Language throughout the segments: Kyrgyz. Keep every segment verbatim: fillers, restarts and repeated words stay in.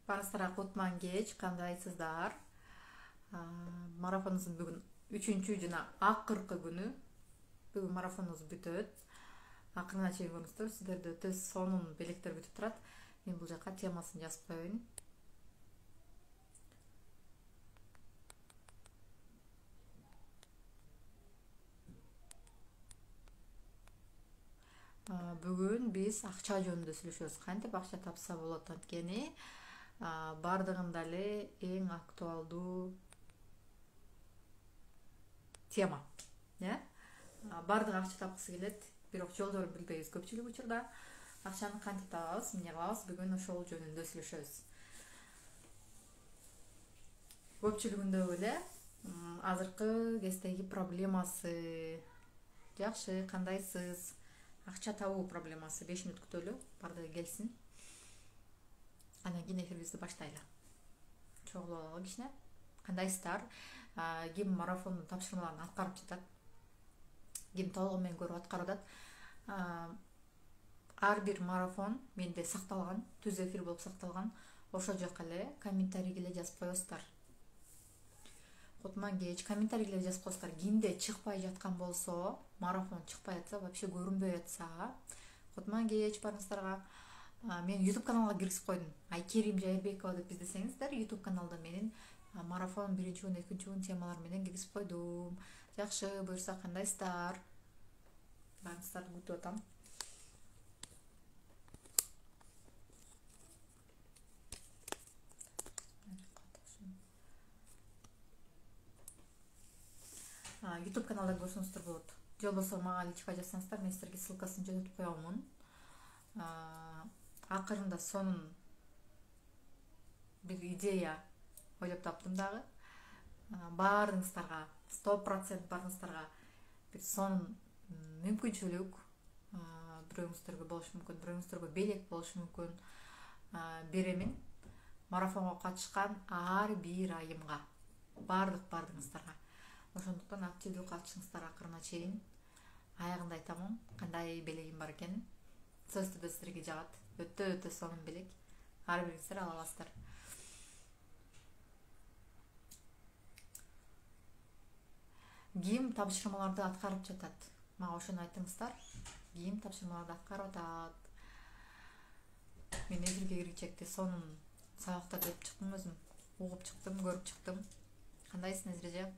Баарыңыздарга кутман кеч, кандайсыздар? Марафонубуздун бүгүн үчүнчү жана акыркы күнү. Бүгүн марафонубуз бүтөт. Акырына чейин көрүңүздөр, сиздерди өтө сонун белектер күтүп турат. Мен бул жака темасын жазып коеюн. Бүгүн биз акча жөнүндө сүйлөшөбүз. Кантип акча тапса болот анткени бардыгында эле эң актуалдуу тема. Э? Бардыгы акча тапкысы келет, бирок жолдорун билбейбиз. Көпчүлүк учурда акчаны кантип табабыз, эмне кылабыз? Бүгүн ошол жөнүндө сүйлөшөбүз. Көпчүлүгүндө эле азыркы кездеги проблемасы. Жакшы, кандайсыз? Акча табуу проблемасы. беш мүнөт күтөлү, бардыгы келсин. Андан кийин эфирибизди баштайлы. Чогулуп алалы кичине. Кандайсыздар? Ким марафондун тапшырмаларын аткарып жатат? Ким толугу менен көрүп аткарып атат? Ар бир марафон менде сакталган, түз эфир болуп сакталган. Ошол жака эле комментарийге эле жазып коесуздар. Кутман кеч, комментарийге эле жазып коесуздар. Кимде чыкпай жаткан болсо, марафон чыкпай жатса, вообще көрүнбөй жатса, кутман кеч барыңыздарга. Мен YouTube каналга киргизип койдум. Айкерим Жайырбекова деп издесеңиздер, YouTube каналда менин марафон биринчи күн, экинчи күн темалары менен киргизип койдум. Жакшы, буюрса кандайсыздар? Барыңыздарды күтүп атам. YouTube каналда көрсөңүздөр болот. Же болбосо мага личка жазсаңыздар, мен силерге ссылкасын жөнөтүп коёмун. Акырында сонун бир идея ойлоп таптым дагы. Баарыңыздарга, сто процент баарыңыздарга бир сонун мүмкүнчүлүк, бирөөңүздөргө болушу мүмкүн, бирөөңүздөргө белек болушу мүмкүн беремин. Марафонго катышкан ар бир айымга, бардык бардыгыңыздарга. Ошондуктан активдүү катышыңыздар акырына чейин. Аягында айтамын, кандай белегим бар экенин. Сөз түрдө силерге жагат. Өтө-өтө сонун белек. Ар бириңиздер ала аласыздар. Ким тапшырмаларды аткарып жатат? Мага ошону айтыңыздар. Ким тапшырмаларды аткарып атат? Мен эфирге киргичекте сонун сабактар деп чыктым өзүм. Угуп чыктым, көрүп чыктым. Кандайсың Незиреже?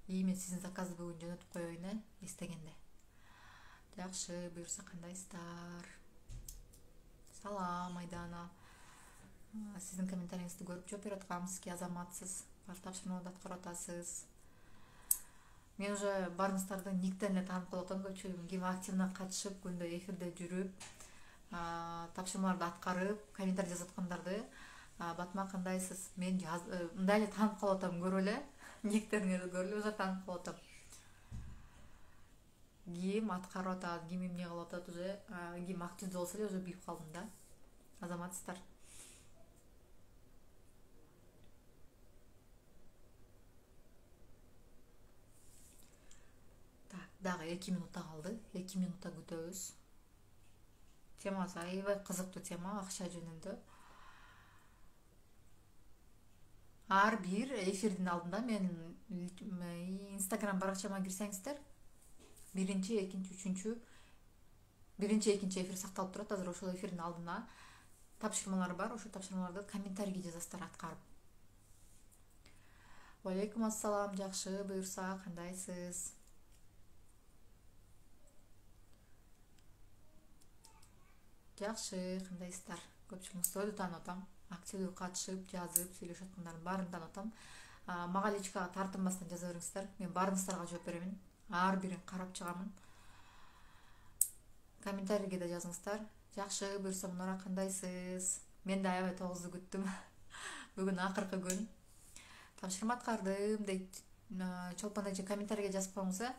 И мен сиздин заказды бүгүн жөнөтүп коеюн, э, эстегенде. Жакшы, буюрса кандайсыздар? Салам, Айдана. Сиздин комментарийиңизди көрүп жооп берип аткам. Сизге азаматсыз, бар тапшырмаларды аткарып атасыз. Мен уже барыңыздарды никтен эле таанып калып атам, көпчүлүгүн. Ким активно катышып, күндө эфирде жүрүп, тапшырмаларды аткарып, комментарий жазып аткандарды, Батма кандайсыз? Мен мындай эле таанып калып атам, көрүп эле. Никтериңерди көрүп эле уже таанып калып атам. Ким аткарып атат, ким эмне кылып атат уже, ким активдүү болсо эле уже билип калдым да. Азаматсыздар. Так, дагы эки минутта калды. эки минутта күтөбүз. Темасы аябай кызыктуу тема, акча жөнүндө. Ар бир эфирдин алдында мен Instagram баракчама кирсеңиздер, биринчи, экинчи, үчүнчү, биринчи, экинчи эфир сакталып турат. Азыр ошол эфирдин алдына тапшырмалар бар. Ошол тапшырмаларды комментарийге жазасыздар аткарып. Алейкум ассалам, жакшы, буюрса кандайсыз? Жакшы, кандайсыздар? Көпчүлүгүңүздү таанып атам. Активдүү катышып, жазып, сүйлөшүп аткандардын баарын таанып атам. Мага личкага тартынбастан жаза бериңиздер. Мен баарыңыздарга жооп беремин. Ар бирин карап чыгамын. Комментарийге да жазыңыздар. Жакшы, буюрса Мунара кандайсыз? Мен да аябай тогузду күттүм. Бүгүн акыркы күн. Тапшырма аткардым дейт. Чолпон эже комментарийге жазып коюңуз, э?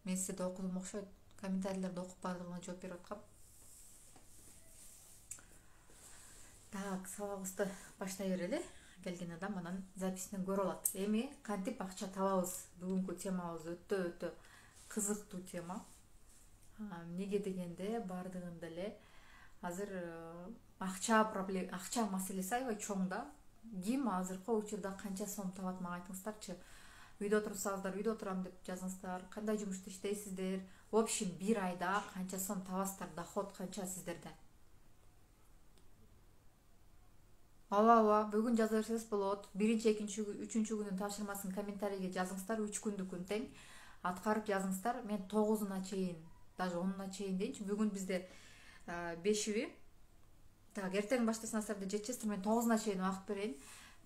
Мен сиздерди окудум окшойт. Комментарийлерди окуп бардыгына жооп берип аткам. Так, сабагыбызды баштай берели. келген адам анан записинен көрө алат. Эми кантип акча табабыз? Бүгүнкү темабыз өтө өтө кызыктуу тема. Эмнеге дегенде бардыгында эле азыр акча проблема, акча маселеси аябай чоң да. Ким азыркы учурда канча сом табат, мага айтыңыздарчы. Үйдө отурсаңыздар, үйдө отурам деп жазыңыздар. Кандай жумушта иштейсиздер? В общем, бир айда канча сом табасыздар? Доход канча сиздерде? Ооба, ооба, бүгүн жаза берсеңиз болот. Биринчи, экинчи, үчүнчү күнүн тапшырмасын комментарийге жазыңыздар. Үч күндүкүн тең аткарып жазыңыздар. Мен тогузуна чейин, даже онуна чейин дейинчи. Бүгүн бизде бешиби. Так, эртең баштасаңыздар да жетишесиздер. Мен тогузуна чейин убакыт берейин.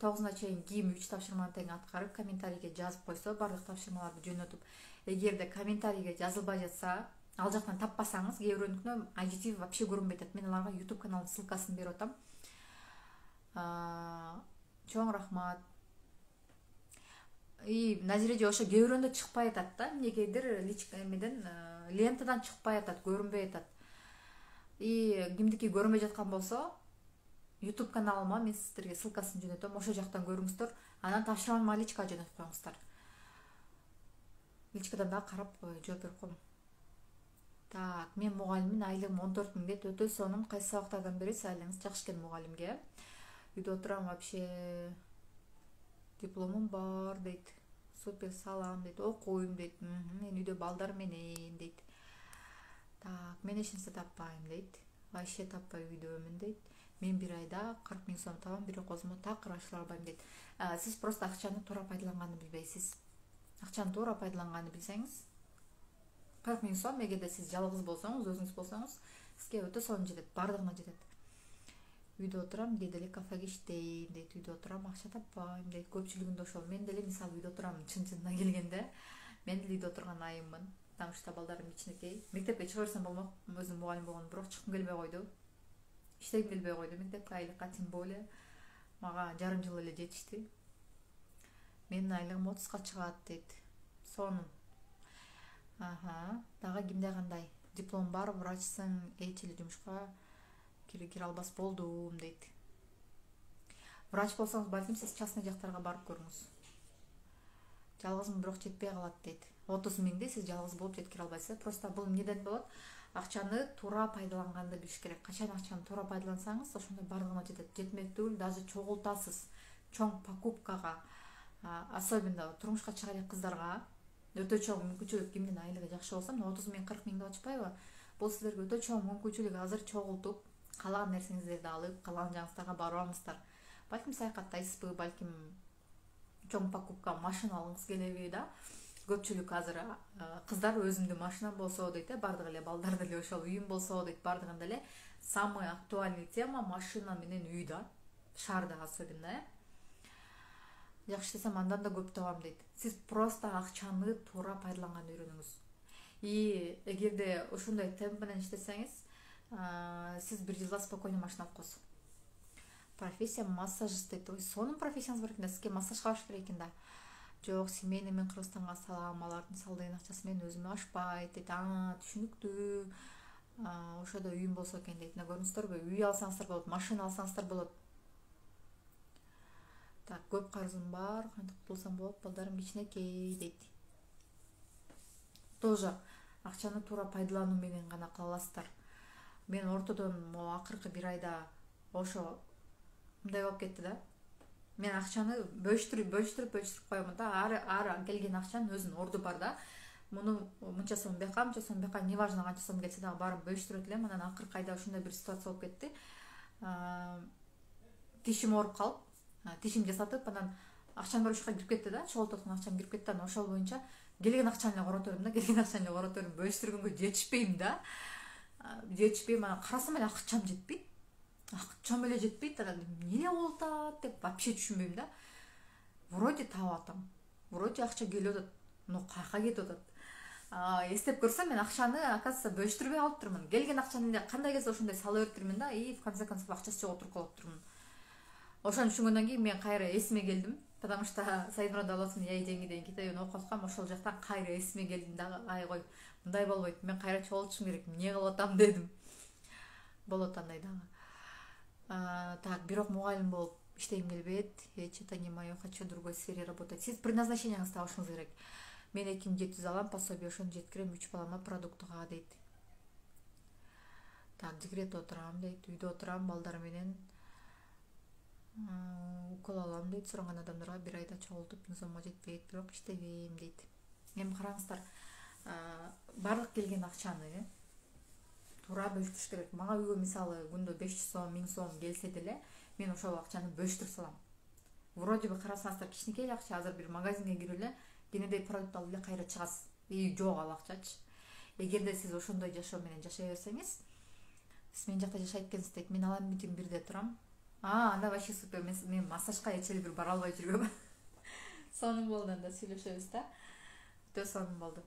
тогузуна чейин ким үч тапшырманы тең аткарып комментарийге жазып койсо, барлык тапшырмаларды жөнөтүп. Эгерде комментарийге жазылбай жатса, ал жактан таппасаңыз, кээ бирөөнүкүнө ай джи ти ви вообще көрүнбөй атат. Мен аларга YouTube каналдын ссылкасын берип атам. Чоң рахмат. И Назиреже ошо кээ бирөөндө чыкпай атат да, эмнегедир личка эмеден лентадан чыкпай атат, көрүнбөй атат. И кимдики көрүнбөй жаткан болсо, YouTube каналыма мен сиздерге ссылкасын жөнөтөм, ошол жактан көрүңүздөр. Анан тапшырманы личка жөнөтүп коюңуздар. Личкадан да карап жооп берип коем. Так, мен мугалиммин, айлыгым он төрт миң дейт. Өтө сонун. Кайсы сабактардан бересиз? Айлыгыңыз жакшы экен мугалимге. Үйдө отурам, вообще дипломум бар дейт. Супер, салам дейт. Окуйм дейт. Мен үйдө балдар менен дейт. Так, мен эч нерсе таппайм дейт. Вообще таппай үйдөмүн дейт. Мен бир айда кырк миң сом табам, бирок өзүмө такыр ашыра албайм дейт. Сиз просто акчаны туура пайдаланганды билбейсиз. Акчаны туура пайдаланганды билсеңиз, кырк миң сом, эгерде сиз жалгыз болсоңуз, өзүңүз болсоңуз, сизге өтө сонун жетет, бардыгына жетет. Үйдө отурам, кээде эле кафеге иштейм дейт. Үйдө отурам, акча таппайм дейт. Көпчүлүгүндө ошол. Мен деле мисалы үйдө отурам, чын-чынына келгенде, мен деле үйдө отурган айыммын. Потому что балдарым кичинекей. Мектепке чыга берсем болмок, өзүм мугалим болгон, бирок чыккым келбей койду. Иштегим келбей койду. Мектепке айлыкка тем более. Мага жарым жыл эле жетишти. Менин айлыгым отузга чыгат дейт. Сонун. Аха, дагы кимде кандай? Диплом бар, врачсың, эч эле жумушка кире албас болдум дейт. Врач болсоңуз, балким сиз частный жактарга барып көрүңүз. Жалгызмын, бирок жетпей калат дейт. отуз миңди сиз жалгыз болуп жеткире албайсыз. Просто бул эмнеден болот? Акчаны туура пайдаланганды билиш керек. Качан акчаны туура пайдалансаңыз, ошондо бардыгына жетет. Жетмек түгүл, даже чогултасыз. Чоң покупкага, особенно турмушка чыга элек кыздарга өтө чоң мүмкүнчүлүк. Кимдин айлыгы жакшы болсо, отуз миң кырк миң деп атышпайбы? Бул сиздерге өтө чоң мүмкүнчүлүк. Азыр чогултуп, каалаган нерсеңиздерди алып, каалаган жагыңыздарга барып алыңыздар. Балким саякаттайсызбы, балким чоң покупка, машина алгыңыз келеби да? Көпчүлүк азыр кыздар өзүмдүн машинам болсо дейт, бардыгы эле балдар деле ошол үйүм болсо дейт, бардыгында эле самый актуальный тема машина менен үй да, шаарда особенно, э. Жакшы иштесем андан да көп табам дейт. Сиз просто акчаны туура пайдаланганды үйрөнүңүз. И эгерде ошондой темп менен иштесеңиз, сиз бир жылда спокойно машина алып коесуз. Профессия массажист дейт. Ой, сонун профессияңыз бар экен да, сизге массаж кылыш керек экен да. Жок, семейный, мен Кыргызстанга салам, алардын салдыгын акчасы менен өзүмө ашпайт дейт. А, түшүнүктүү. Ошодо үйүм болсо экен дейт. Мына көрүңүздөрбү? Үй алсаңыздар болот, машина алсаңыздар болот. Так, көп карызым бар, кантип кутулсам болот? Балдарым кичинекей дейт. Тоже акчаны туура пайдалануу менен гана кыла аласыздар. Мен ортодон могу акыркы бир айда ошо мындай болуп кетти да. Мен акчаны бөлүштүрүп, бөлүштүрүп, бөлүштүрүп коемун да. Ар ар келген акчанын өзүнүн орду бар да. Муну мынча сом бияка, мынча сом бияка, неважно канча сом келсе дагы барып бөлүштүрөт элем. Анан акыркы айда ошондой бир ситуация болуп кетти. Тишим ооруп калып, тишим жасатып, анан акчам бар ушка кирип кетти да. Чогултуп акчам кирип кетти. Анан ошол боюнча келген акчаны эле корото бердим да. Келген акчаны эле корото бердим. Бөлүштүргөнгө жетишпейм да. Жетишпейм. Анан карасам эле акчам жетпейт. Акчам эле жетпейт. Анан эмне болуп атат деп вообще түшүнбөйм да. Вроде таап атам. Вроде акча келип атат. Но каяка кетип атат? Эстеп көрсөм, мен акчаны, оказывается, бөлүштүрбөй алыптырмын. Келген акчаны эле кандай келсе ошондой сала бериптирмин да. И в конце концов акчасы жок отуруп калыптырмын. Ошону түшүнгөндөн кийин мен кайра эсиме келдим. Потому что Сайдмурод Далосунун Яй жеңи деген китебин окуп аткам. Ошол жактан кайра эсиме келдим дагы. Ай кой, мындай болбойт. Мен кайра чогултушум керек. Эмне кылып атам дедим. Болот андай дагы. Так, бирок мугалим болуп иштегим келбейт, я что-то не мое, хочу в другой сфере работать. Сиз предназначениеңизди табышыңыз керек. Мен эки миң жети жүз алам, пособие ошону жеткирем, үч балама продуктыга дейт. Так, декретте отурам дейт, үйдө отурам, балдар менен укол алам дейт. Суранган адамдарга бир айда чогултуп сомго жетпейт, бирок иштебейм дейт. Эми караңыздар, баардык келген акчаны туура бөлүштүрүш керек. Мага үйгө мисалы күндө беш жүз сом, миң сом келсе деле, мен ошол акчаны бөлүштүрүп салам. Вроде бы карасаңыздар кичинекей акча, азыр бир магазинге кирип эле кенедей продукт алып эле кайра чыгасыз. И жок ал акчачы. Эгерде сиз ошондой жашоо менен жашай берсеңиз, сиз мен жакта жашайт экенсиз дейт. Мен алам бүтүн бирде турам. А, анда вообще супер. Мен, мен массажга эчели бир бара албай жүргөм. Сонун болду, анда сүйлөшөбүз да. Өтө сонун болду.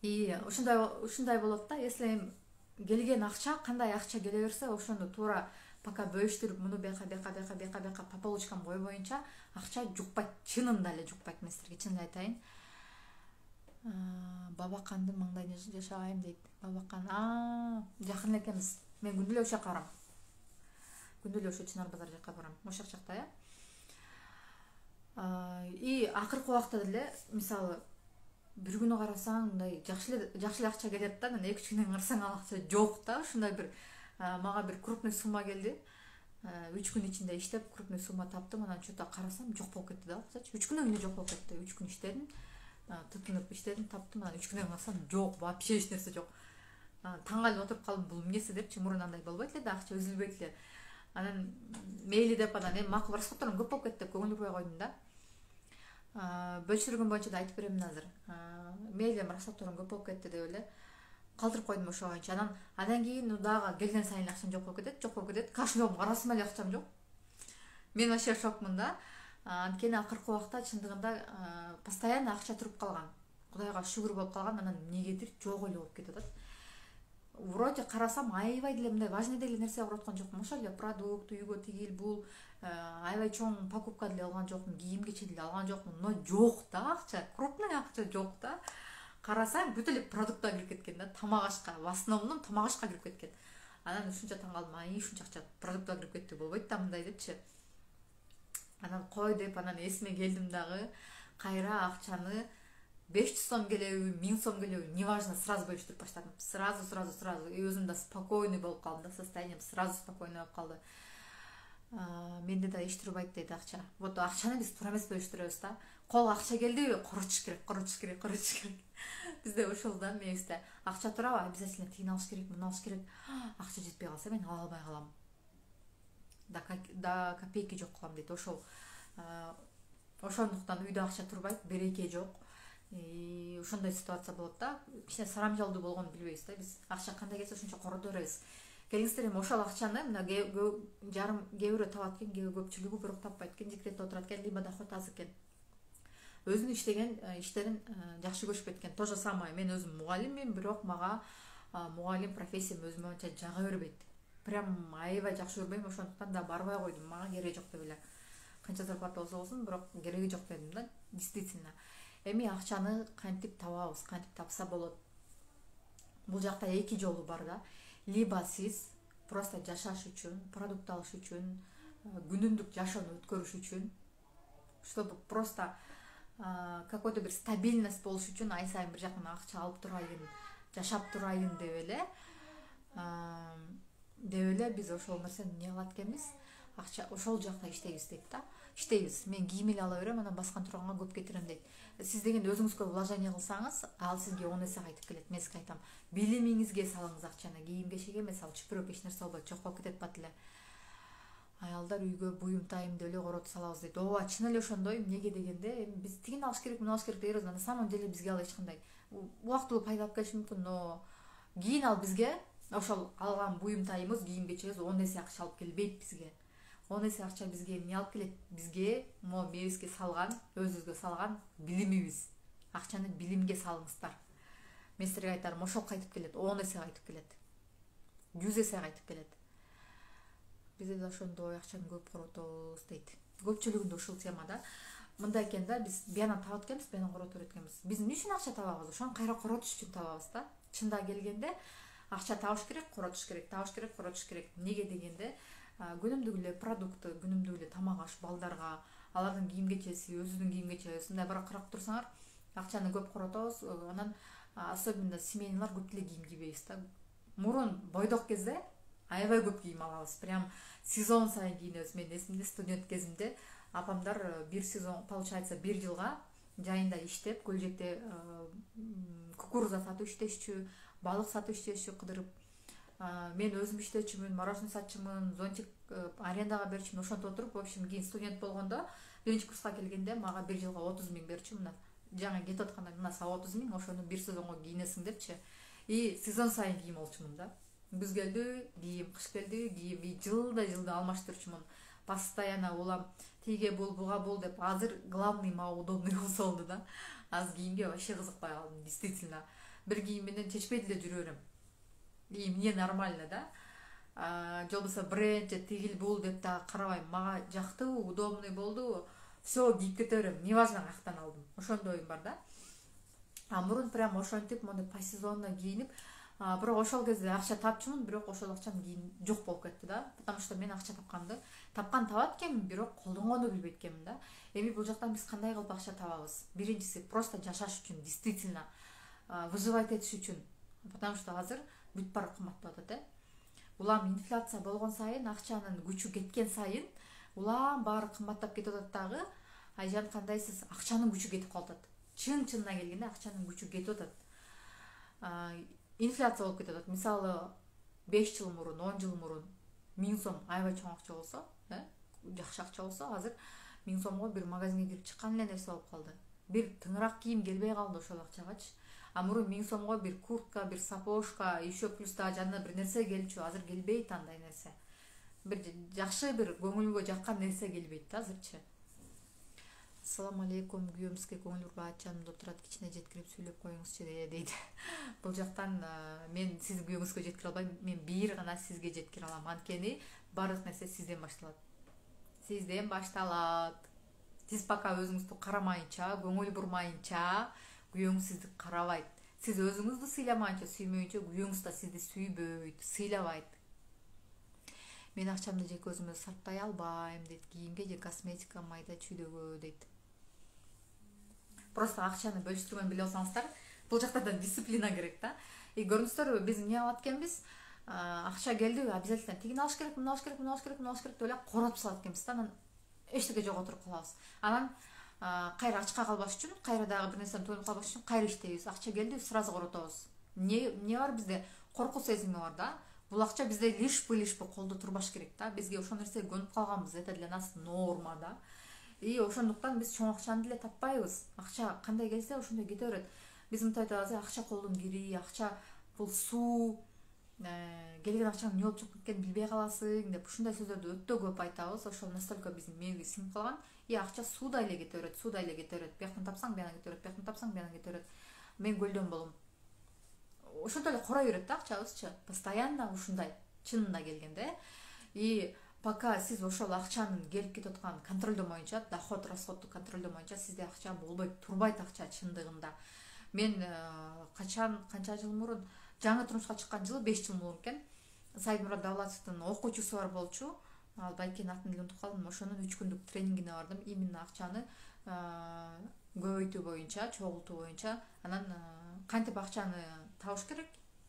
И ушундай ушундай болот да. Если келген акча, кандай акча келе берсе, ошону туура пока бөлүштүрүп, муну бияка бияка бияка бияка бияка по полочкам кой боюнча акча жукпайт, чынында эле жукпайт. Мен силерге чын эле айтайын. Бабаканды маңдайына жашабайм дейт. Бабакан, а, жакын экенбиз. Мен күндө эле ошол жака барам. Күндө эле ошо Чынар базар жака барам. Ошол жакта, э. И акыркы убакта деле, мисалы, бир күнү карасаң, мындай жакшы эле жакшы эле акча келет да, анан эки үч күндөн карасаң ал акча жок да. Ушундай бир мага бир крупный сумма келди. үч күн ичинде иштеп крупный сумма таптым, анан что-то карасам жок болуп кетти да акчачы. үч күнөн кийин жок болуп кетти. үч күн иштедим, тытынып иштедим, таптым, анан үч күндөн карасам жок, вообще эч нерсе жок. Таң калып отуруп калдым, бул эмнеси депчи, мурун андай болбойт эле да, акча үзүлбөйт эле. Анан мейли деп анан эми макул расходторум көп болуп кетти деп көңүл бурбай койдум да. Бөлүштүргөн боюнча да айтып беремин азыр. Мейли расходторум көп болуп кетти деп эле калтырып койдум ошо боюнча. Анан андан кийин дагы келген сайын акчам жок болуп кетет, жок болуп кетет. Кашылоом карасам эле акчам жок. Мен вообще шокмун да. Анткени акыркы убакта чындыгында постоянно акча туруп калган. Кудайга шүгүр болуп калган, анан эмнегедир жок эле болуп кетип атат. Вроде карасам аябай деле мындай важный деле нерсе алып аткан жокмун. Ошол эле продукт, үйгө тигил бул аябай чоң покупка деле алган жокмун, кийим кече деле алган жокмун. Но жок да акча, крупный акча жок да. Карасаң бүт эле продуктка кирип кеткен да, тамак ашка, в основном тамак ашка кирип кеткен. Анан ушунча таң калдым, ай ушунча акча продуктка кирип кетти, болбойт да мындай депчи. Анан кой деп анан эсиме келдим дагы, кайра акчаны беш жүз сом келеби, миң сом келеби, неважно, сразу бөлүштүрүп баштадым. Сразу, сразу, сразу. И өзүм да спокойный болуп калдым да, состоянием сразу спокойный болуп калды. Менде да эч турбайт дейт акча. Вот акчаны биз туура эмес бөлүштүрөбүз да. Кол акча келдиби, коротуш керек, коротуш керек, коротуш керек. Бизде ошол да, мебизде. Акча турабы, обязательно тигин алыш керек, муну алыш керек. Акча жетпей калса мен ала албай калам. Да, да копейки жок кылам дейт. Ошол ошондуктан үйдө акча турбайт, береке жок. И ошондой ситуация болот да. Кичине сарамжалдуу болгонун билбейбиз да биз. Акча кандай келсе ошончо корото беребиз. Келиңиздер, эми ошол акчаны мына жарым кээ бирөө табат экен, кээ көпчүлүгү бирок таппайт экен, декретте отурат экен, либо доход аз экен. Өзүнүн иштеген иштерин жакшы көрүшпөйт экен. То же самое, мен өзүм мугалиммин, бирок мага мугалим профессиям өзүмө анча жага бербейт. Прям аябай жакшы көрбөйм, ошондуктан да барбай койдум. Мага кереги жок деп эле. Канча зарплата болсо болсун, бирок кереги жок дедим да, действительно. Эми акчаны кантип табабыз, кантип тапса болот? Бул жакта эки жолу бар да. Либо сиз просто жашаш үчүн, продукт алыш үчүн, күнүмдүк жашоону өткөрүш үчүн, чтобы просто какой-то бир стабильность болуш үчүн ай сайын бир жактан акча алып турайын, жашап турайын деп эле деп эле биз ошол нерсени эмне кылат экенбиз? Акча ошол жакта иштейбиз дейт да. Иштейбиз. Мен кийим эле ала берем, анан баскан турганга көп кетирем дейт. Сиз дегенде өзүңүзгө вложение кылсаңыз, ал сизге он эсе кайтып келет. Мен сизге айтам, билимиңизге салыңыз акчаны, кийим кечеге эмес, ал чүпүрөк эч нерсе болбойт, жок болуп кетет бат эле. Аялдар үйгө буюм-тайым деп эле коротуп салабыз дейт. Ооба, чын эле ошондой. Эмнеге дегенде, эми биз тигин алыш керек, муну алыш керек дейбиз, на самом деле бизге ал эч кандай убактылуу пайда алып келиши мүмкүн, но кийин ал бизге ошол алган буюм-тайымыбыз, кийим кечебиз он эсе акча алып келбейт бизге. он эсе акча бизге эмне алып келет? Бизге могу мебизге салган, өзүбүзгө салган билимибиз. Акчаны билимге салыңыздар. Мен силерге айтарым, ошол кайтып келет, он эсе кайтып келет. жүз эсе кайтып келет. Бизде да ошондой акчаны көп коротобуз дейт. Көпчүлүгүндө ушул темада. Мындай экен да, биз бияна табат экенбиз, бияна корото берет экенбиз. Биз эмне үчүн акча табабыз? Ошону кайра коротуш үчүн табабыз да. Чында келгенде акча табыш керек, коротуш керек, табыш керек, коротуш керек. Неге дегенде, күнүмдүк эле продукты, күнүмдүк эле тамак аш балдарга, алардын кийим кечеси, өзүнүн кийим кечеси ушундай бирок карап турсаңар, акчаны көп коротобуз. Анан особенно семейныйлар көп деле кийим кийбейбиз да. Мурун бойдок кезде аябай көп кийим алабыз. Прям сезон сайын кийинебиз. Мен эсимде, студент кезимде апамдар бир сезон, получается, бир жылга жайында иштеп, Көлжекте кукуруза сатып иштешчү, балык сатып иштешчү кыдырып. Мен өзүм иштечүмүн, мороженое сатчумун, зонтик арендага берчүмүн. Ошентип отуруп, в общем, кийин студент болгондо биринчи курска келгенде мага бир жылга отуз миң берчү. Мына жаңы кетип атканда мына сага отуз миң, ошону бир сезонго кийинесиң депчи. И сезон сайын кийим алчумун да. Күз келди, кийим, кыш келди, кийим, и жылда жылда алмаштырчумун. Постоянно улам тиге бул, буга бул деп. Азыр главный мага удобный болсо болду да. Азыр кийимге вообще кызыкпай калдым, действительно. Бир кийим менен чечпей деле жүрө берем. И мне нормально, да. Же болбосо бренд, же тигил бул деп да карабайм. Мага жактыбы, удобный болдубу, все кийип кете берем. Неважно каяктан алдым. Ошондой оюм бар да. А мурун прям ошентип, мондой по сезонно кийинип, бирок ошол кезде акча тапчумун, бирок ошол акчам кийин жок болуп кетти да. Потому что мен акча тапканды, тапкан табат экенмин, бирок колдонгонду билбейт экенмин да. Эми бул жактан биз кандай кылып акча табабыз? Биринчиси просто жашаш үчүн, действительно выживать этиш үчүн. Потому что азыр бүт баары кымбаттап атат, э. Улам инфляция болгон сайын, акчанын күчү кеткен сайын, улам баары кымбаттап кетип атат дагы. Айжан, кандайсыз? Акчанын күчү кетип калат. Чын-чынына келгенде акчанын күчү кетип атат. Инфляция болуп кетип атат. Мисалы, беш жыл мурун, он жыл мурун миң сом аябай чоң акча болсо, э, жакшы акча болсо, азыр миң сомго бир магазинге кирип чыккан эле нерсе болуп калды. Бир тыңыраак кийим келбей калды ошол акчагачы. А мурун миң сомго бир куртка, бир сапожка, еще плюс да жанына бир нерсе келчү. Азыр келбейт андай нерсе. Бир жакшы, бир көңүлгө жаккан нерсе келбейт да азырчы. Ассаламу алейкум, күйөөмүзгө көңүл бурбайт, жанымда отурат, кичине жеткирип сүйлөп коюңузчу дейт. Бул жактан мен сиздин күйөөңүзгө жеткире албайм, мен бир гана сизге жеткире алам. Анткени баардык нерсе сизден башталат. Сизден башталат. Сиз пока өзүңүздү карамайынча, көңүл бурмайынча, күйөөңүз сизди карабайт. Сиз өзүңүздү сыйламайынча, сүймөйүнчө, күйөөңүз да сизди сүйбөйт, сыйлабайт. Мен акчамды жеке өзүмө сарптай албайм дейт. Кийимге же косметика, майда чүйдөгө дейт. Просто акчаны бөлүштүргөнү биле алсаңыздар, бул жакта да дисциплина керек да. И көрүңүздөр, биз эмне кылат экенбиз? Акча келди, обязательно тигини алыш керек, муну алыш керек, муну алыш керек, муну алыш керек деп эле коротуп салат экенбиз да. Анан эчтеке жок отуруп калабыз. Анан кайра ачка калбаш үчүн, кайра дагы бир нерсени тоюнуп калбаш үчүн кайра иштейбиз. Акча келди, сразу коротобуз. Не эмне бар бизде? Коркуу сезими бар да. Бул акча бизде лишпи-лишпи колдо турбаш керек да. Бизге ошол нерсеге көнүп калганбыз. Это для нас норма да. И ошондуктан биз чоң акчаны деле таппайбыз. Акча кандай келсе ошондой кете берет. Биз мынтип айтабыз, акча колдун кири, акча бул суу, келген акчанын эмне болуп чыгып кеткенин билбей каласың деп ушундай сөздөрдү өтө көп айтабыз. Ошол настолько биздин мээбизге сиңип калган. И акча суудай эле кете берет, суудай эле кете берет. Бияктан тапсаң, бияктан кете берет, бияктан тапсаң, бияктан кете берет. Мен көлдөн болом. Ошентип эле корой берет да акчабызчы. Постоянно ушундай, чынына келгенде. И пока сиз ошол акчанын келип кетип атканын контролдомоюнча, доход, расходду контролдомоюнча, сизде акча болбойт, турбайт акча чындыгында. Мен качан, канча жыл мурун, жаңы турмушка чыккан жылы беш жыл мурун экен. Сайдмурат Давлатовдун окуучусу бар болчу. Ал байкенин атын эле унутуп калдым. Ошонун үч күндүк тренингине бардым. Именно акчаны көбөйтүү боюнча, чогултуу боюнча. Анан кантип акчаны табыш керек?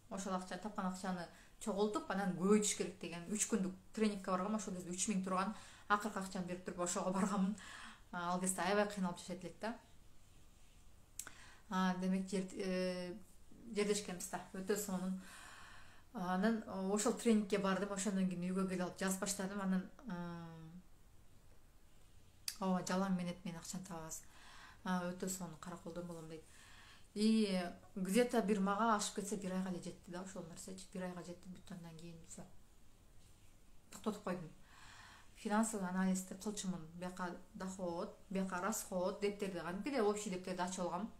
Ошол акчаны, тапкан акчаны чогултуп, анан көбөйтүш керек деген үч күндүк тренингке баргам. Ошол кезде үч миң турган, акыркы акчаны берип туруп ошого барганмын. Ал кезде аябай кыйналып жашайт элек да. Демек жердешкенбиз да. Өтө сонун. Анан ошол тренингке бардым. Ошондон кийин үйгө келип алып жазып баштадым. Анан ооба, жалаң менет мен акчаны табабыз. Өтө сонун, караколдон болом дейт. И где-то бир мага ашып кетсе бир айга эле жетти да ошол нерсечи. Бир айга жетти, бүт андан кийин все. Токтотуп койдум. Финансовый анализди кылчумун. Бияка доход, бияка расход дептерди, кантип общий дептерди ачып алгам.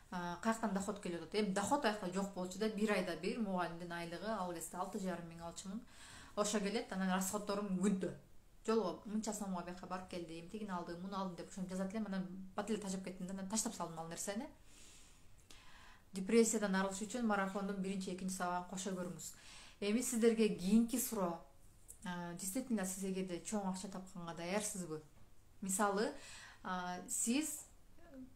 Каяктан доход келип атат? Эми доход аякта жок болчу да, бир айда бир мугалимдин айлыгы ал кезде алты жарым миң алчумун. Ошо келет, анан расходторум күндө. Жолго мынча сомго бияка барып келдим, тигини алдым, муну алдым деп ошону жазат элем. Анан бат эле тажап кеттим да, анан таштап салдым ал нерсени. Депрессиядан арылыш үчүн марафондун биринчи, экинчи сабагын кошо көрүңүз. Эми сиздерге кийинки суроо. действительно сиз эгерде чоң акча тапканга даярсызбы? Мисалы, сиз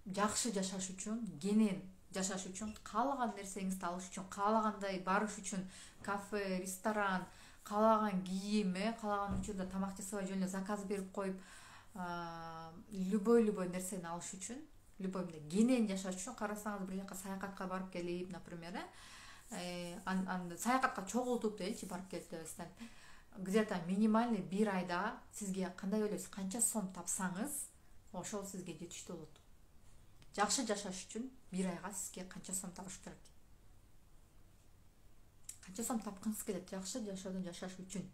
жакшы жашаш үчүн, кенен жашаш үчүн, каалаган нерсеңизди алыш үчүн, каалагандай барыш үчүн, кафе, ресторан, каалаган кийим, каалаган учурда тамак жасабай жөн эле заказ берип коюп, любой любой нерсени алыш үчүн, любой мындай кенен жашаш үчүн, карасаңыз бир жака саякатка барып келип, например, анда саякатка чогултуп деличи барып келип дебестен, где-то минимальный бир айда сизге кандай ойлойсуз, канча сом тапсаңыз, ошол сизге жетиштүү болот. Жакшы жашаш үчүн бир айга сизге канча сом табыш керек? Канча сом тапкыңыз келет жакшы жашоодон жашаш үчүн?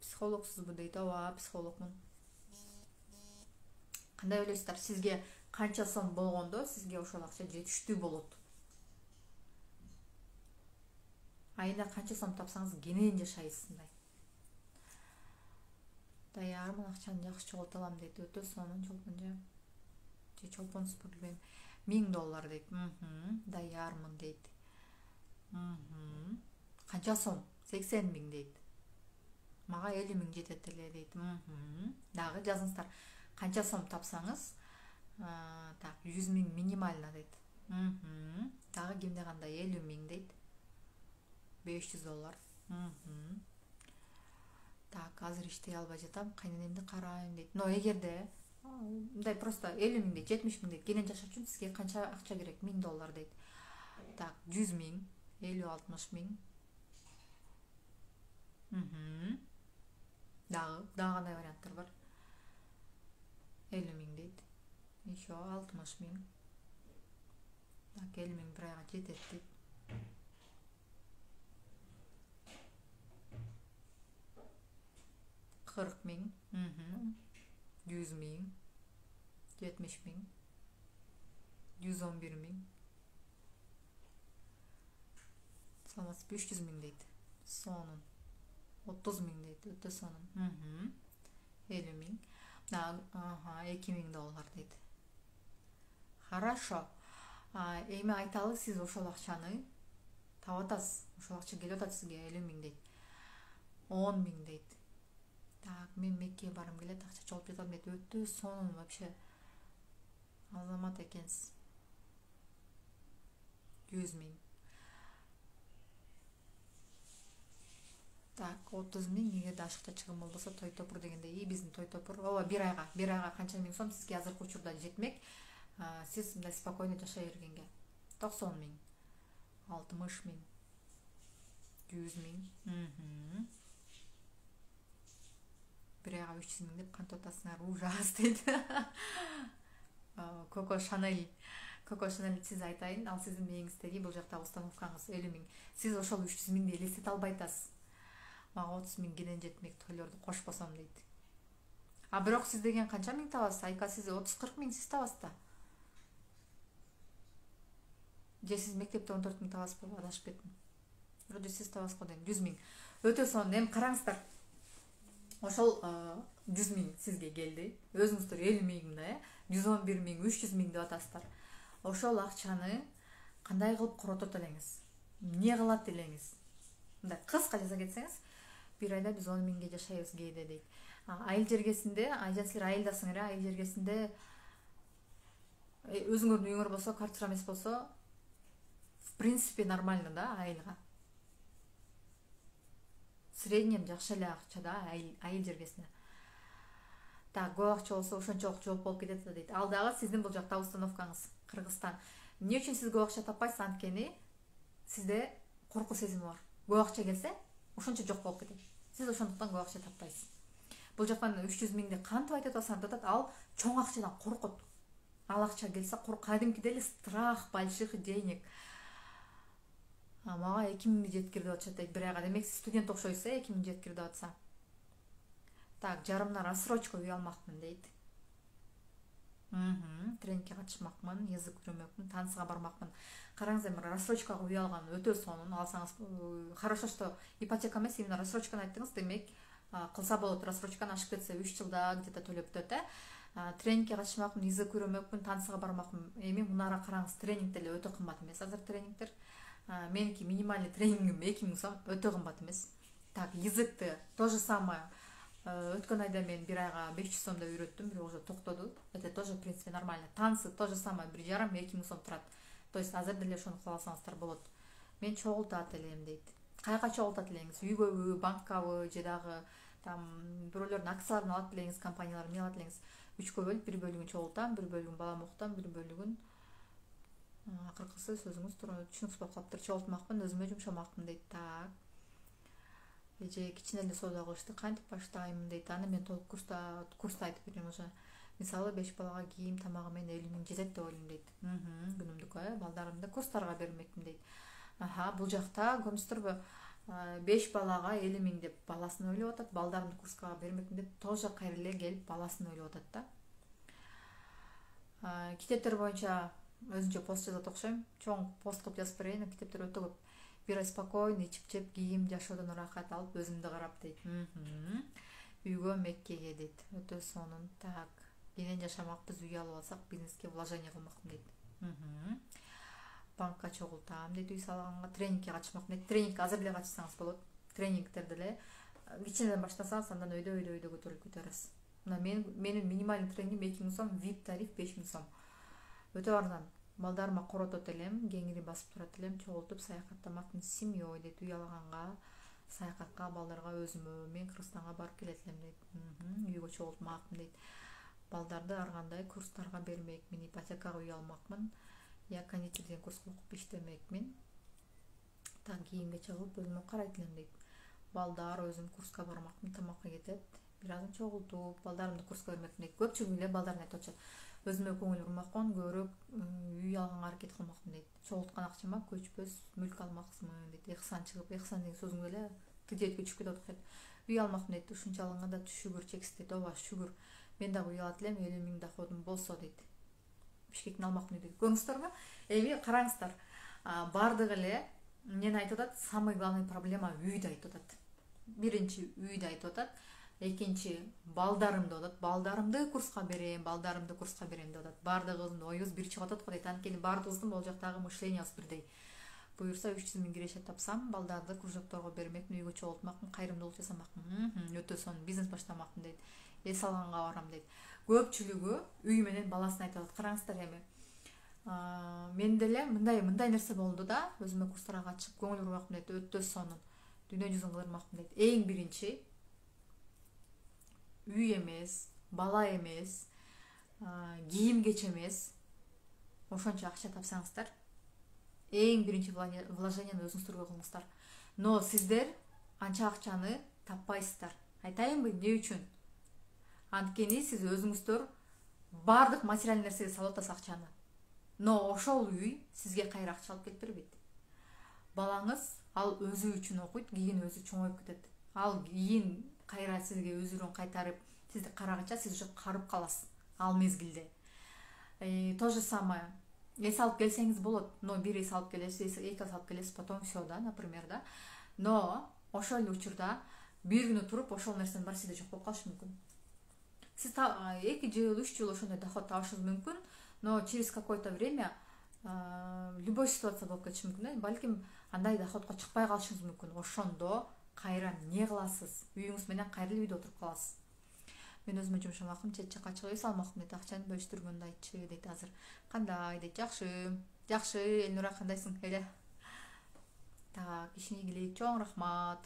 Психологсузбу дейт, ооба, психологмун. Кандай ойлойсуздар? Сизге канча сом болгондо сизге ошол акча жетиштүү болот? Айына канча сом тапсаңыз кенен жашайсыз мындай. Даярмын, акчаны жакшы чогулта алам дейт. Өтө сонун чолпон же. Же чолпонсузбу билбейм. миң доллар дейт. Мхм, даярмын дейт. Мхм. Канча сом? сексен миң дейт. Мага элүү миң жетет эле дейт. Мхм. Дагы жазыңыздар. Канча сом тапсаңыз, так, жүз миң минимально дейт. Мхм. Дагы кимде кандай элүү миң дейт. беш жүз доллар. Мхм. Так, азыр иштей албай жатам, кайненемди карайм дейт. Но эгерде мындай просто элүү миң дейт, жетимиш миң дейт, кенен жашаш үчүн сизге канча акча керек? миң доллар дейт. Так, жүз миң, элүү, алтымыш миң. Мхм. Дагы, дагы кандай варианттар бар? элүү миң дейт. Еще алтымыш миң. Так, элүү миң бир айга жетет дейт. кырк миң. Мхм. жүз миң. жетимиш миң. жүз он бир миң. Саламатсыз, үч жүз миң дейт. Сонун. отуз миң дейт. Өтө сонун. Мхм. элүү миң. Ага, эки миң доллар дейт. Хорошо. Эми айталы, сиз ошол акчаны таап атасыз. Ошол акча келип атат сизге, элүү миң дейт. он миң дейт. Так, мен Меккеге барым келет, акча чогултуп жатам дейт. Өтө сонун вообще. Азамат экенсиз. жүз миң. Так, отуз миң, эгерде ашыкча чыгым болбосо, той топур дегенде, и биздин той топур, ооба, бир айга, бир айга канча миң сом сизге азыркы учурда жетмек. Сиз мындай спокойно жашай бергенге. токсон миң. алтымыш миң. жүз миң. Мхм. бир айга үч жүз миң деп кантип атасыңар? Ужас дейт. Коко Шанель. Коко Шанель, сиз айтайын, ал сиздин мээңиздеги бул жактагы установкаңыз элүү миң. Сиз ошол үч жүз миңди элестете албай атасыз. Мага отуз миң кенен жетмек, тойлорду кошпосом дейт. А бирок сиз деген канча миң табасыз? Айка сиз отуз кырк миң сиз табасыз да. Же сиз мектепте он төрт миң табасызбы? Адашып кеттим. Вроде сиз табасыз го дейм. жүз миң. Өтө сонун. Эми караңыздар. Ошол жүз миң сизге келди. Өзүңүздөр элүү миң мындай, жүз он бир миң, үч жүз миң деп атасыздар. Ошол акчаны кандай кылып коротот элеңиз? Эмне кылат элеңиз? Мындай кыска жаза кетсеңиз, бир айда биз он миңге жашайбыз кээде дейт. Айыл жергесинде, айжан силер айылдасыңар, айыл жергесинде өзүңөрдүн үйүңөр болсо, квартира эмес болсо, в принципе нормально да айылга. Среднем жакшы эле акча да айыл жергесинде. Так, көп акча болсо ошончолук жооп болуп кетет дейт. Ал дагы сиздин бул жакта установкаңыз, Кыргызстан. Эмне үчүн сиз көп акча таппайсыз? Анткени сизде коркуу сезими бар. Көп акча келсе, ошончо жок болуп кетет. Сиз ошондуктан көп акча таппайсыз. Бул жактан үч жүз миңди кантип айтып атасыңар деп атат, ал чоң акчадан коркот. Ал акча келсе, кадимкидей эле страх больших денег. Мага эки миңди жеткир деп атышат дейт бир айга. Демек сиз студент окшойсуз, эки миң жеткир деп атса. Так, жарымдан рассрочка үй алмакмын дейт. Мхм, тренингке катышмакмын, язык үйрөнмөкмүн, танысга бармакмын. Караңыз, эми рассрочкага үй алган өтө сонун. Алсаңыз, хорошо, что ипотека эмес, именно рассрочканы айттыңыз, демек кылса болот. Рассрочканы ашып кетсе үч жылда где-то төлөп өтөт, э. Тренингке катышмакмын, язык үйрөнмөкмүн, танысга бармакмын. Эми мунара караңыз, тренинг деле өтө кымбат эмес азыр тренингдер. Меники минимальный тренингим эки миң сом, өтө кымбат эмес. Так, языкты то же самое. Өткөн айда мен бир айга беш жүз сомдо үйрөттүм, бирок уже токтоду. Это тоже в принципе нормально. Танцы то же самое, бир жарым эки миң сом турат. То есть азыр деле ошону кыла алсаңыздар болот. Мен чогултат элем дейт. Каяка чогултат элеңиз? Үйгөбү, банкабы же дагы там бирөөлөрдүн акцияларын алат элеңиз, компанияларды эмне алат элеңиз? Үчкө бөлүп, бир бөлүгүн чогултам, бир бөлүгүн балам окутам, бир бөлүгүн акыркысы сөзүңүз түшүнүксүз болуп калыптыр, чогултмакмын, өзүмө жумшамакмын дейт. Так. Же кичине эле соода кылышты, кантип баштайм дейт. Аны мен толук курста курста айтып берем уже. Мисалы беш балага кийим тамагы менен элүү миң жетет деп ойлойм дейт. Күнүмдүк э, балдарымды курстарга бермекмин дейт. Аха, бул жакта көрүнүштүрбү? беш балага элүү миң деп баласын ойлоп атат, балдарымды курска бермекмин деп тоже кайра эле келип баласын ойлоп атат да. Китептер боюнча өзүнчө пост жазат окшойм. Чоң пост кылып жазып берейин. Китептер өтө көп. Бир ай спокойно ичип жеп, кийим жашоодон ырахат алып, өзүмдү карап дейт. Үйгө Меккеге дейт. Өтө сонун. Так. Кенен жашамакпыз, үй алып алсак, бизнеске вложение кылмакмын дейт. Банкка чогултам дейт, үй салганга, тренингке катышмакмын дейт. Тренингке азыр эле катышсаңыз болот. Тренингтерди эле кичинеден баштасаңыз, андан өйдө өйдө өйдө көтөрүлүп кетерсиз. Мына мен менин минималдуу тренингим эки миң сом, вип тариф беш миң сом. Өтө арзан. Балдарыма коротот элем, кеңири басып турат элем, чогултуп саякаттамакмын с семьей дейт. Үй алганга, саякатка, балдарга өзүмө, мен Кыргызстанга барып келет элем дейт. Үйгө чогултмакмын дейт. Балдарды ар кандай курстарга бермекмин, ипотекага үй алмакмын. Я кондитер деген курска окуп иштемекмин. Так, кийимге чыгып өзүмө карайт элем дейт. Балдар өзүм курска бармакмын, тамакка кетет. Бир азын чогултуп, балдарымды курска бермекмин дейт. Көпчүлүгү эле балдарына айтып атышат. Өзүмө көңүл бурмакмын, көбүрөөк үй алганга аракет кылмакмын дейт. Чогулткан акчама көчпөс мүлк алмакмын дейт. Ихсан чыгып, ихсан деген сөзүң эле тидетке түшүп кетип атат. Үй алмакмын дейт. Ушунча алганда шүгүр чексиз дейт. Ооба, шүгүр. Мен дагы үй алат элем, элүү миң доходум болсо дейт. Бишкектин алмакмын дейт. Көрүңүздөрбү? Эми караңыздар. Бардыгы эле эмнени айтып атат? Самый главный проблема үйдү айтып атат. Биринчи үйдү айтып атат. Экинчи балдарымды деп атат. Балдарымды курска берем, балдарымды курска берем деп атат. Бардыгыбыздын оюбуз бир чыгып атат го дейт. Анткени бардыгыбыздын бул жактагы мышлениябыз бирдей. Буюрса үч жүз миң киреше тапсам, балдарды кружокторго бермекмин, үйгө чогултмакмын, кайрымдуулук жасамакмын. Өтө сонун бизнес баштамакмын дейт. Эс алганга барам дейт. Көпчүлүгү үй менен баласын айтып атат. Караңыздар эми. Мен деле мындай мындай нерсе болду да, өзүмө курстарга катышып көңүл бурмакмын дейт. Өтө сонун. Дүйнө жүзүн кыдырмакмын дейт. Эң биринчи үй эмес, бала эмес, кийим кеч эмес. Ошончо акча тапсаңыздар, эң биринчи вложенияны өзүңүздөргө кылыңыздар. Но сиздер анча акчаны таппайсыздар. Айтайынбы, эмне үчүн? Анткени сиз өзүңүздөр бардык материалдык нерсеге салып атасыз акчаны. Но ошол үй сизге кайра акча алып келип бербейт. Балаңыз ал өзү үчүн окуйт, кийин өзү чоңоюп кетет. Ал кийин кайра сизге өзүрөн кайтарып, сизди карагача сиз уже карып каласыз ал мезгилде. То же самое. Эс алып келсеңиз болот, но бир эс алып келесиз, эки эс алып келесиз, потом все да, например, да. Но ошол эле учурда бир күнү туруп ошол нерсенин баары сизде жок болуп калышы мүмкүн. Сиз эки жыл, үч жыл ошондой доход табышыңыз мүмкүн, но через какое-то время любой ситуация болуп кетиши мүмкүн. Балким андай доходко чыкпай калышыңыз мүмкүн. Ошондо кайра эмне кыласыз? Үйүңүз менен кайра эле үйдө отуруп каласыз. Мен өзүмө жумшамакмын, чет жакка чыгып эс алмакмын дейт. Акчаны бөлүштүргөндү айтчы дейт азыр. Кандай дейт? Жакшы. Жакшы, Элнура, кандайсың? Эле. Так, ишине ийгилик, чоң рахмат.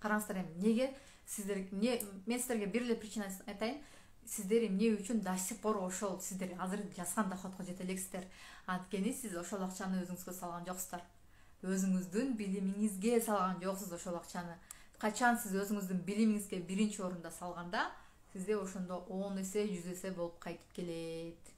Караңыздар эми, неге сиздер эмне мен сиздерге бир эле причина айтайын. Сиздер эмне үчүн до сих пор ошол сиздер азыр жазган доходко жете элексиздер? Анткени сиз ошол акчаны өзүңүзгө салган жоксуздар. Өзүңүздүн билимиңизге салган жоксуз ошол акчаны. Качан сиз өзүңүздүн билимиңизге биринчи орунда салганда, сизде ошондо он эсе, жүз эсе болуп кайтып келет.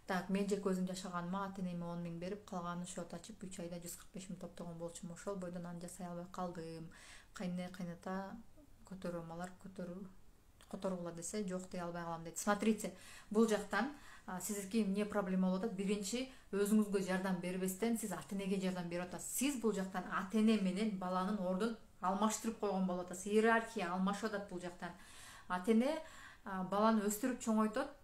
Так, мен жеке өзүм жашаганыма ата-энеме он миң берип, калганын счет ачып, үч айда жүз кырк беш миң топтогон болчумун. Ошол бойдон аны жасай албай калдым. Кайне кайната көтөрөмалар көтөрүү которгула десе, жок дей албай калам дейт. Смотрите, бул жактан сиздики эмне проблема болуп атат? Биринчи, өзүңүзгө жардам бербестен сиз ата-энеге жардам берип атасыз. Сиз бул жактан ата-эне менен баланын ордун алмаштырып койгон болуп атасыз. Иерархия алмашып атат бул жактан. Ата-эне баланы өстүрүп чоңойтот.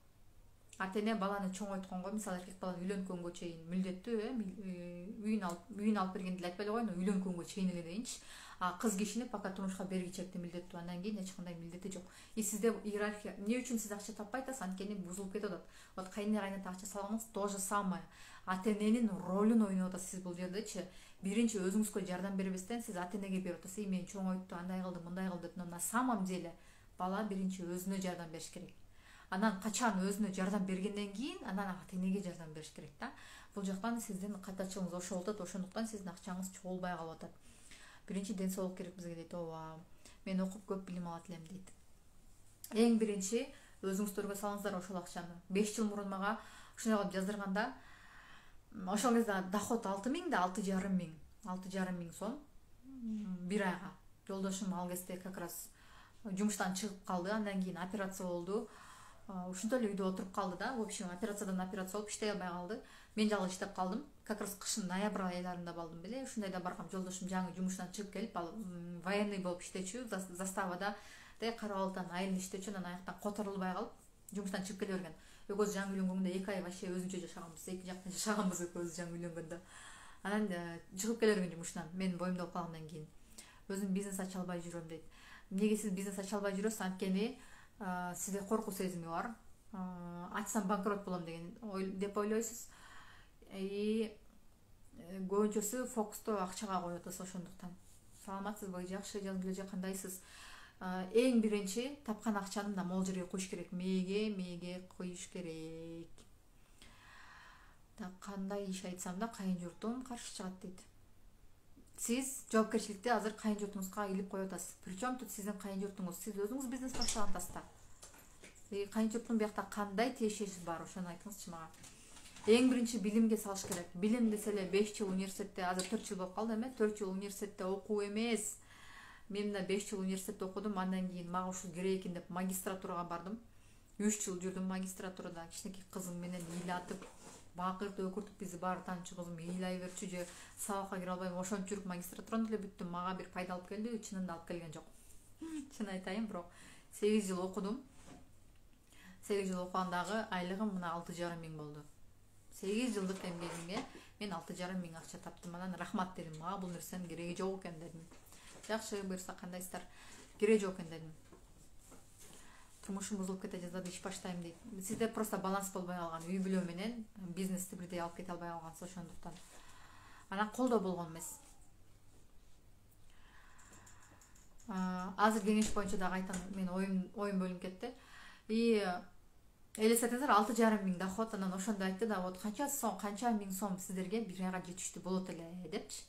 ата эне баланы чоңойтконго, мисалы эркек баланы үйлөнгөнгө чейин милдеттүү, э үйүн алып үйүн алып бергенди эле айтпай эле коеюн, үйлөнгөнгө чейин эле дейинчи. А кыз кишини пока турмушка бергичекти милдеттүү, андан кийин эч кандай милдети жок. И сизде иерархия, эмне үчүн сиз акча таппай атасыз? Анткени бузулуп кетип атат. Вот кайнына кайната акча салганыңыз то же самое. Ата эненин ролун ойноп атасыз сиз бул жердечи. Биринчи өзүңүзгө жардам бербестен сиз ата энеге берип атасыз. Мен чоңойтту, андай кылды, мындай кылды деп. Но на самом деле бала биринчи өзүнө жардам бериш керек. Анан качан өзүнө жардам бергенден кийин анан ата энеге жардам бериш керек да. Бул жактан сиздин катачылыгыңыз ошол атат, ошондуктан сиздин акчаңыз чогулбай калып атат. Биринчи ден соолук керек бизге дейт. Ооба. Мен окуп көп билим алат элем дейт. Эң биринчи өзүңүздөргө салыңыздар ошол акчаны. беш жыл мурун мага ушундай кылып жаздырганда, ошол кезде доход алты миң да алты жарым миң, алты жарым миң сом бир айга. Жолдошум ал кезде как раз жумуштан чыгып калды, андан кийин операция болду. Ушинтип эле үйдө отуруп калды да. В общем, операциядан операция болуп иштей албай калды. Мен жалгыз иштеп калдым. Как раз кышын ноябрь айларында балдым беле. Ушундайда баргам, жолдошум жаңы жумуштан чыгып келип, ал военный болуп иштечү, заставада де карабалдан айылда иштечү, анан аяктан которулбай калып, жумуштан чыгып келе берген. Экөөбүз жаңы үйлөнгөндө эки ай вообще өзүнчө жашаганбыз, эки жакта жашаганбыз экөөбүз жаңы үйлөнгөндө. Анан чыгып келе берген жумуштан, мен боюмда болуп калгандан кийин. Өзүм бизнес ача албай жүрөм дейт. Эмнеге сиз бизнес ача албай жүрөсүз? Анткени сизде коркуу сезими бар. Ачсам банкрот болом деген деп ойлойсуз. И көбүнчөсү фокусту акчага коюп атасыз ошондуктан. Саламатсызбы, жакшы, жазгыле же кандайсыз? Эң биринчи тапкан акчаны мына могул жерге коюш керек. Мээге, мээге коюш керек. Так, кандай иш айтсам да кайын журтум каршы чыгат дейт. Сиз жоопкерчиликти азыр кайын журтуңузга илип коюп атасыз. Причем тут сиздин кайын журтуңуз? Сиз өзүңүз бизнес баштаган атасыздар. И кайын журттун биякта кандай тиешеси бар, ошону айтыңызчы мага. Эң биринчи билимге салыш керек. Билим десе эле беш жыл университетте, азыр төрт жыл болуп калды эме, төрт жыл университетте окуу эмес. Мен да беш жыл университетте окудум, андан кийин мага ушул керек экен деп магистратурага бардым. үч жыл жүрдүм магистратурада. Кичинекей кызым менен ыйлатып, бакырып өкүртүп, бизи баары таанычу кызым ыйлай берчү же сабакка кире албайм. Ошентип жүрүп магистратураны деле бүттүм. Мага бир пайда алып келди, чынында алып келген жок. Чын айтайын, бирок сегиз жыл окудум. сегиз жыл окугандагы айлыгым мына алты жарым миң болду. сегиз жылдык эмгегимге мен алты жарым миң акча таптым. Анан рахмат дедим. Мага бул нерсенин кереги жок экен дедим. Жакшы, буюрса кандайсыздар? Кереги жок экен дедим. Турмушум бузулуп кете жаздады, иш баштайм дейт. Сизде просто баланс болбой калган, үй бүлө менен бизнести бирдей алып кете албай калгансыз ошондуктан. Анан колдоо болгон эмес. Азыр кеңеш боюнча дагы айтам, мен оюм оюм бөлүнүп кетти. И элестетиңиздер, алты жарым миң доход, анан ошондо айтты да, вот канча сом, канча миң сом сиздерге бир айга жетиштүү болот эле депчи.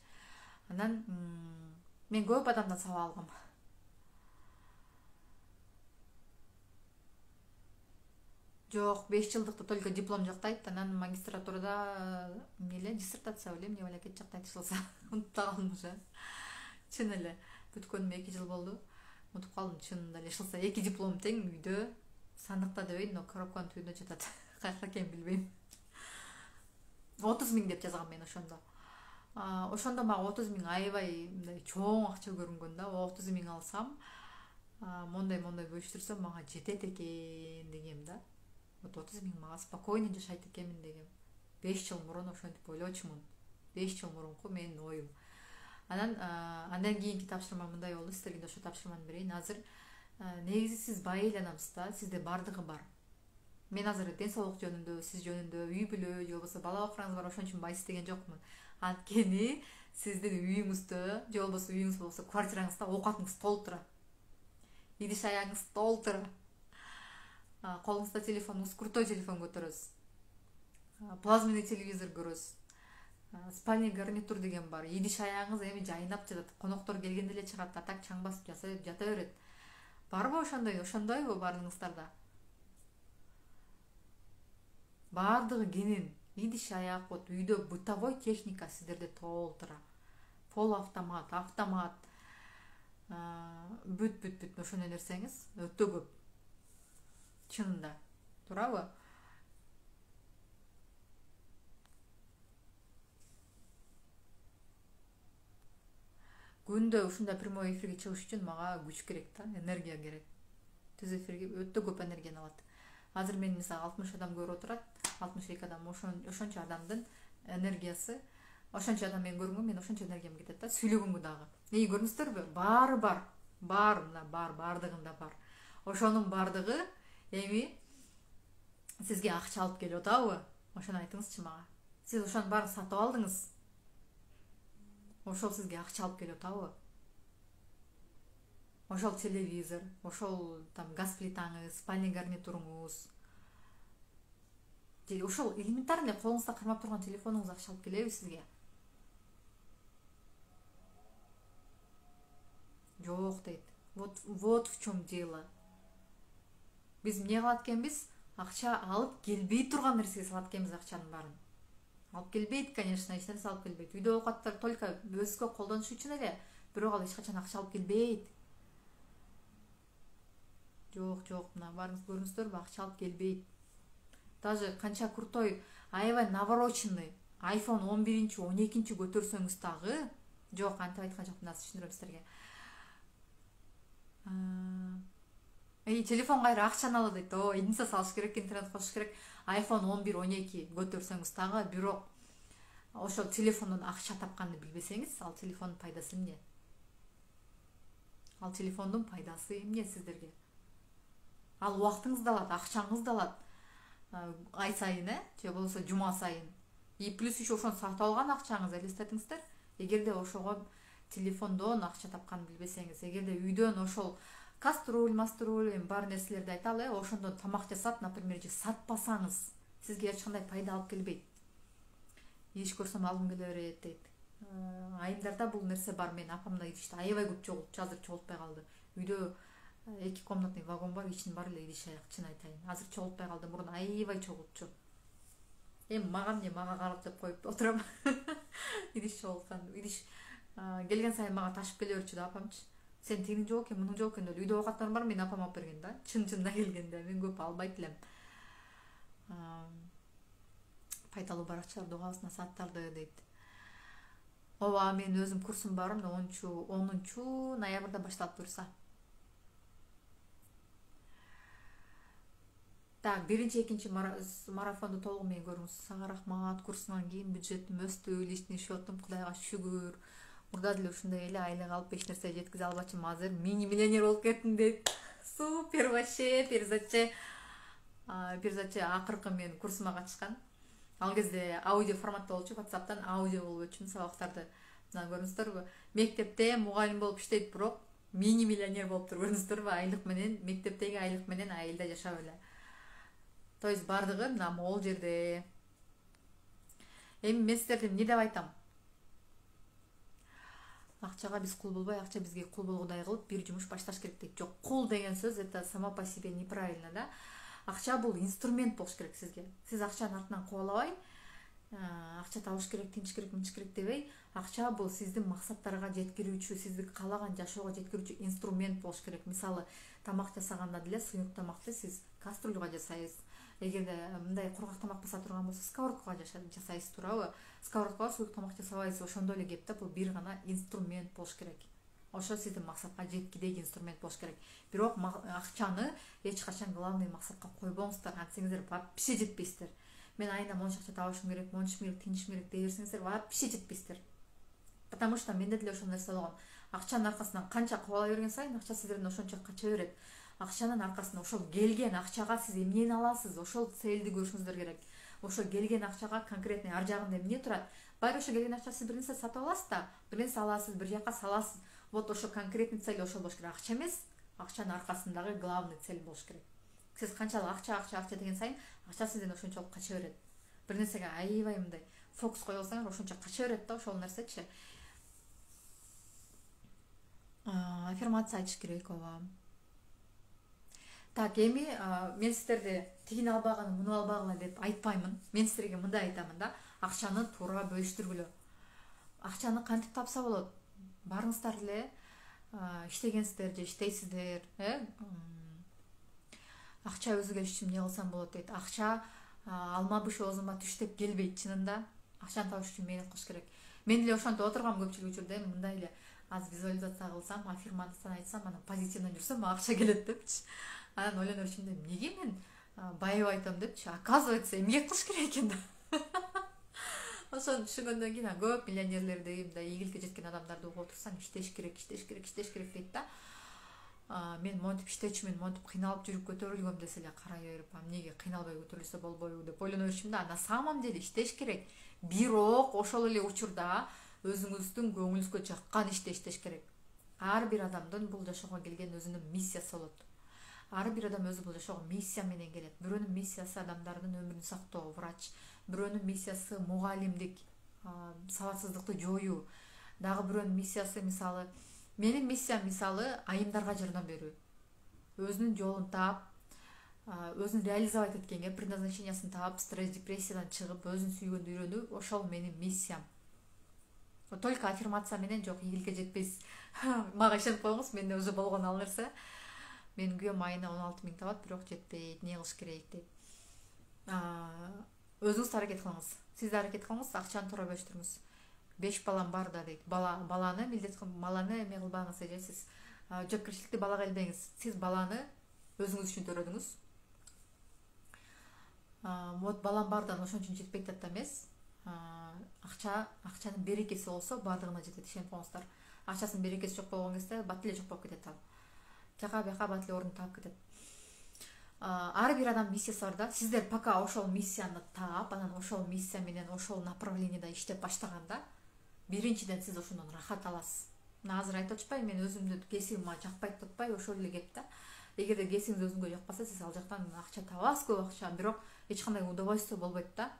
Анан мен көп адамдан сабак алгам. Жок, беш жылдыкты только диплом жактайт, анан магистратурада эмне эле диссертация беле эмне балакет жактайт ишылса. Унутуп калдым уже. Чын эле бүткөнүмө эки жыл болду. Унутуп калдым чынында эле ишылса. Эки диплом тең үйдө, сандыкта дебейин, но коробканын түбүндө жатат. Кайерде экенин билбейм. отуз миң деп жазгам мен ошондо. Ошондо мага отуз миң аябай мындай чоң акча көрүнгөн да. отуз миң алсам, мондай-мондай бөлүштүрсөм мага жетет экен дегем да. Вот отуз миң мага спокойно жашайт экенмин дегем. беш жыл мурун ошентип ойлочумун. беш жыл мурунку менин оюм. Анан андан кийинки тапшырма мындай болду. Сиздерге да ошо тапшырманы берейин. Азыр негизи сиз бай айланамсыз да, сизде бардыгы бар. Мен азыр ден соолук жөнүндө, сиз жөнүндө, үй бүлө же болбосо бала бакыраңыз бар, ошон үчүн байсыз деген жокмун. Анткени сиздин үйүңүздө же болбосо үйүңүз болбосо квартираңызда оокатыңыз толуп турат. Идиш аяңыз толуп турат. Колуңузда телефонуңуз, крутой телефон көтөрөсүз. Плазменный телевизор көрөсүз. Спальный гарнитур деген бар. Идиш аяңыз эми жайнап жатат. Коноктор келгенде эле чыгат, атак чаң басып жата берет. Барбы ошондой, ошондойбу баарыңыздарда? Бардыгы кенен. Идиш аяк, вот үйдө бытовой техника сиздерде толтура. Пол автомат, автомат. Бүт бүт бүт ошондой нерсеңиз өтө көп. Чынында. Туурабы? Күндө ушундай прямой эфирге чыгыш үчүн мага күч керек да, энергия керек. Түз эфирге өтө көп энергияны алат. Азыр мен мисалы алтымыш адам көрүп отурат, алтымыш эки адам, ошончо адамдын энергиясы, ошончо адам мени көргөнгө мен ошончо энергиям кетет да, сүйлөгөнгө дагы. Эми көрдүңүздөрбү? Баары бар. Бар, мына бар, бардыгында бар. Ошонун бардыгы эми сизге акча алып келип атабы? Ошону айтыңызчы мага. Сиз ошонун баарын сатып алдыңыз. Ошол сизге акча алып келип атабы? Ошол телевизор, ошол там газ плитаңыз, спальный гарнитуруңуз, же ошол элементарный колуңузда кармап турган телефонуңуз акча алып келеби сизге? Жок дейт. Вот вот в чем дело. Биз эмне кылат экенбиз? Акча алып келбей турган нерсеге салат экенбиз акчанын баарын. Алып келбейт, конечно, эч нерсе алып келбейт. Үйдө оокаттар только өзгө колдонуш үчүн эле, бирок ал эч качан акча алып келбейт. Жок, жок, мына барыңыз көрүңүздөрбү, акча алып келбейт. Даже канча крутой, аябай навороченный айфон он биринчи, он экинчи көтөрсөңүз дагы, жок, антип айткан жокмун, азыр түшүндүрөм силерге. Эй, телефон кайра акчаны алат дейт. О, единица салыш керек, интернет кошуш керек. айфон он бир, он эки көтөрсөңүз дагы, бирок ошол телефондон акча тапканды билбесеңиз, ал телефондун пайдасы эмне? Ал телефондун пайдасы эмне сиздерге? Ал убактыңызды алат, акчаңызды алат. Ай сайын, э, же болбосо жума сайын. И плюс еще ошону сатып алган акчаңыз элестетиңиздер. Эгерде ошого телефондон акча тапканды билбесеңиз, эгерде үйдөн ошол каструль, маструль, эми бар нерселерди айталы, ошондон тамак жасап, например, же сатпасаңыз, сизге эч кандай пайда алып келбейт. Идиш көрсөм алгым келе берет дейт. Айымдарда бул нерсе бар, мен апам да идишти аябай көп чогултчу, азыр чогултпай калды. Үйдө эки комнатный вагон бар, ичинин баары эле идиш аяк, чын айтайын. Азыр чогултпай калды, мурун аябай чогултчу. Эми мага эмне, мага карап деп коюп отурам. Идиш чогулткан, идиш келген сайын мага ташып келе берчү да апамчы. Сен тигиң жок экен, мунуң жок экен деп. Үйдө оокаттарым бар, мен апам алып берген да. Чын-чынына келгенде мен көп албайт элем. Пайдалуу баракчаларды угабыз, насааттарды дейт. Ооба, мен өзүм курсум бар, онунчу ноябрда башталат буюрса. Так, биринчи, экинчи марафонду толугу менен көрүңүз. Сага рахмат, курсунан кийин бюджетим өстү, личный счетум Кудайга шүгүр. Мурда деле ушундай эле айлык алып эч нерсе жеткизе албачымын, азыр мини миллионер болуп кеттим дейт. Супер вообще, перизатчы. Перизатчы акыркы мен курсума катышкан. Ал кезде аудио форматта болчу, WhatsApp'тан аудио болуп өчүм сабактарды. Мына көрүңүздөрбү? Мектепте мугалим болуп иштейт, бирок мини миллионер болуптур, көрүңүздөрбү? Айлык менен, мектептеги айлык менен айылда жашап эле. То есть бардыгы мына могул жерде. Эми мен сиздерге эмне деп айтам? Акчага биз кул болбой, акча бизге кул болгодай кылып бир жумуш башташ керек дейт. Жок, кул деген сөз это само по себе неправильно, да? Акча бул инструмент болуш керек сизге. Сиз акчанын артынан кубалабай, акча табыш керек, тинч керек, мынч керек дебей, акча бул сиздин максаттарга жеткирүүчү, сизди каалаган жашоого жеткирүүчү инструмент болуш керек. Мисалы, тамак жасаганда деле сыйык тамакты сиз кастрюльга жасайсыз. Эгерде мындай кургак тамак баса турган болсо, сковородкага жасайсыз, туурабы? Сковородкага сыйык тамак жасабайсыз, ошондой эле кеп да, бул бир гана инструмент болуш керек. Ошо сиздин максатка жеткидеги инструмент болуш керек. Бирок акчаны эч качан главный максатка койбоңуздар, антсеңиздер вообще жетпейсиздер. Мен айына монча акча табышым керек, монча керек, тинчим керек дей берсеңиздер, вообще жетпейсиздер. Потому что менде деле ошол нерсе болгон. Акчанын аркасынан канча кубала берген сайын, акча сиздерден ошончо кача берет. Акчанын аркасында ошол келген акчага сиз эмнени аласыз, ошол целди көрүшүңүздөр керек. Ошол келген акчага конкретный ар жагында эмне турат? Байыр ошо келген акча сиз бир нерсе сатып аласыз да, бир нерсе аласыз, бир жака саласыз. Вот ошо конкретный цель ошол болуш керек. Акча эмес, акчанын аркасындагы главный цель болуш керек. Сиз канчалык акча, акча, акча деген сайын, акча сизден ошончолук кача берет. Бир нерсеге аябай мындай фокус кое алсаңыз, ошончо кача берет да ошол нерсечи. Аффирмация айтыш керек, ооба. Так, эми мен сиздерди тигини албаган, муну албагыла деп айтпаймын. Мен сиздерге мындай айтамын да, акчаны туура бөлүштүргүлө. Акчаны кантип тапса болот? Барыңыздар эле, иштегенсиздер же иштейсиздер, э? Акча өзүгө ишчим эмне кылсам болот дейт. Акча алма быш оозума түш деп келбейт, чынында. Акчаны табыш үчүн мээнет кылыш керек. Мен деле ошентип отургам көпчүлүк учурда, мындай эле аз визуализация кылсам, аффирмацияны айтсам, анан позитивден жүрсөм, акча келет депчи. Анан ойлонор ичимде, эмнеге мен байып айтам депчи, оказывается эмгек кылыш керек экен да. Ошону түшүнгөндөн кийин көп миллионерлерди, мындай ийгиликке жеткен адамдарды угуп отурсаң, иштеш керек, иштеш керек, иштеш керек дейт да. Мен монтип иштечүмүн, монтип кыйналып жүрүп көтөрүлгөм десе эле карай берип, эмнеге кыйналбай көтөрүлсө болбойбу деп ойлоно берчүмүн да. На самом деле иштеш керек. Бирок ошол эле учурда өзүңүздүн көңүлүңүзгө жаккан ишти иштеш керек. Ар бир адамдын бул жашоого келген өзүнүн миссиясы болот. Ар бир адам өзү бул жашоого миссия менен келет. Бирөөнүн миссиясы адамдардын өмүрүн сактоо, врач. Бирөөнүн миссиясы мугалимдик, сабатсыздыкты жоюу. Дагы бирөөнүн миссиясы мисалы, менин миссиям мисалы айымдарга жардам берүү. Өзүнүн жолун таап, өзүн реализовать эткенге, предназначениясын таап, стресс, депрессиядан чыгып, өзүн сүйгөндү үйрөнүү, ошол менин миссиям. Только аффирмация менен жок, ийгиликке жетпейсиз. Мага ишенип коюңуз, менде уже болгон ал нерсе. Менин күйөөм айына он алты миң табат, бирок жетпейт, эмне кылыш керек дейт. Өзүңүз аракет кылыңыз. Сиз да аракет кылыңыз, акчаны туура бөлүштүрүңүз. беш балам бар да дейт. Бала баланы милдет баланы эме кылбаңыз же сиз жоопкерчиликти балага илбеңиз. Сиз баланы өзүңүз үчүн төрөдүңүз. Вот балам бардан ошон үчүн жетпейт да эмес. Акча, акчанын берекеси болсо бардыгына жетет, ишенип коюңуздар. Акчасынын берекеси жок болгон кезде бат эле жок болуп кетет ал. Жака бияка бат эле орун таап кетет. Ар бир адам миссиясы бар да. Сиздер пока ошол миссияны таап, анан ошол миссия менен ошол направлениеде иштеп баштаганда, биринчиден сиз ошондон рахат аласыз. Мына азыр айтып атпайбы, мен өзүмдү кесибим мага жакпайт деп атпайбы, ошол эле кеп да. Эгерде кесибиңиз өзүңгө жакпаса, сиз ал жактан акча табасыз, көп акча, бирок эч кандай удовольствие болбойт да.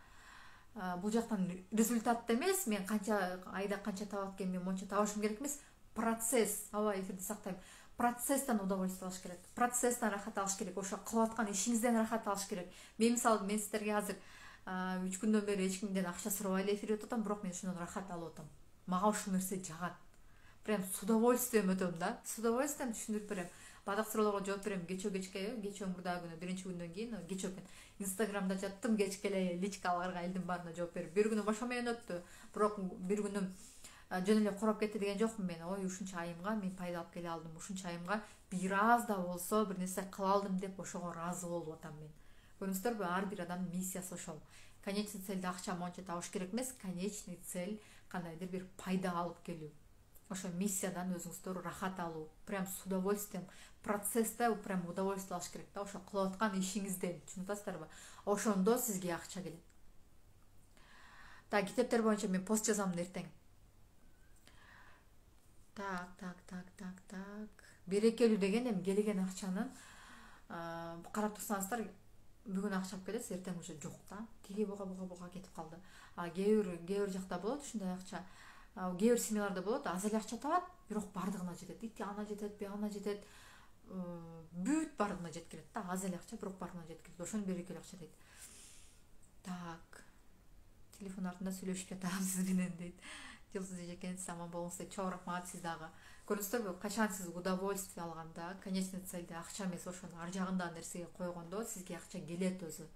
Бул жактан результат эмес, мен канча айда канча табат экен, мен монча табышым керек эмес, процесс. Аба эфирди сактайм. Процесстен удовольствие алыш керек. Процесстен рахат алыш керек. Ошо кылып аткан ишиңизден рахат алыш керек. Мен мисалы, мен сиздерге азыр үч күндөн бери эч кимден акча сурабай эле эфир өтүп атам, бирок мен ошондон рахат алып атам. Мага ушул нерсе жагат. Прям с удовольствием өтөм да. С удовольствием түшүндүрүп берем. Бадак суроолорго жооп берем. Кечөө кечке, кечөө мурдагы күнү, биринчи күндөн кийин кечөө экен. Инстаграмда жаттым, кечке эле личкаларга элдин баарына жооп берип. Бир күнү ошо менен өттү. Бирок бир күнүм жөн эле куроп кетти деген жокмун мен. Ой, ушунча айымга мен пайда алып келе алдым. Ушунча айымга бир аз да болсо бир нерсе кыла алдым деп ошого ыраазы болуп атам мен. Көрдүңүздөрбү, ар бир адамдын миссиясы ошол. Конечный цель акча монча табыш керек эмес, конечный цель кандайдыр бир пайда алып келүү. Ошо миссиядан өзүңүздөр рахат алуу, прям с удовольствием, процессте прям удовольствие алыш керек да, ошо кылып аткан ишиңизден, түшүнүп атасыздарбы? Ошондо сизге акча келет. Так, китептер боюнча мен пост жазам эртең. Так, так, так, так, так. Берекелүү деген эми келген акчанын карап турсаңыздар, бүгүн акча алып келесиз, эртең уже жок да. Тиги буга буга буга кетип калды. А кээ бир кээ бир жакта болот ушундай акча. Кээ бир семьяларда болот, аз эле акча табат, бирок бардыгына жетет. Ити ана жетет, бягына жетет. Бүт бардыгына жеткилет да. Аз эле акча, бирок бардыгына жеткилет. Ошону берекелүү акча дейт. Так. Телефон артында сүйлөшүп жатам сиз менен дейт. Жылсыз эжекенсиз, аман болуңуз дейт. Чоң рахмат, сиз дагы. Көрдүңүздөрбү, качан сиз удовольствие алганда, конечный цельде акча эмес, ошонун ар жагындагы нерсеге койгондо сизге акча келет өзү.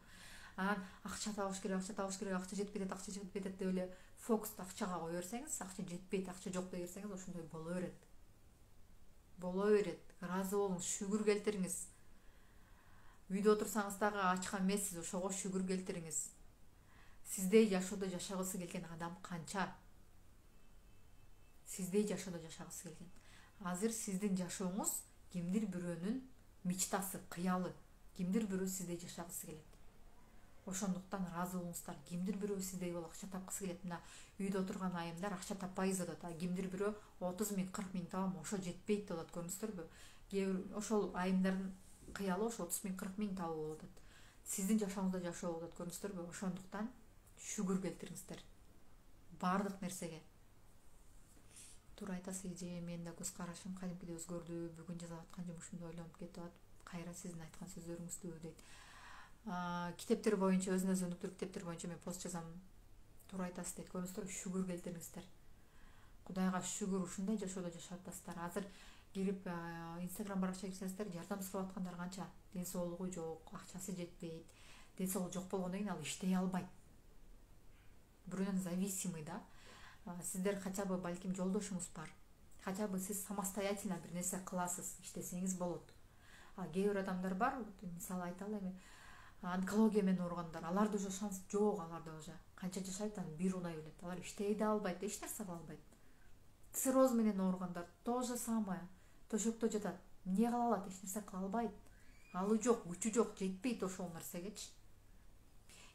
Анан акча табыш керек, акча табыш керек, акча жетпейт, акча жетпейт деп эле фокусту акчага кое берсеңиз, акча жетпейт, акча жок дей берсеңиз, ошондой боло берет. Боло берет. Ыраазы болуңуз, шүгүр келтириңиз. Үйдө отурсаңыз дагы ачкан эмессиз, ошого шүгүр келтириңиз. Сиздей жашоодо жашагысы келген адам канча? Сиздей жашоодо жашагысы келген. Азыр сиздин жашооңуз кимдир бирөөнүн мечтасы, кыялы. Кимдир бирөө сиздей жашагысы келет. Ошондуктан ыраазы болуңуздар. Кимдир бирөө сиздей болуп акча тапкысы келет. Мына үйдө отурган айымдар акча таппайбыз деп атат. Кимдир бирөө отуз миң, кырк миң табам, ошо жетпейт деп атат, көрдүңүздөрбү? Кээ бир ошол айымдардын кыялы ошо отуз миң, кырк миң табуу болуп атат. Сиздин жашооңузда жашоо болуп атат, көрдүңүздөрбү? Ошондуктан шүгүр келтириңиздер баардык нерсеге. Туура айтасыз, эже, менин да көз карашым кадимкидей өзгөрдү. Бүгүн жасап аткан жумушумду ойлонуп кетип атып, кайра сиздин айткан сөздөрүңүздү дейт. Китептер боюнча, өзүнө өзү өнүктүрүү китептер боюнча мен пост жазам. Туура айтасыз дейт. Көрдүңүздөрбү, шүгүр келтириңиздер. Кудайга шүгүр, ушундай жашоодо жашап атасыздар. Азыр кирип Инстаграм баракчага кирсеңиздер, жардам сурап аткандар канча? Ден соолугу жок, акчасы жетпейт. Ден соолугу жок болгондон кийин ал иштей албайт. Бирөөнөн зависимый да. Сиздер хотя бы балким жолдошуңуз бар. Хотя бы сиз самостоятельно бир нерсе кыласыз, иштесеңиз болот. А кээ бир адамдар бар, мисалы айталы эми, онкология менен ооругандар, аларда уже шанс жок, аларда уже канча жашайт, анан бир унай берет, алар иштей да албайт, эч нерсе кыла албайт. Цирроз менен ооругандар то же самое, төшөктө жатат, эмне кыла алат, эч нерсе кыла албайт, алы жок, күчү жок, жетпейт ошол нерсегечи.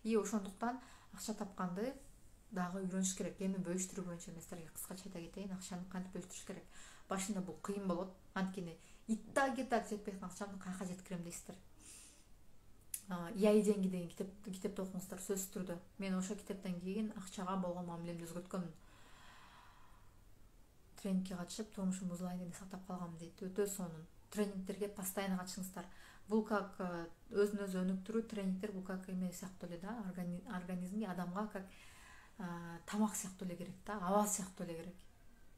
И ошондуктан акча тапканды дагы үйрөнүш керек. Эми бөлүштүрүү боюнча мен силерге кыскача айта кетейин, акчаны кантип бөлүштүрүш керек. Башында бул кыйын болот, анткени итаги так жетпей аткан акчамды каяка жеткирем дейсиздер. Яй деньги деген китеп китепти окуңуздар, сөзсүз түрдө. Мен ошол китептен кийин акчага болгон мамилемди өзгөрткөмүн. Тренингке катышып, турмушум бузулайын деп сактап калгам дейт. Өтө сонун. Тренингтерге постоянно катышыңыздар. Бул как өзүн өзү өнүктүрүү тренингтер, бул как эме сыяктуу эле да, организмге, адамга как тамак сыяктуу эле керек да, аба сыяктуу эле керек.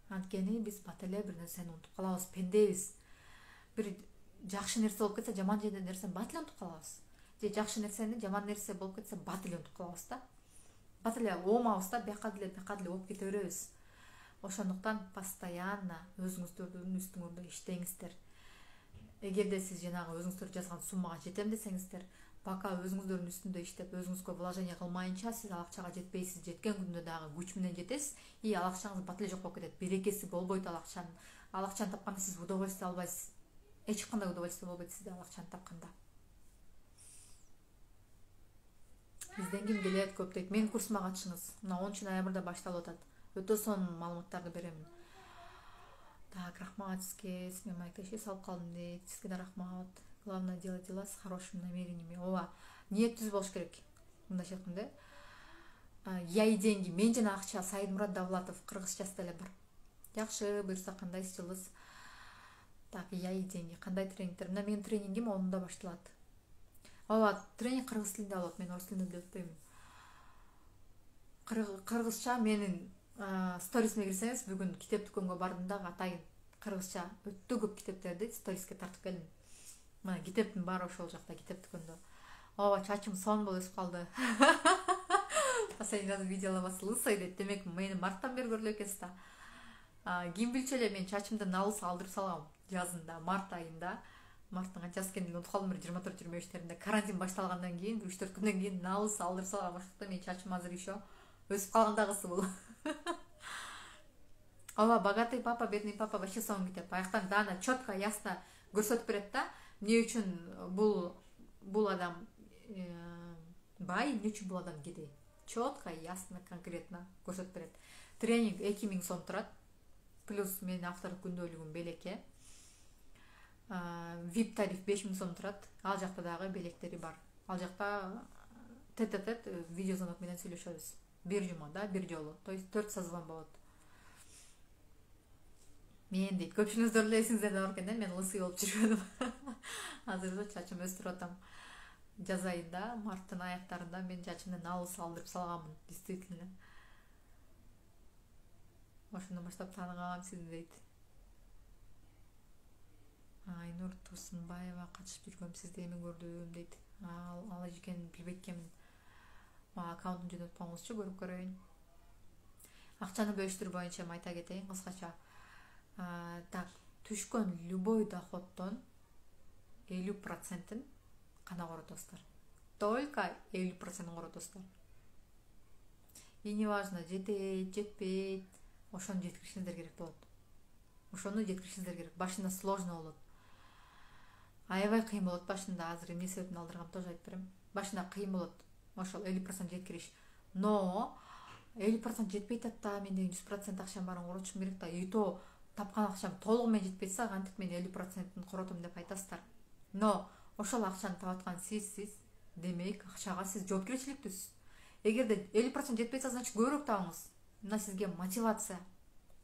Анткени биз бат эле бир нерсени унутуп калабыз, пендебиз. Бир жакшы нерсе болуп кетсе, жаман нерсени бат эле унутуп калабыз. Же жакшы нерсени жаман нерсе болуп кетсе, бат эле унутуп калабыз да. Бат эле оомабыз да, бияка деле, бияка деле болуп кете беребиз. Ошондуктан постоянно өзүңүздөрдүн үстүңөрдө иштеңиздер. Эгерде сиз жанагы өзүңүздөр жазган суммага жетем десеңиздер, пока өзүңүздөрдүн үстүндө иштеп, өзүңүзгө вложение кылмайынча сиз ал акчага жетпейсиз. Жеткен күндө дагы күч менен жетесиз, и ал акчаңыз бат эле жок болуп кетет. Берекеси болбойт ал акчанын. Ал акчаны тапканда сиз удовольствие албайсыз. Эч кандай удовольствие болбойт сизде ал акчаны тапканда. Бизден ким келет көп дейт. Менин курсума катышыңыз. Мына онунчу ноябрда башталып атат. Өтө сонун маалыматтарды беремин. Так, рахмат сизге, сиз менен маектешип салып калдым дейт. Сизге да рахмат. Главное делать дела с хорошими намерениями. Ооба, ниет түз болуш керек. Мындайча айтканда, яй деньги. Мен жана акча Сайдмурат Давлатов кыргызчасы деле бар. Жакшы, буюрса кандайсыз жылыз. Так, яй деньги. Кандай тренингтер? Мына менин тренингим онунда башталат. Ооба, тренинг кыргыз тилинде болот. Мен орус тилинде деп өтпөймүн. Кыргызча менин сторисиме кирсеңиз, бүгүн китеп дүкөнгө бардым да, атайын кыргызча өтө көп китептерди сториске тартып келдим. Мына китептин баары ошол жакта, китеп дүкөндө. Ооба, чачым сонун болуп өсүп калды. Последний раз видела вас лысой дейт. Демек, мени марттан бери көрүлө экенсиз да. Ким билчү эле, мен чачымды налыс алдырып салгам жазында, март айында. Марттын канчасы экенин унутуп калдым, бир жыйырма төрт жыйырма бештеринде. Карантин башталгандан кийин, бир үч төрт күндөн кийин налыс алдырып салгам. Ошондуктан менин чачым азыр еще өсүп калган дагысы бул. Ооба, богатый папа, бедный папа вообще сонун китеп. Аяктан дана четко, ясно көрсөтүп берет да, эмне үчүн бул бул адам бай, эмне үчүн бул адам кедей. Четко, ясно, конкретно көрсөтүп берет. Тренинг эки миң сом турат. Плюс менин автордук күндөлүгүм белекке. вип тариф беш миң сом турат. Ал жакта дагы белектери бар. Ал жакта тет-тет видеозвонок менен сүйлөшөбүз. Бир жумада, бир жолу. То есть төрт созвон болот. Мен дейт, көпчүлүгүңүздөр эле эсиңиздерде бар экен да, мен лысый болуп жүргөнүм. Азыр чачым өстүрүп атам. Жаз айында, марттын аяктарында мен чачымды налыс алдырып салганмын, действительно. Ошондон баштап тааныгам сизди дейт. Айнур Турсунбаева катышып жүргөм, сизди эми көрдүм дейт. Ал ал экенин билбейт экенмин. Аккаунтун жөнөтүп коюңузчу, көрүп көрөйүн. Акчаны бөлүштүрүү боюнча айта кетейин кыскача. Так, түшкөн любой доходдон элүү процентин кана коротосуздар. Только элүү процентин коротосуздар. И не важно, жетет, жетпейт, ошону жеткиришиңиздер керек болот. Ошону жеткиришиңиздер керек. Башында сложно болот. Аябай кыйын болот башында, азыр эмне себептен алдыргам тоже айтып берем. Башында кыйын болот. Ошол элүү процент жеткириш. Но элүү процент жетпей атат да, менде жүз процент акчам барын коротушум керек да. И то тапкан акчам толугу менен жетпейсе, кантип мен элүү процентин коротом деп айтасыздар. Но ошол акчаны тапаткан сизсиз, демек акчага сиз жоопкерчиликтүүсүз. Эгерде элүү процент жетпейсе, значит көбүрөөк табыңыз. Мына сизге мотивация.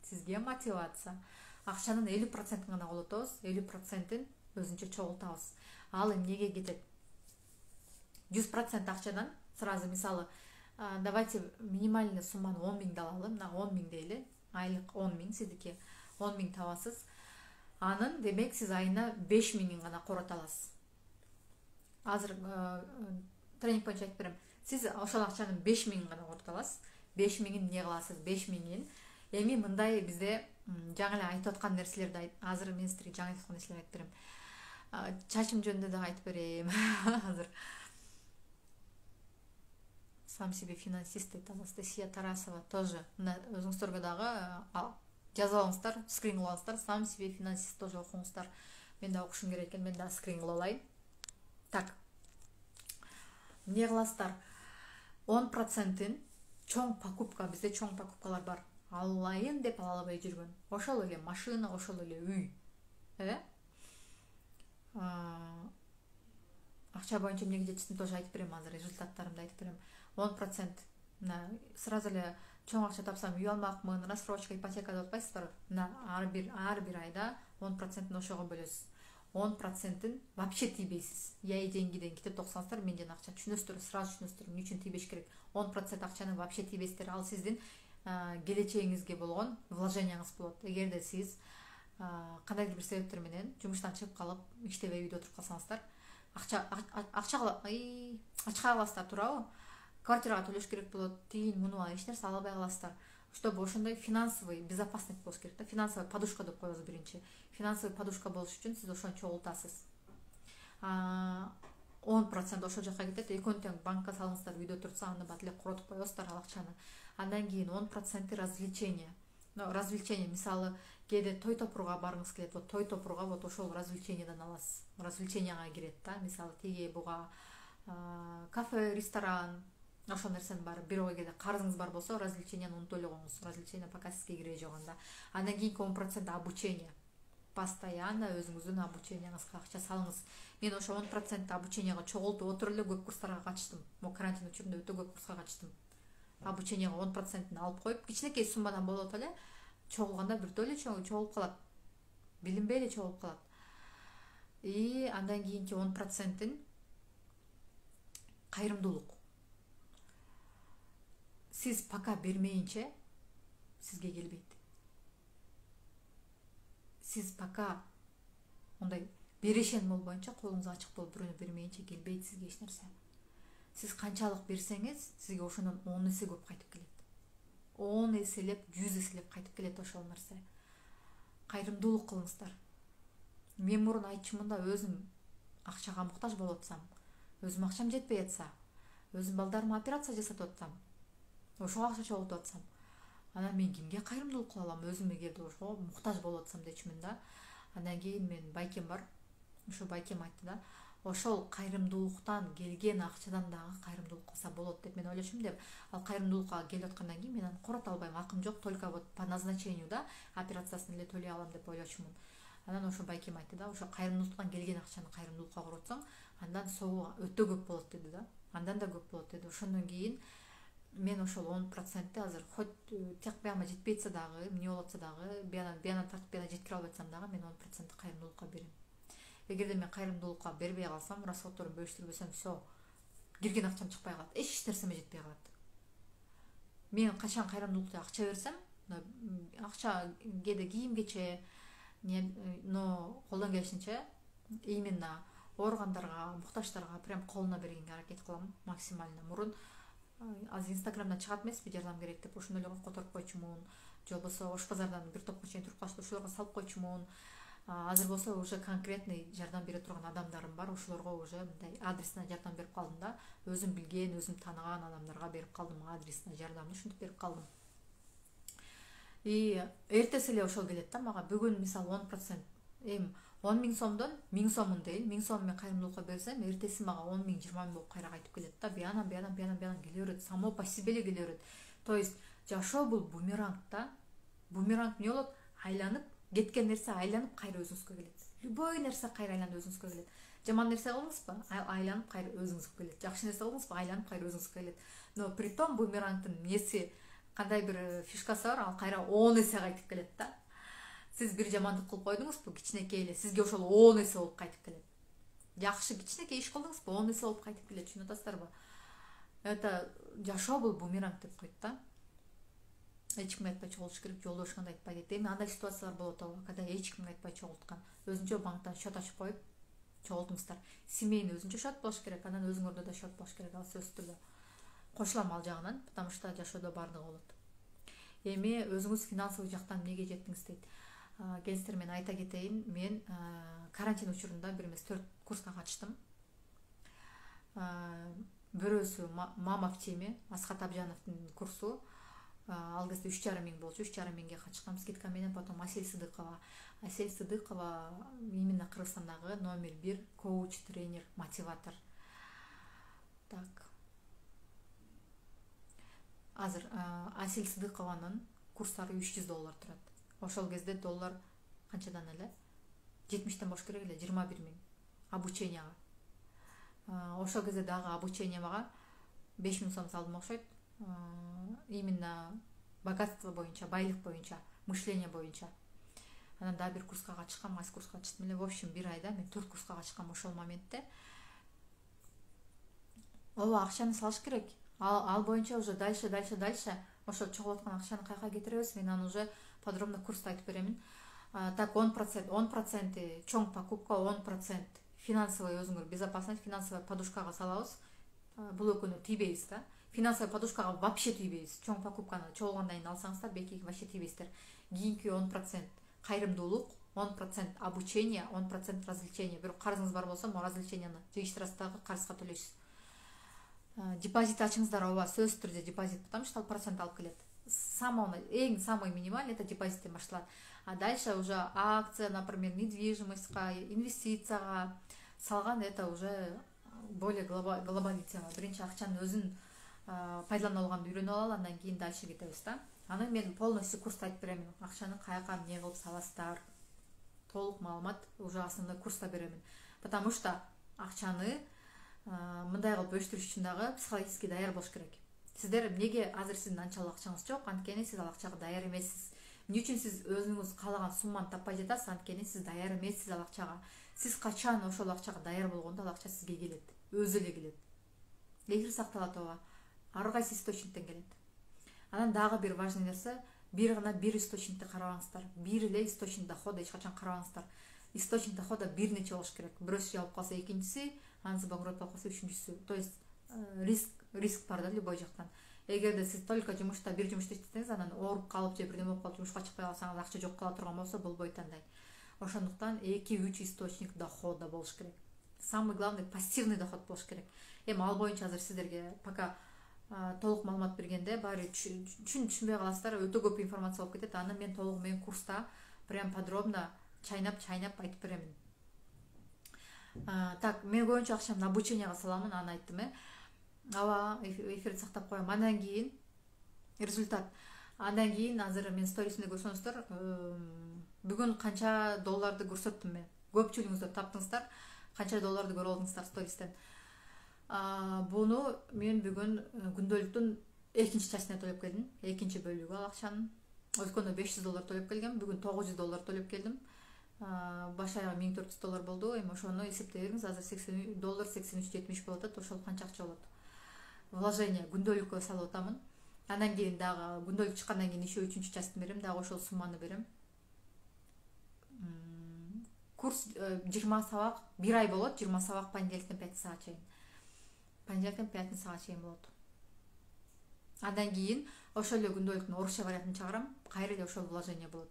Сизге мотивация. Акчанын элүү процентин гана колотобуз, элүү процентин өзүнчө чогултабыз. Ал эмнеге кетет? жүз процент акчадан сразу, мисалы, давайте минимальный сумманы он миң алалы, мына он миң дейли, айлык он миң, сиздики он миң табасыз. Анын, демек, сиз айына беш миңин гана корото аласыз. Азыр тренинг боюнча айтып берем. Сиз ошол акчанын беш миңин гана корото аласыз. беш миңин эмне кыласыз? беш миңин эми мындай бизде жаңы эле айтып аткан нерселерди, азыр мен сиздерге жаңы айтып аткан нерселерди айтып берем. Чачым жөнүндө да айтып берем. Азыр сам себе финансист дейт Анастасия Тарасова тоже. Мына өзүңүздөргө дагы жазып алыңыздар, скрин кылып алыңыздар. Сам себе финансист тоже окуңуздар. Мен да окушум керек экен, мен да скрин кылып алайын. Так. Эмне кыласыздар? он процентин чоң покупка, бизде чоң покупкалар бар. Алайын деп ала албай жүргөн. Ошол эле машина, ошол эле үй. Э? Акча боюнча эмнеге жетиштим тоже айтып берем азыр, результаттарымды айтып берем. он процент мына сразу эле чоң акча тапсам үй алмакмын, рассрочка, ипотека деп атпайсыздарбы? Мына ар бир ар бир айда он процентин ошого бөлөсүз. он процентин вообще тийбейсиз. Я и деньгиден кетип токсаңыздар, мен жана акча түшүнөсүздөр, сразу түшүнөсүздөр эмне үчүн тийбеш керек. он процент акчаны вообще тийбейсиздер. Ал сиздин келечегиңизге болгон вложенияңыз болот. Эгерде сиз кандайдыр бир себептер менен жумуштан чыгып калып, иштебей үйдө отуруп калсаңыздар, акча акча ачка каласыздар, туурабы? Квартирага төлөш керек болот, тиин муну эч нерсе ала албай каласыздар. Чтобы ошондой финансовый безопасность болуш керек да, финансовый подушка деп коебуз биринчи. Финансовый подушка болуш үчүн сиз ошону чогултасыз. он процент ошол жака кетет, экөөнү тең банкка салыңыздар, үйдө турса аны бат эле коротуп коесуздар ал акчаны. Андан кийин он процент развлечение. Но развлечение, мисалы, кээде той топурга баргыңыз келет, вот той топурга вот ошол развлечениеден аласыз. Развлеченияга кирет да, мисалы, тиги буга кафе, ресторан, ошол нерсенин баары. Бирок эгерде карызыңыз бар болсо, развлеченияны унутуп эле коюңуз. Развлечение пока сизге киреги жок анда. Андан кийинки он процент обучение. Постоянно өзүңүздүн обученияңызга акча салыңыз. Мен ошо он процент обученияга чогултуп отуруп эле көп курстарга катыштым. Мо карантин учурунда өтө көп курска катыштым. Обученияга он процентин алып коюп, кичинекей суммадан болот эле, чогулганда биртөө эле чогулуп калат. Билинбей эле чогулуп калат. И андан кийинки он процентин кайрымдуулук. Сиз пока бермейинче сизге келбейт. Сиз пока ондай берешен болбоюнча, колуңуз ачык болуп бирөөнө бермейинче келбейт сизге эч нерсе. Сиз канчалык берсеңиз, сизге ошондон он эсе көп кайтып келет. он эселеп, жүз эселеп кайтып келет ошол нерсе. Кайрымдуулук кылыңыздар. Мен мурун айтчумун да, өзүм акчага муктаж болуп атсам, өзүм акчам жетпей атса, өзүм балдарыма операция жасатып атсам, ошого акча чогултуп атсам, анан мен кимге кайрымдуулук кыла алам? Өзүм эгерде ошого муктаж болуп атсам дечимин да. Андан кийин мен байкем бар. Ошо байкем айтты да, ошол кайрымдуулуктан келген акчадан дагы кайрымдуулук кылса болот деп мен ойлошум деп. Ал кайрымдуулукка келип аткандан кийин мен аны корото албайм, акым жок, только вот по назначению да, операциясын эле төлөй алам деп ойлочумун. Анан ошо байкем айтты да, ошо кайрымдуулуктан келген акчаны кайрымдуулукка коротсоң, андан согу өтө көп болот деди да. Андан да көп болот деди. Ошондон кийин мен ошол он процентти азыр хоть тек бияма жетпей атса дагы, эмне болуп атса дагы, бияна бияна тартып бияна жеткире албай атсам дагы мен он процентти кайрымдуулукка берем. Эгерде мен кайрымдуулукка бербей калсам, расходторун бөлүштүрбөсөм, все, кирген акчам чыкпай калат, эч нерсеме жетпей калат. Мен качан кайрымдуулукка акча берсем, акча кээде кийим-кече, но колдон келишинче именно ооругандарга, муктаждарга прям колуна бергенге аракет кылам максимально. Мурун азыр инстаграмдан чыгат эмеспи, жардам керек деп, ошондой эле которуп койчумун, же болбосо Ош базардан бир топко чейин туруп калышты, ошолорго салып койчумун. Азыр болсо уже конкретный жардам бере турган адамдарым бар, ошолорго уже мындай адресна жардам берип калдым да. Өзүм билген, өзүм тааныган адамдарга берип калдым адресна жардамды, ушинтип берип калдым. И эртеси эле ошол келет да мага. Бүгүн мисалы он процент, эми он миң сомдон миң сомун дейин, миң сом мен кайрымдуулукка берсем, эртеси мага он миң, жыйырма миң болуп кайра кайтып келет да. Бияна бияна бияна бияна келе берет, само по себе эле келе берет. То есть жашоо бул бумеранг да. Бумеранг эмне болот? Айланып кеткен нерсе айланып кайра өзүңүзгө келет. Любой нерсе кайра айланып өзүңүзгө келет. Жаман нерсе кылдыңызбы? Айланып кайра өзүңүзгө келет. Жакшы нерсе кылдыңызбы? Айланып кайра өзүңүзгө келет. Но притом бумерангдын эмеси, кандай бир фишкасы бар, ал кайра он эсе кайтып келет да. Сиз бир жамандык кылып койдуңузбу, кичинекей эле, сизге ошол он эсе болуп кайтып келет. Жакшы кичинекей иш кылдыңызбы, он эсе болуп кайтып келет, түшүнүп атасыздарбы? Это жашоо бул бумеранг деп коет да. Эч кимге айтпай чогултуш керек, жолдошуңа да айтпай дейт. Эми андай ситуациялар болот, когда эч кимге айтпай чогулткан. Өзүнчө банктан счет ачып коюп чогултуңуздар. Семейный өзүнчө счет болуш керек, анан өзүңөрдө да счет болуш керек, ал сөзсүз түрдө. Кошулам ал жагынан, потому что жашоодо баардыгы болот. Эми өзүңүз финансовый жактан эмнеге жеттиңиз дейт. Келиңиздер, мен айта кетейин, мен карантин учурунда бир эмес төрт курска катыштым. бирөөсү мама в теме Асхат Абжановдун курсу, ал кезде үч жарым миң болчу, үч жарым миңге качкам скидка менен. Потом Асель Сыдыкова, Асель Сыдыкова именно Кыргызстандагы номер бир коуч, тренер, мотиватор. Так. Азыр Асель Сыдыкованын курстары үч жүз доллар турат. Ошол кезде доллар канчадан эле? жетимиштен болуш керек эле, жыйырма бир миң обученияга. Ошол кезде дагы обучение мага беш миң сом салдым окшойт. Именно богатство боюнча, байлык боюнча, мышление боюнча. Анан дагы бир курска катышкам, кайсы курска катыштым эле? В общем, бир айда мен төрт курска катышкам ошол моментте. Ооба, акчаны салыш керек. Ал, ал боюнча уже дальше, дальше, дальше. Ошол чогулуп аткан акчаны каяка кетиребиз? Мен аны уже подробно курста айтып беремин. Так, он процент, он процент чоң покупка, он процент финансовый өзүңөр безопасность, финансовая подушкага салабыз. Бул экөөнө тийбейбиз да. Финансовый подушкага вообще тийбейбиз. Чоң покупканы чогулгандан кийин алсаңыздар, бекиги вообще тийбейсиздер. Кийинки он процент кайрымдуулук, он процент обучение, он процент развлечение. Бирок карызыңыз бар болсо, могу развлеченияны жыйыштырасыз дагы, карызга төлөйсүз. Депозит ачыңыздар, ооба, сөзсүз түрдө депозит, потому что ал процент алып келет. Самый, эң самый минимальный это депозиттен башталат. А дальше уже акция, например, недвижимостька, инвестицияга салган это уже более глобализацияга. Биринчи акчанын өзүн пайдалана алганды үйрөнүп алалы, андан кийин дальше кетебиз да. Аны мен полностью курста айтып беремин. Акчаны каяка эмне кылып саласыздар. Толук маалымат уже основной курста беремин. Потому что акчаны мындай кылып өстүрүш үчүн дагы психологически даяр болуш керек. Сиздер эмнеге азыр сиздин анчалык акчаңыз жок, анткени сиз ал акчага даяр эмессиз. Эмне үчүн сиз өзүңүз каалаган сумманы таппай жатасыз, анткени сиз даяр эмессиз ал акчага. Сиз качан ошол акчага даяр болгондо ал акча сизге келет, өзү эле келет. Эфир сакталат, ооба. Ар кайсы источниктен келет. Анан дагы бир важный нерсе, бир гана бир источникти карабаңыздар. Бир эле источник дохода эч качан карабаңыздар. Источник дохода бир нече болуш керек. Бирөөсү жабылып калса экинчиси, анысы банкрот болуп калса үчүнчүсү. То есть риск риск бар да любой жактан. Эгерде сиз только жумушта бир жумушта иштесеңиз, анан ооруп калып же бирдеме болуп калып жумушка чыкпай калсаңыз, акча жок кала турган болсо болбойт андай. Ошондуктан эки үч источник дохода болуш керек. Самый главный пассивный доход болуш керек. Эми ал боюнча азыр сиздерге пока толук маалымат бергенде баары түшүн түшүнбөй каласыздар, өтө көп информация болуп кетет. Аны мен толугу менен курста прям подробно чайнап-чайнап айтып беремин. Так, мен көбүнчө акчамды обученияга саламын, аны айттым, э. Ава эфирди сактап коем. Андан кийин результат. Андан кийин азыр мен сторисимде көрсөңүздөр, бүгүн канча долларды көрсөттүм мен. Көпчүлүгүңүздөр таптыңыздар, канча долларды көрүп алдыңыздар стористен. Буну мен бүгүн күндөлүктүн экинчи частына төлөп келдим. Экинчи бөлүгү ал акчанын. Өткөндө беш жүз доллар төлөп келгем, бүгүн тогуз жүз доллар төлөп келдим. Баш аягы миң төрт жүз доллар болду. Эми ошону эсептей бериңиз, азыр сексен доллар сексен үч жетимиш болуп атат. Ошол канча акча болот? Вложение күндөлүккө салып атамын. Андан кийин дагы күндөлүк чыккандан кийин еще үчүнчү частын берем, дагы ошол сумманы берем. Курс жыйырма сабак, бир ай болот, жыйырма сабак понедельниктен пятницага чейин. Понедельниктен пятницага чейин болот. Андан кийин ошол эле күндөлүктүн орусча вариантын чыгарам, кайра эле ошол вложение болот.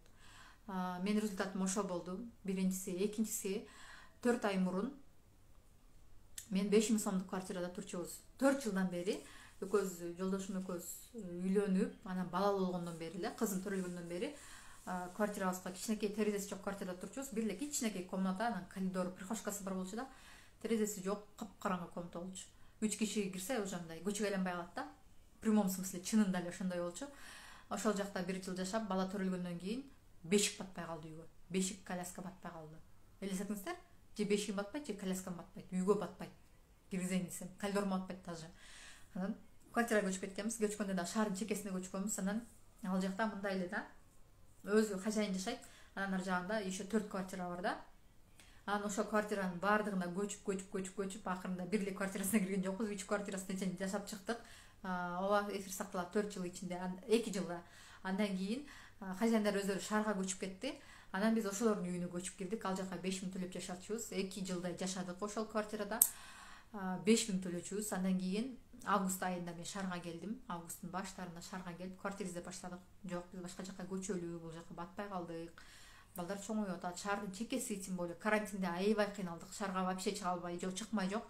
Менин результатым ошо болду. Биринчиси, экинчиси, төрт ай мурун мен беш миң сомдук квартирада турчубуз. төрт жылдан бери экөөбүз, жолдошум экөөбүз үйлөнүп, анан балалуу болгондон бери эле, кызым төрөлгөндөн бери квартирабызга, кичинекей терезеси жок квартирада турчубуз. Бир эле кичинекей комната, анан коридор, прихожкасы бар болчу да. Терезеси жок, капкараңгы комната болчу. үч киши кирсе уже мындай көчүгө айланбай калат да. В прямом смысле чынында эле ошондой болчу. Ошол жакта бир жыл жашап, бала төрөлгөндөн кийин бешик батпай калды үйгө. Бешик, коляска батпай калды. Элестетиңиздер? Же бешигим батпайт, же коляскам батпайт, үйгө батпайт. Киргизейинсем, коридормо батпайт даже. Анан квартирага көчүп кеткенбиз. Көчкөндө да шаардын чекесине көчкөнбүз. Анан ал жакта мындай эле да. Өзү хозяин жашайт. Анан ар жагында еще төрт квартира бар да. Анан ошол квартиранын баардыгына көчүп, көчүп, көчүп, көчүп, акырында бир эле квартирасына кирген жокпуз. үч квартирасында жашап чыктык. Ооба, эфир сакталат төрт жыл ичинде, эки жылда. Андан кийин хозяиндар өздөрү шаарга көчүп кетти. Анан биз ошолордун үйүнө көчүп кирдик. Ал жака беш миң төлөп жашачубуз. эки жылдай жашадык ошол квартирада. беш миң төлөчүбүз. Андан кийин август айында мен шаарга келдим. Августтун баштарында шаарга келип, квартира издеп баштадык. Жок, биз башка жака көчөлү, бул жака батпай калдык. Балдар чоңоюп атат. Шаардын чекеси тем более карантинде аябай кыйналдык. Шаарга вообще чыга албай, жок чыкмай жок.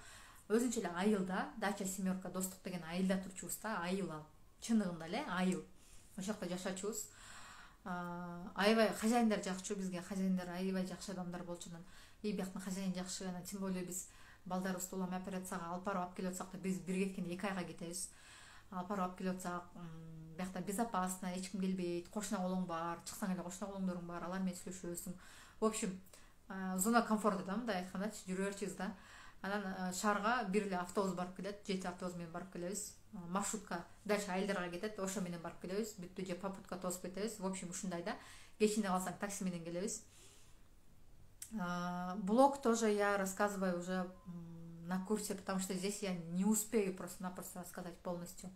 өзүнчө эле айыл да, дача семерка достук деген айылда турчубуз да, айыл ал чыныгында эле айыл, ошол жакта жашачубуз. Аябай хозяиндар жакчу, бизге хозяиндар аябай жакшы адамдар болчу. Анан и бияктын хозяин жакшы, анан тем более биз балдарыбызды улам операцияга алып барып алып келип атсак да, биз бир кеткенде эки айга кетебиз. Алып барып алып келип атсак, биякта безопасно, эч ким келбейт, кошуна колуң бар, чыксаң эле кошуна колуңдоруң бар, алар менен сүйлөшөсүң. В общем, зона комфорта да, мындай айткандачы, жүрө берчүбүз да. Анан шаарга бир эле автобус барып келет, жети автобус менен барып келебиз. Маршрутка дальше айылдарга кетет, ошо менен барып келебиз. Бүттү же попутка тосуп кетебиз. В общем, ушундай да. Кечинде калсаң такси менен келебиз. Блог тоже я рассказываю уже на курсе, потому что здесь я не успею просто-напросто рассказать полностью.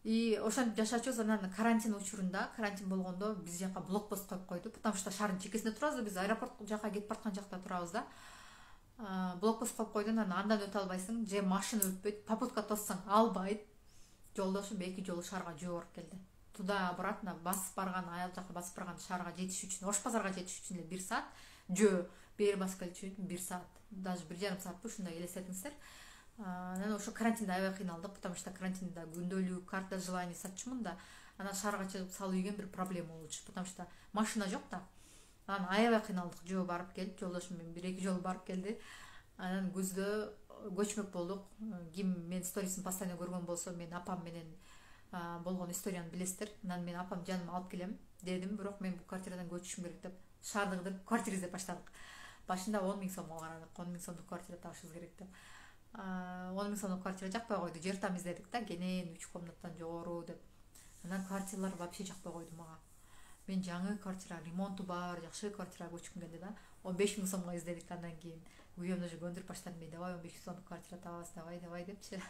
И ошентип жашачубуз. Анан карантин учурунда, карантин болгондо биз жака блокпост коюп койду, потому что шаардын чекесинде турабыз, биз аэропорт жака кетип бараткан жакта турабыз да. Блокпост коюп койду, анан андан өтө албайсың, же машина өтпөйт, попутка тоссаң албайт. Жолдошум эки жолу шаарга жөө барып келди. Туда обратно басып барган, айыл жака басып барган шаарга жетиш үчүн, Ош базарга жетиш үчүн эле бир саат, жөө бери басып келиш үчүн бир саат, даже бир жарым саатпы, ушундай элестетиңиздер. Анан ошо карантинде аябай кыйналдык, потому что карантинде күндөлүк карта желаний сатчумун да. Анан шаарга чыгып салуу деген бир проблема болчу, потому что машина жок да. Анан аябай кыйналдык, жөө барып келип, жолдошум менен бир эки жолу барып келди. Анан күздө көчмөк болдук. Ким мен сторисин постоянно көргөн болсо, мен апам менен болгон историяны билесиздер. Анан мен апам жаныма алып келем дедим, бирок мен бул квартирадан көчүшүм керек деп шаарды кыдырып квартира издеп баштадык. Башында он миң сомго карадык, он миң сомдук квартира табышыбыз керек деп. он миң сомдук квартира жакпай койду, жер там издедик да, кенен үч комнаттан жогору деп. Анан квартиралар вообще жакпай койду мага. Мен жаңы квартира, ремонту бар, жакшы квартирага көчкүм келди да. он беш миң сомго издедик, андан кийин күйөөм уже көндүрүп баштады, мен давай он беш миң сомдук квартира табабыз, давай давай депчи.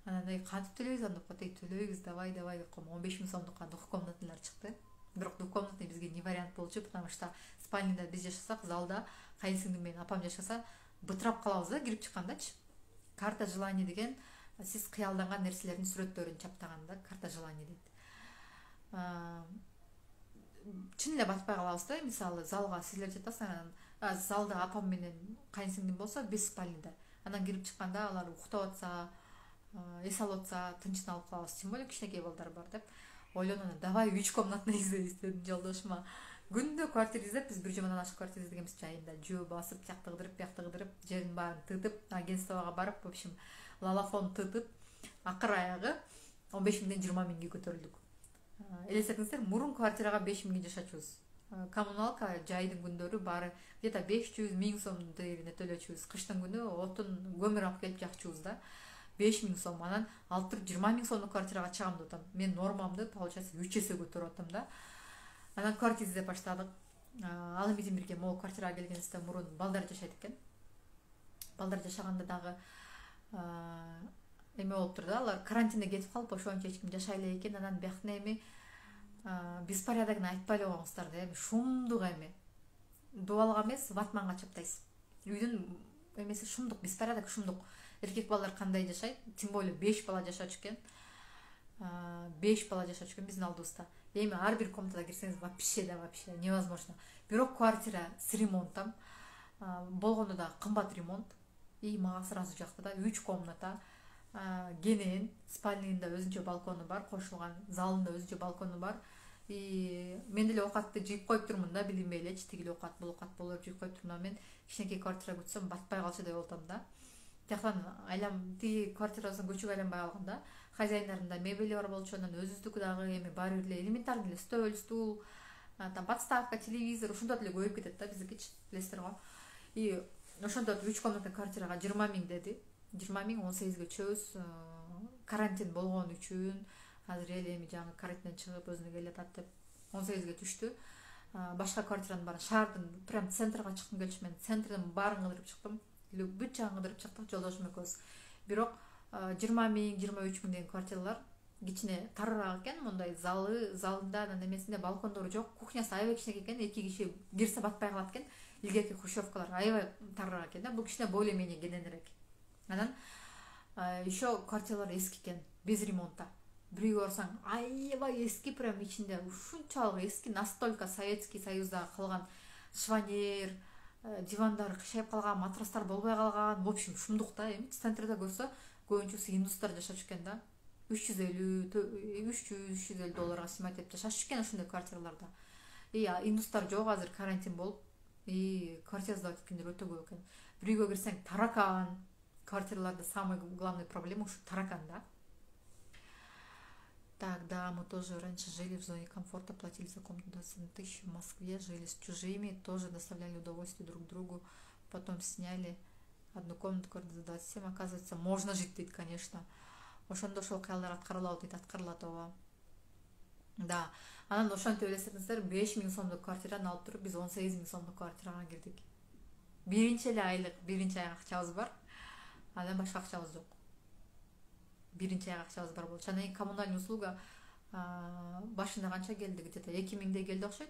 Анан эй кантип төлөйбүз анда, эй төлөйбүз, давай давай деп койм. он беш миң сомдукка двухкомнатныйлар чыкты. Бирок двухкомнатный бизге не вариант болчу, потому что спальныйда биз жашасак, залда кайынсиңдим менен апам жашаса, бытырап калабыз да кирип чыккандачы. Карта желаний деген сиз кыялданган нерселердин сүрөттөрүн чаптаган да, карта желаний дейт. Чын эле батпай калабыз да, мисалы залга силер жатасыңар, анан залда апам менен кайынсиңдим болсо, биз спальныйда. Анан кирип чыкканда алар уктап атса, эс алып атса, тынчын калабыз. Тем более кичинекей балдар бар деп ойлонуп, давай үч комнатный издейбиз дедим жолдошума. Күндө квартира издеп, биз бир жумадан ашык квартира издегенбиз жайында. Жөө басып, жакты кыдырып, биякты кыдырып, жерин баарын тытып, агентствого барып, в общем, лалафон тытып, акыр аягы он беш миңден жыйырма миңге көтөрүлдүк. Элестетиңиздер, мурун квартирага беш миңге жашачубуз. Коммуналка жайдын күндөрү баары где-то беш жүз миң сом дегенде төлөчүбүз. Кыштын күнү отун көмүр алып келип жакчубуз да. беш миң сом. Анан алып туруп жыйырма миң сомдук квартирага чыгам деп атам. Мен нормамды получается үч эсе көтөрүп атам да. Анан квартира издеп баштадык. Ал эми бирге могу квартирага келгенибизде мурун балдар жашайт экен. Балдар жашаганда дагы эме болуптур да, алар карантинде кетип калып, ошончо эч ким жашай элек экен. Анан бияктын эми беспорядокун айтпай эле коюңуздар да, эми шумдук эми. Дубалга эмес, ватманга чаптайсыз. Үйдүн эмеси шумдук, беспорядок шумдук. Эркек балдар кандай жашайт? Тем более беш бала жашачу экен. беш бала жашачу экен биздин алдыбызда. Эми ар бир комнатага кирсеңиз вообще да вообще невозможно. Бирок квартира с ремонтом. Болгондо да кымбат ремонт. И мага сразу жакты да, үч комната. Кенен спальныйында өзүнчө балкону бар, кошулган, залында өзүнчө балкону бар. И мен деле оокатты жыйып коюп турмун да, билинбей элечи, тигил оокат, бул оокат болуп жыйып коюп турмун. Мен кичинекей квартира күтсөм батпай калчу деп атам да. Жактан айлам тиги квартирабыздан көчүп айланбай калганда, хозяиндарында мебели бар болчу, анан өзүбүздүкү дагы эми баары бир эле элементарный эле стол, стул, там подставка, телевизор, ушунда деле көбөйүп кетет да биздикичи, билесиздер го. И ошондо үч комнатный квартирага жыйырма миң деди. жыйырма миң он сегизге чөбүз. Карантин болгон үчүн азыр эле эми жаңы карантинден чыгып өзүнө келе атат деп он сегизге түштү. Башка квартиранын баары шаардын прям центрга чыккым келчү, мен центрдин баарын кыдырып чыктым. Бүт жагын кыдырып чыктык жолдошум экөөбүз. Бирок жыйырма миң, жыйырма үч миң деген квартиралар кичине тарыраак экен, мындай залы, залында анан эмесинде балкондору жок, кухнясы аябай кичинекей экен, эки киши кирсе батпай калат экен. Илгерки хрущевкалар аябай тарыраак экен да, бул кичине более-менее кененирээк. Анан еще квартиралар эски экен, без ремонта. Бирөөгө барсаң, аябай эски, прям ичинде ушунчалык эски, настолько Советский Союзда калган шванер, дивандар кышайып калган, матрастар болбой калган, в общем шумдук да. Эми центрде көрсө көбүнчөсү индустар жашап экен да. үч жүз элүү үч жүз үч жүз элүү долларга снимать этип жашашып экен ошондой квартираларда. И индустар жок, азыр карантин болуп, и квартира сдавать эткендер өтө көп экен. Bir үйгө кирсең таракан. Квартираларда самый главный проблема ушу таракан да. Так, да, мы тоже раньше жили в зоне комфорта, платили за комнату двадцать тысяч в Москве, жили с чужими, тоже доставляли удовольствие друг другу, потом сняли одну комнату за двадцать семь, оказывается, можно жить, дейт, конечно. Ошондо ошол кыялдар аткарылабы дейт, аткарылат ооба. Да, анан ошентип элестетиңиздер, беш миң сомдук квартираны алып туруп, биз он сегиз миң сомдук квартирага кирдик. Биринчи эле айлык, биринчи айга акчабыз бар, андан башка акчабыз жок. Биринчи айга акчабыз бар болчу. Анан коммунальный услуга башында канча келди? Где-то эки миңдей келди окшойт.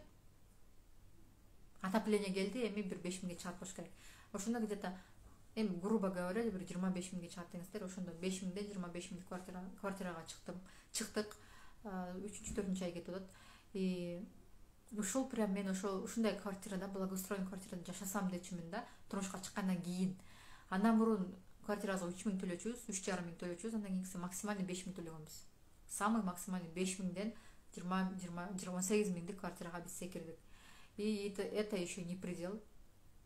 Отопление келди, эми бир беш миңге чыгат болуш керек. Ошондо где-то эми грубо говоря, бир жыйырма беш миңге чыгат деңиздер. Ошондо беш миңден жыйырма беш миңдик квартира квартирага чыктым. Чыктык. үчүнчү төртүнчү ай кетип атат. И ушул прям мен ошол ушундай квартирада, благоустроенный квартирада жашасам дечимин да, турмушка чыккандан кийин. Андан мурун квартирага үч миң төлөчүбүз, үч жарым миң төлөчүбүз, андан кийинкиси максимальный беш миң төлөгөнбүз. Самый максимальный беш миңден жыйырма он сегиз миңдик квартирага биз секирдик. И это, это еще не предел.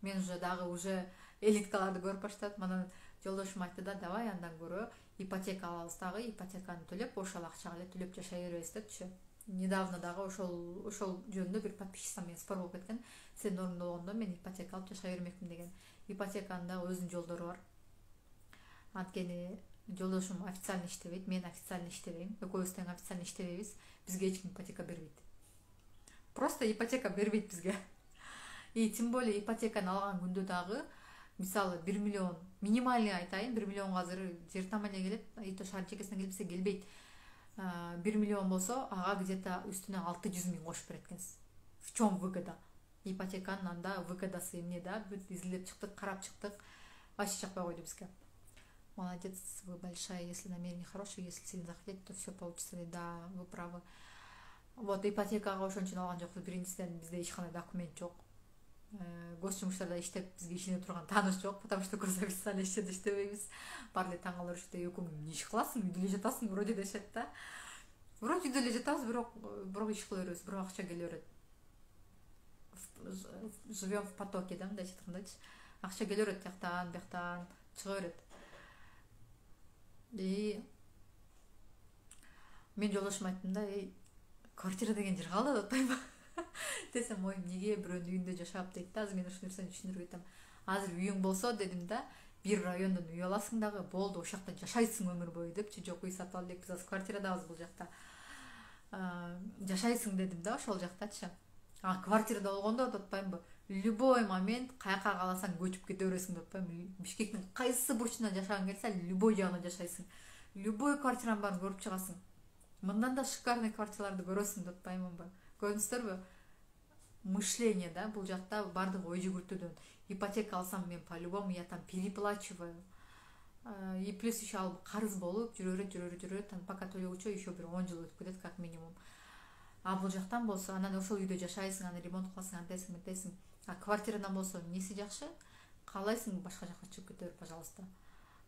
Мен уже дагы уже элиткаларды көрүп баштадым. Анан жолдошум айтты да, давай андан көрө ипотека алабыз дагы, ипотеканы төлөп, ошол акчага эле төлөп жашай беребиз депчи. Недавно дагы ошол ошол жөнүндө бир подписчикам менен спор болуп кеткен. Сен орунда болгондо мен ипотека алып жашай бермекмин деген. Ипотеканын да өзүнүн жолдору бар. Анткени жолдошум официально иштебейт, мен официально иштебейм. Экөөбүз тең официально иштебейбиз. Бизге эч ким ипотека бербейт. Просто ипотека бербейт бизге. И тем более ипотеканы алган күндө дагы, мисалы бир миллион, минимальный айтайын, бир миллионго азыр жер таманя келет, ито шаар чекесинен келбесе келбейт. бир миллион болсо, ага где-то үстүнө алты жүз миң кошуп берет экенсиз. В чем выгода? Ипотеканын анда выгодасы эмне да? Бүт изилдеп чыктык, карап чыктык. Вообще чакпай койду бизге. Молодец, вы большая, если намерение хорошее, если сильно захотите, то все получится. Да, вы правы. Вот ипотекага ошон үчүн алган жокпуз. Биринчиден бизде эч кандай документ жок. Гос жумуштарда иштеп бизге ишене турган тааныш жок, потому что көз официально ишчеде иштебейбиз. Бар эле таң калыр уште экөөң эмне иш кыласың, үйдө эле жатасың, вроде дешет да. Вроде үйдө эле жатабыз, бирок бирок иш кыла беребиз, бирок акча келе берет. Живем в потоке, да, мындайча айткандачы. Акча келе берет тияктан, бияктан чыга берет. И мен жолдошума айттым да, эй, квартира деген жер калды деп атпайбы десем, ой, эмнеге бирөөнүн үйүндө жашап дейт да. Азыр мен ушул нерсени түшүндүрүп айтам. Азыр үйүң болсо дедим да, бир райондон үй аласың дагы, болду, ошол жакта жашайсың өмүр бою депчи. Жок, үй сатып алдык, биз азыр квартирадабыз бул жакта. Жашайсың дедим да ошол жактачы. А квартирада болгондо деп атпаймынбы? Любой момент каяка кааласаң көчүп кете бересиң деп атпаймынбы? Бишкектин кайсы бурчуна жашагың келсе, любой жагына жашайсың. Любой квартиранын баарын көрүп чыгасың. Мындан да шикарный квартираларды көрөсүң деп атпаймынбы? Көрдүңүздөрбү? Мышление, да, бул жакта бардыгы ой жүгүртүүдөн. Ипотека алсам мен по-любому я там переплачиваю. И плюс еще алып карыз болуп жүрө берет, жүрө берет, жүрө берет, пока төлөгүчө еще бир он жыл өтүп кетет как минимум. А бул жактан болсо, анан ошол үйдө жашайсың, анан ремонт кыласың, антесиң, мынтесиң. А квартирадан болсо эмнеси жакшы? Каалайсың башка жакка чыгып кете бер, пожалуйста.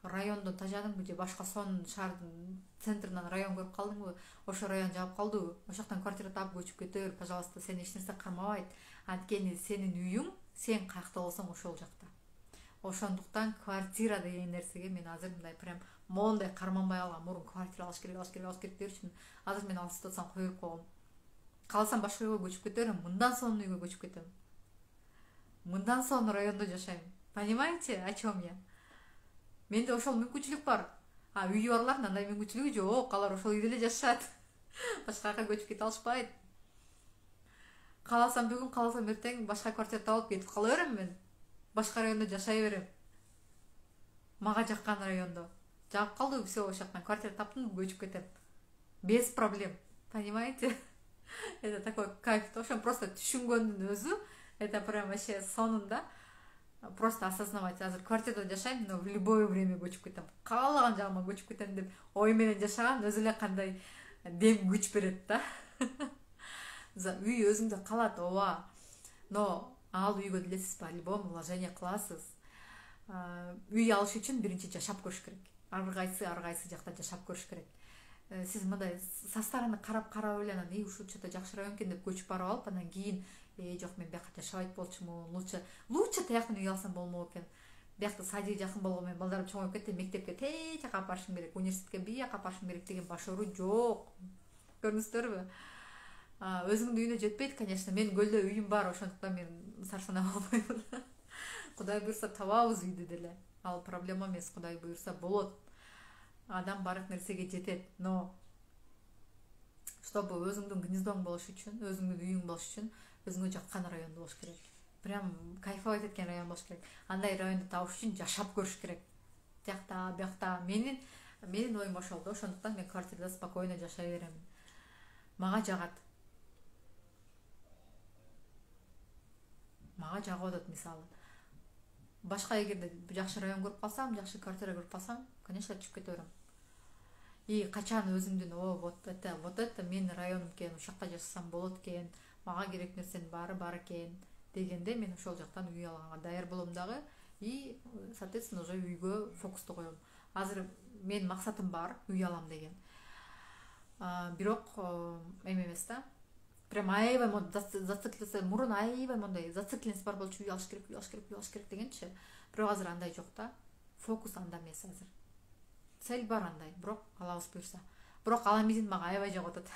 Райондо тажадыңбы же башка сонун шаардын центринен район көрүп калдыңбы? Ошо район жагып калдыбы? Ошол жактан квартира таап көчүп кете бер, пожалуйста. Сени эч нерсе кармабайт. Анткени сенин үйүң, сен каякта болсоң ошол жакта. Ошондуктан квартира деген нерсеге мен азыр мындай прям моундай карманбай калгам. Мурун квартира алыш керек, алыш керек, алыш керек дерчимин. Азыр мен алып атсам кое берип койгом. Калсам башка үйгө көчүп кете берем, мындан сонун үйгө көчүп кетем. Мындан сонун райондо жашайм. Понимаете, о чем я? Менде ошол мүмкүнчүлүк бар. А үйү барлардын андай мүмкүнчүлүгү жок. Алар ошол үйдө эле жашашат. Башка жака көчүп кете алышпайт. Кааласам бүгүн, кааласам эртең башка квартира таап кетип кала берем мен. Башка райондо жашай берем. Мага жаккан райондо. Жагып калды, все, ошол жактан квартира таптым, көчүп кетем. Без проблем. Понимаете? Это такой кайф. Ошо просто түшүнгөндүн өзү, это прям вообще сонунда. Просто осознавать, азыр квартирада жашайм, но в любое время көчүп кетем. Каалаган жагыма көчүп кетем деп ой менен жашаган өзү эле кандай дем күч берет да. За үй өзүңдө калат, ооба. Но ал үйгө делесиз по-любому вложение кыласыз. Үй алыш үчүн биринчи жашап көрүш керек. Ар кайсы ар кайсы жакта жашап көрүш керек. Сиз мындай со стороны карап карап эле анан үй ушул жакта жакшы район экен деп көчүп барып алып, анан кийин э жок мен бияка жашабайт болчумун. Лучше лучше тияктан үй алсам болмок экен. Биякта садик жакын болгон менен балдарым чоңоюп кетти, мектепке тээ жака алып барышым керек, университетке бияка алып барышым керек деген башору жок. Көрдүңүздөрбү? Өзүңдүн үйүнө жетпейт, конечно. Менин көлдө үйүм бар, ошондуктан мен сарсанап албайм. Кудай буйрса табабыз үйдү деле. Ал проблема эмес, Кудай буйрса болот. Адам баардык нерсеге жетет, но чтобы өзүңдүн гнездоң болуш үчүн, өзүңдүн үйүң болуш үчүн өзүңө жаккан райондо болуш керек. Прям кайфовать эткен район болуш керек. Андай районду табыш үчүн жашап көрүш керек. Тиякта, биякта. Менин менин оюм ошол да, ошондуктан мен квартирада спокойно жашай беремин. Мага жагат. Мага жагып атат мисалы. Башка эгерде жакшы район көрүп калсам, жакшы квартира көрүп калсам, конечно, түшүп кете берем. И качан өзүмдүн о вот это вот это менин районум экен, ушул жакта жашасам болот экен, мага керек нерсенин баары бар экен дегенде мен ошол жактан үй алганга даяр болом дагы. И соответственно уже үйгө фокусту коем. Азыр менин максатым бар, үй алам деген. Бирок эме эмес да. Прям аябай зациклиться, мурун аябай мондай зацикленность бар болчу, үй алыш керек, үй алыш керек, үй алыш керек дегенчи. Бирок азыр андай жок да. Фокус анда эмес азыр. Цель бар андай, бирок алабыз буйрса. Бирок аламизин мага аябай жагып атат.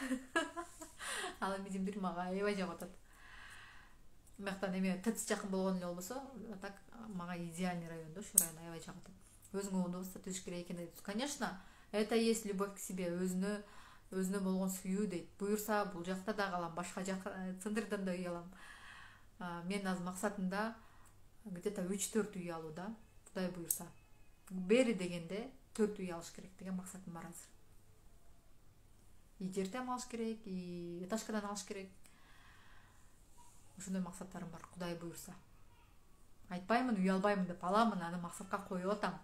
Аламизин бир мага аябай жагып атат. Мактан эме ТЭЦ жакын болгон эле болбосо, так мага идеальный район да, ошол район аябай жагып атат. Өзүңө удовольствие түзүш керек экен дейт. Конечно, это есть любовь к себе, өзүнө өзүнө болгон сүйүү дейт. Буйрса бул жакта да калам, башка жак центрдан да үй алам. Мен азыр максатымда где-то үч төрт үй алуу да, Кудай буйрса. Бери дегенде төрт үй алыш керек деген максатым бар азыр. И жерден алыш керек, и этажкадан алыш керек. Ошондой максаттарым бар, Кудай буйрса. Айтпаймын, үй албаймын деп аламын, аны максатка коюп атам.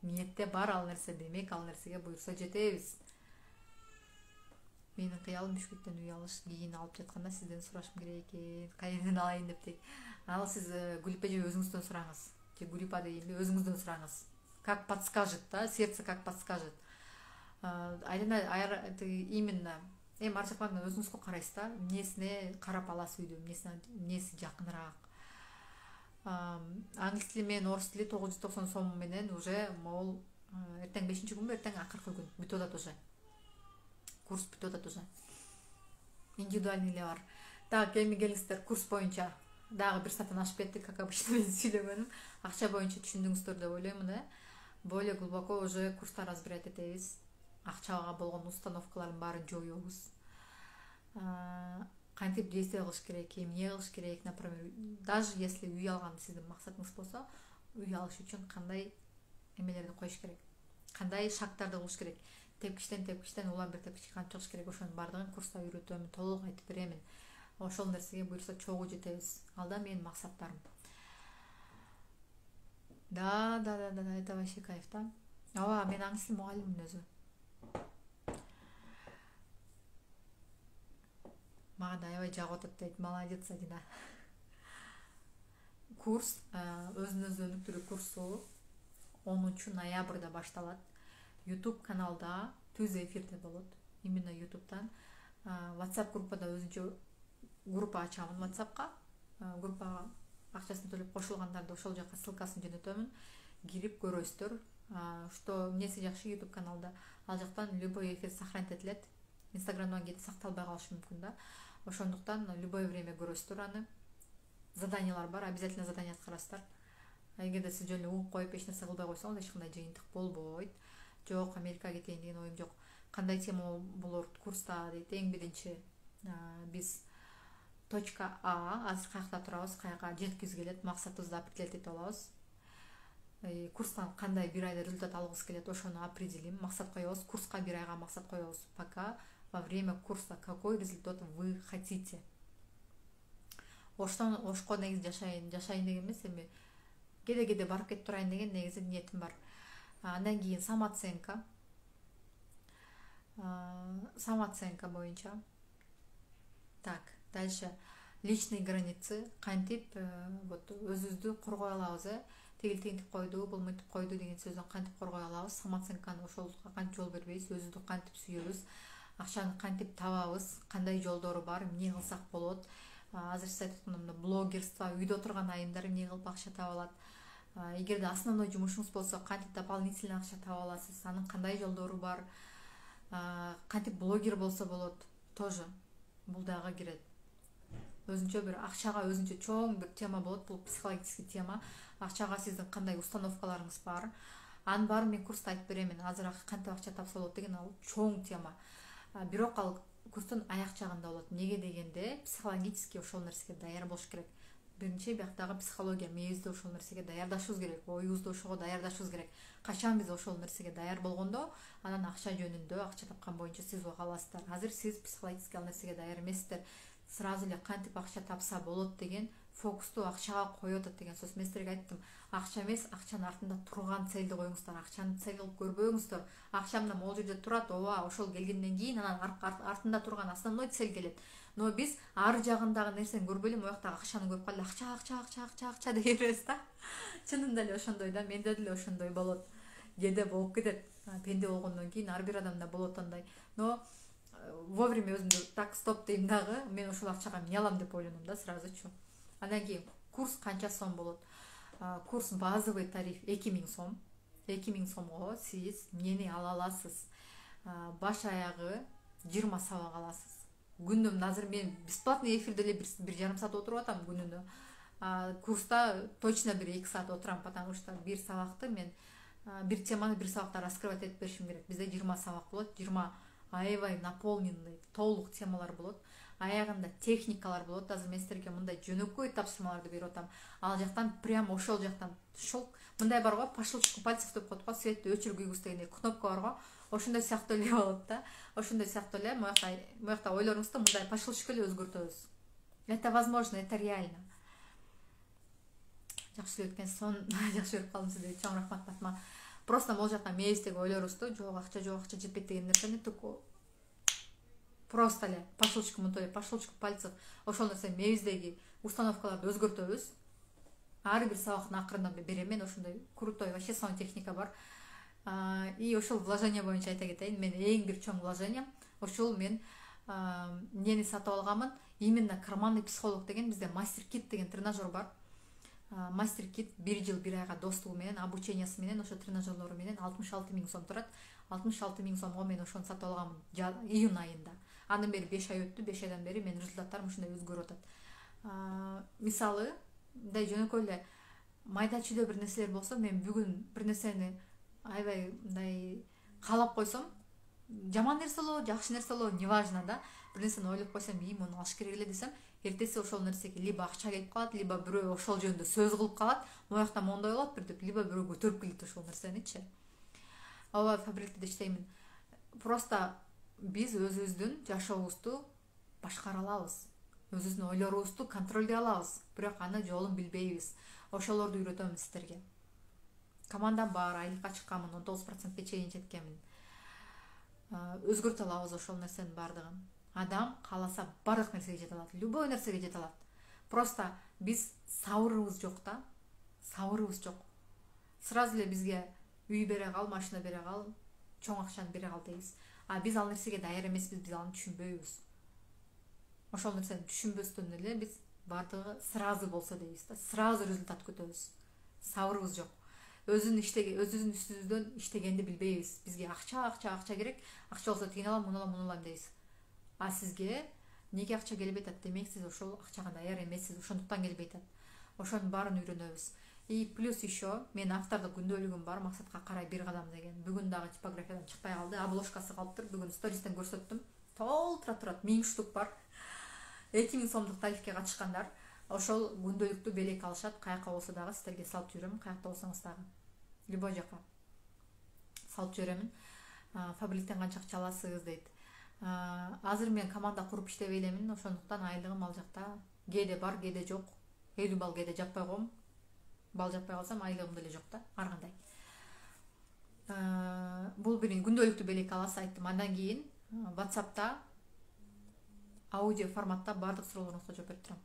Ниетте бар ал нерсе, демек ал нерсеге буйрса жетебиз. Менин кыялым Бишкектен үй алыш. Кийин алып жатканда сизден сурашым керек экен, кайерден алайын деп дейт. Ал сиз Гүлипе же өзүңүздөн сураңыз. Же Гүлипа дейинби, өзүңүздөн сураңыз. Как подскажет, да, сердце как подскажет. Айрана именно эми ар жактан өзүңүзгө карайсыз да, эмнесине карап аласыз үйдү, эмнесине эмнеси жакыныраак. Англис тили менен орус тили тогуз жүз токсон сом менен уже могул эртең бешинчи күнбү, эртең акыркы күн бүтүп атат уже. Курс бүтүп атат уже. Индивидуальный эле бар. Так, эми келиңиздер курс боюнча. Дагы бир сааттан ашып кетти, как обычно мен сүйлөгөнүм. Акча боюнча түшүндүңүздөр деп ойлоймун, э. Более глубоко уже курста разбирать этебиз. Акчага болгон установкалардын баарын жоюбуз. Кантип действие кылыш керек, эмне кылыш керек, например, даже если үй алган сиздин максатыңыз болсо, үй алыш үчүн кандай эмелерди коюш керек, кандай шагтарды кылыш керек, тепкичтен тепкичтен улам бир тепкичке кантип чыгыш керек, ошонун баардыгын курста үйрөтөмүн, толук айтып беремин. Ошол нерсеге буйрса чогуу жетебиз. Ал да менин максаттарым. Да, да, да, да, это вообще кайф да. Ооба, мен англис тил мугалиммин өзү. Мага да аябай жагып атат дейт. Молодец, Адина. Курс, өзүнүн өнүктүрүү курсу онунчу ноябрда башталат. YouTube каналда түз эфирде болот. Именно YouTube'дан. WhatsApp группада өзүнчө группа ачамын WhatsApp'ка. Группага акчасын төлөп кошулгандарды ошол жака ссылкасын жөнөтөмүн. Кирип көрөсүздөр. Что эмнеси жакшы YouTube каналда. Ал жактан любой эфир сохранить этилет. Инстаграмдан кетип сакталбай калышы мүмкүн да. Ошондуктан любое время көрөсүздөр аны. Заданиялар бар, обязательно задание аткарасыздар. Эгерде сиз жөн эле угуп коюп эч нерсе кылбай койсоңуз, эч кандай жыйынтык болбойт. Жок, Америкага кетейин деген оюм жок. Кандай тема болор курста дейт. Эң биринчи биз точка А, азыр каякта турабыз, каяка жеткизгү келет, максатыбызды определять этип алабыз. Курстан кандай бир айда результат алгыбыз келет, ошону определим, максат коебуз. Курска бир айга максат коебуз. Пока во время курса какой результат вы хотите. Оштон ошко негизи жашайын, жашайын деген эмес, эми кеде-кеде барып кетип турайын деген негизи ниетим бар. Андан кийин самооценка. Самооценка боюнча. Так, дальше личный границы, кантип вот өзүбүздү коргой алабыз, э тигил тигинтип койду, бул мынтип койду деген сөздөн кантип коргой алабыз, самооценканы ошолго кантип жол бербейбиз, өзүбүздү кантип сүйөбүз, акчаны кантип табабыз, кандай жолдору бар, эмне кылсак болот. Азыр сиз айтып аткандай блогерство, үйдө отурган айымдар эмне кылып акча таба алат. Эгерде основной жумушуңуз болсо, кантип дополнительный акча таба аласыз, анын кандай жолдору бар, кантип блогер болсо болот, тоже бул дагы кирет. Өзүнчө бир акчага өзүнчө чоң бир тема болот, бул психологический тема. Акчага сиздин кандай установкаларыңыз бар, анын баарын мен курста айтып беремин. Азыр кантип акча тапса болот деген ал чоң тема. Бирок ал курстун аяк жагында болот. Неге дегенде, психологически ошол нерсеге даяр болуш керек. Биринчи бияктагы психология, мээбизди ошол нерсеге даярдашыбыз керек, оюбузду ошого даярдашыбыз керек. Качан биз ошол нерсеге даяр болгондо, анан акча жөнүндө, акча тапкан боюнча сиз уга аласыздар. Азыр сиз психологически ал нерсеге даяр эмессиздер. Сразу эле кантип акча тапса болот деген фокусту акчага коюп атат деген сөз. Мен силерге айттым, акча эмес, акчанын артында турган цельди коюңуздар. Акчаны цель кылып көрбөңүздөр. Акча мына могул жерде турат, ооба, ошол келгенден кийин анан артында турган основной цель келет. Но биз ар жагындагы нерсени көрбөй эле мояктагы акчаны көрүп калып, акча, акча, акча, акча, акча деп беребиз да. Чынында эле ошондой да, менде деле ошондой болот. Кээде болуп кетет. Пенде болгондон кийин ар бир адамда болот андай. Но вовремя өзүмдү так стоп дейм дагы, мен ошол акчага эмне алам деп ойлоном да сразучу. Андан кийин курс канча сом болот? Курс базовый тариф эки миң сом. эки миң сомго сиз эмнени ала аласыз? Баш аягы жыйырма сабак аласыз. Күнүнө азыр мен бесплатный эфирде эле бир жарым саат отуруп атам күнүнө. Курста точно бир эки саат отурам, потому что бир сабакты мен бир теманы бир сабакта раскрывать этип беришим керек. Бизде жыйырма сабак болот, жыйырма аябай наполненный, толук темалар болот. Аягында техникалар болот. Азыр мен силерге мындай жөнөкөй тапшырмаларды берип атам. Ал жактан прям ошол жактан шок. Мындай бар го, по щелчку пальцев деп коет го, светти өчүр күйгүз деген кнопка бар го. Ошондой сыяктуу эле болот да. Ошондой сыяктуу эле моякта моякта ойлоруңузду мындай по щелчку эле өзгөртөбүз. Это возможно, это реально. Жакшы өткөн сон, жакшы көрүп калдым сизге. Чоң рахмат Батма. Просто могул жакта мээбиздеги ойлорубузду, жок акча, жок акча жетпейт деген нерсени туку просто эле по щелчку мынтип по щелчку пальцев ошол нерсе мээбиздеги установкаларды өзгөртөбүз. Ар бир сабактын акырында берем мен ошондой крутой вообще сон техника бар. И ошол вложение боюнча айта кетейин, мен эң бир чоң вложением ошол мен эмнени сатып алганмын, именно карманный психолог деген бизде мастер кит деген тренажер бар. Мастер кит бир жыл бир айга достугу менен, обучениясы менен, ошо тренажерлору менен алтымыш алты миң сом турат. алтымыш алты миң сомго мен ошону сатып алганмын июнь айында. Андан бери беш ай өттү, беш айдан бери менин результаттарым ушундай өзгөрүп атат. Мисалы, мындай жөнөкөй эле майда чүйдө бир нерселер болсо, мен бүгүн бир нерсени аябай мындай каалап койсом, жаман нерсе болобу, жакшы нерсе болобу, неважно да, бир нерсени ойлоп койсом, ии муну алыш керек эле десем, эртеси ошол нерсеге либо акча келип калат, либо бирөө ошол жөнүндө сөз кылып калат, моякта мондой болот бир деп, либо бирөө көтөрүп келет ошол нерсеничи. Ооба, фабрикада иштеймин. Просто биз өзүбүздүн жашообузду башкара алабыз. Өзүбүздүн ойлорубузду контролдой алабыз. Бирок аны жолун билбейбиз. Ошолорду үйрөтөм сиздерге. Командам бар, айлыкка чыкканмын, он тогуз процентке чейин жеткенмин. Өзгөртө алабыз ошол нерсенин бардыгын. Адам кааласа бардык нерсеге жете алат, любой нерсеге жете алат. Просто биз сабырыбыз жок да. Сабырыбыз жок. Сразу эле бизге үй бере кал, машина бере кал, чоң акчаны бере кал дейбиз. А биз ал нерсеге даяр эмеспиз, биз аны түшүнбөйбүз. Ошол нерсени түшүнбөстөн эле биз бардыгы сразу болсо дейбиз да, сразу результат күтөбүз. Сабырыбыз жок. Өзүн иштеге, өзүбүздүн үстүбүздөн иштегенди билбейбиз. Бизге акча, акча, акча керек. Акча болсо тигин алам, муну алам, муну алам дейбиз. А сизге неге акча келбей атат? Демек сиз ошол акчага даяр эмессиз, ошондуктан келбей атат. Ошонун баарын үйрөнөбүз. И плюс еще мен автордук күндөлүгүм бар, максатка карай бир кадам деген. Бүгүн дагы типографиядан чыкпай калды, обложкасы калыптыр. Бүгүн стористен көрсөттүм. Толтура турат, миң штук бар. эки миң сомдук тарифке катышкандар ошол күндөлүктү белек алышат. Каяка болсо дагы сиздерге салып жүрөм, каякта болсоңуз дагы. Любой жака салып жүрөмүн. Фабриктен канча акча аласыз дейт. Азыр мен команда куруп иштебей элемин, ошондуктан айлыгым ал жакта кээде бар, кээде жок. элүү балл кээде жаппай коем. Бал жаппай калсам айлыгым деле жок да, ар кандай. Бул бир күндөлүктү белек аласыз айттым. Андан кийин WhatsApp'та аудио форматта бардык суроолоруңузга жооп берип турам.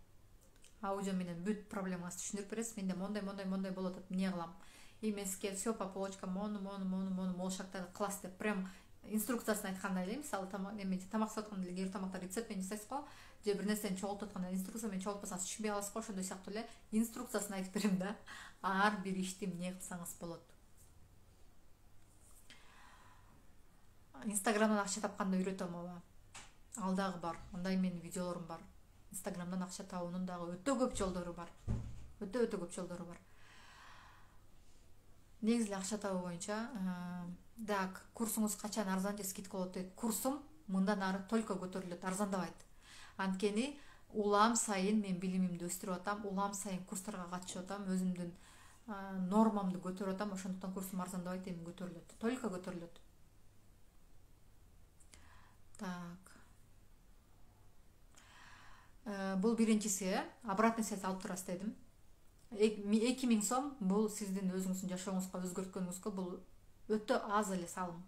аудио менен бүт проблемасын түшүндүрүп бересиз. Менде мондай мондай мондай болуп атат, эмне кылам, эмеске все по полочкам, мону мону мону мону могул шарттарды кыласыз деп прям инструкциясын айткандай эле. Мисалы тамак эме тамак писип атканда эле кээ бир тамакта рецепт менен жасайсыз го, же бир нерсени чогултуп атканда инструкция менен чогултпасаңыз түшүнбөй каласыз го. Ошондой сыяктуу эле инструкциясын айтып берем да, ар бир ишти эмне кылсаңыз болот. Инстаграмдан акча тапканды үйрөтөм, ооба. Ал дагы бар. Андай менин видеолорум бар. Инстаграмдан акча табуунун дагы өтө көп жолдору бар. Өтө өтө көп жолдору бар. Негизи акча табуу боюнча, так, курсуңуз качан арзан же скидка болот дейт. Курсум мындан ары только көтөрүлөт, арзандабайт. Анткени улам сайын мен билимимди өстүрүп атам, улам сайын курстарга катышып атам, өзүмдүн нормамды көтөрүп атам, ошондуктан курсум арзандабайт, эми көтөрүлөт, только көтөрүлөт. Так. Бул биринчиси, обратный связь алып турасыз дедим. эки миң сом бул сиздин өзүңүздүн жашооңузга өзгөрткөнүңүзгө бул өтө аз эле салым.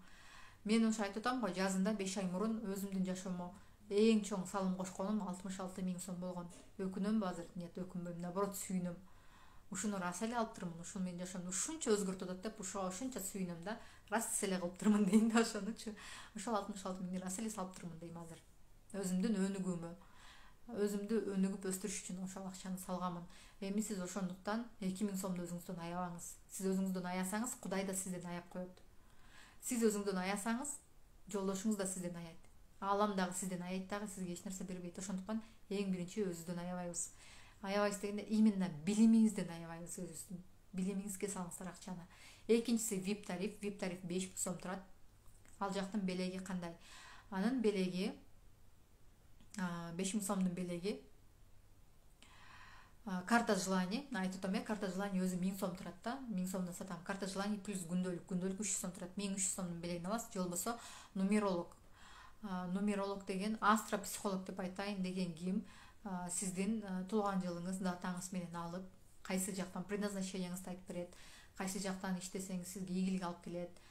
Мен ошо айтып атам го, жазында беш ай мурун өзүмдүн жашоомо эң чоң салым кошконум алтымыш алты миң сом болгон. Өкүнөмбү азыр? Нет, өкүнбөйм, наоборот сүйүнөм. Ушуну рас эле алып турмун, ушул менин жашоомду ушунча өзгөртүп атат деп, ушуга ушунча сүйүнөм да. Рас эле кылып турмун дейм да ошонучу. Ошол алтымыш алты миңди рас эле салып турмун дейм азыр. Өзүмдүн өнүгүүмө, өзүмдү өнүгүп өстүрүш үчүн ошол акчаны салганмын. Эми сиз ошондуктан эки миң сомду өзүңүздөн аябаңыз. Сиз өзүңүздөн аябасаңыз, Кудай да сизден аяп коет. Сиз өзүңүздөн аябасаңыз, жолдошуңуз да сизден аябайт. Алам дагы сизден аябайт дагы, сизге эч нерсе бербейт. Ошондуктан эң биринчи өзүбүздөн аябайбыз. Аябайбыз дегенде именно билимиңизден аябайбыз, өзүбүздүн билимиңизге салыңыздар акчаны. Экинчиси ви ай пи тариф. ви ай пи тариф беш миң сом турат. Ал жактын белеги кандай? Анын белеги беш миң сомдун белеги карта желаний. Айтып атам э, карта желаний өзү миң сом турат да. миң сомдон сатам. Карта желаний плюс күндөлүк. Күндөлүк үч жүз сом турат. миң үч жүз сомдун белегин аласыз. Же болбосо нумеролог. Нумеролог деген астропсихолог деп айтайын деген ким сиздин туулган жылыңыз, датаңыз менен алып, кайсы жактан предназначениеңизди айтып берет, кайсы жактан иштесеңиз сизге ийгилик алып келет,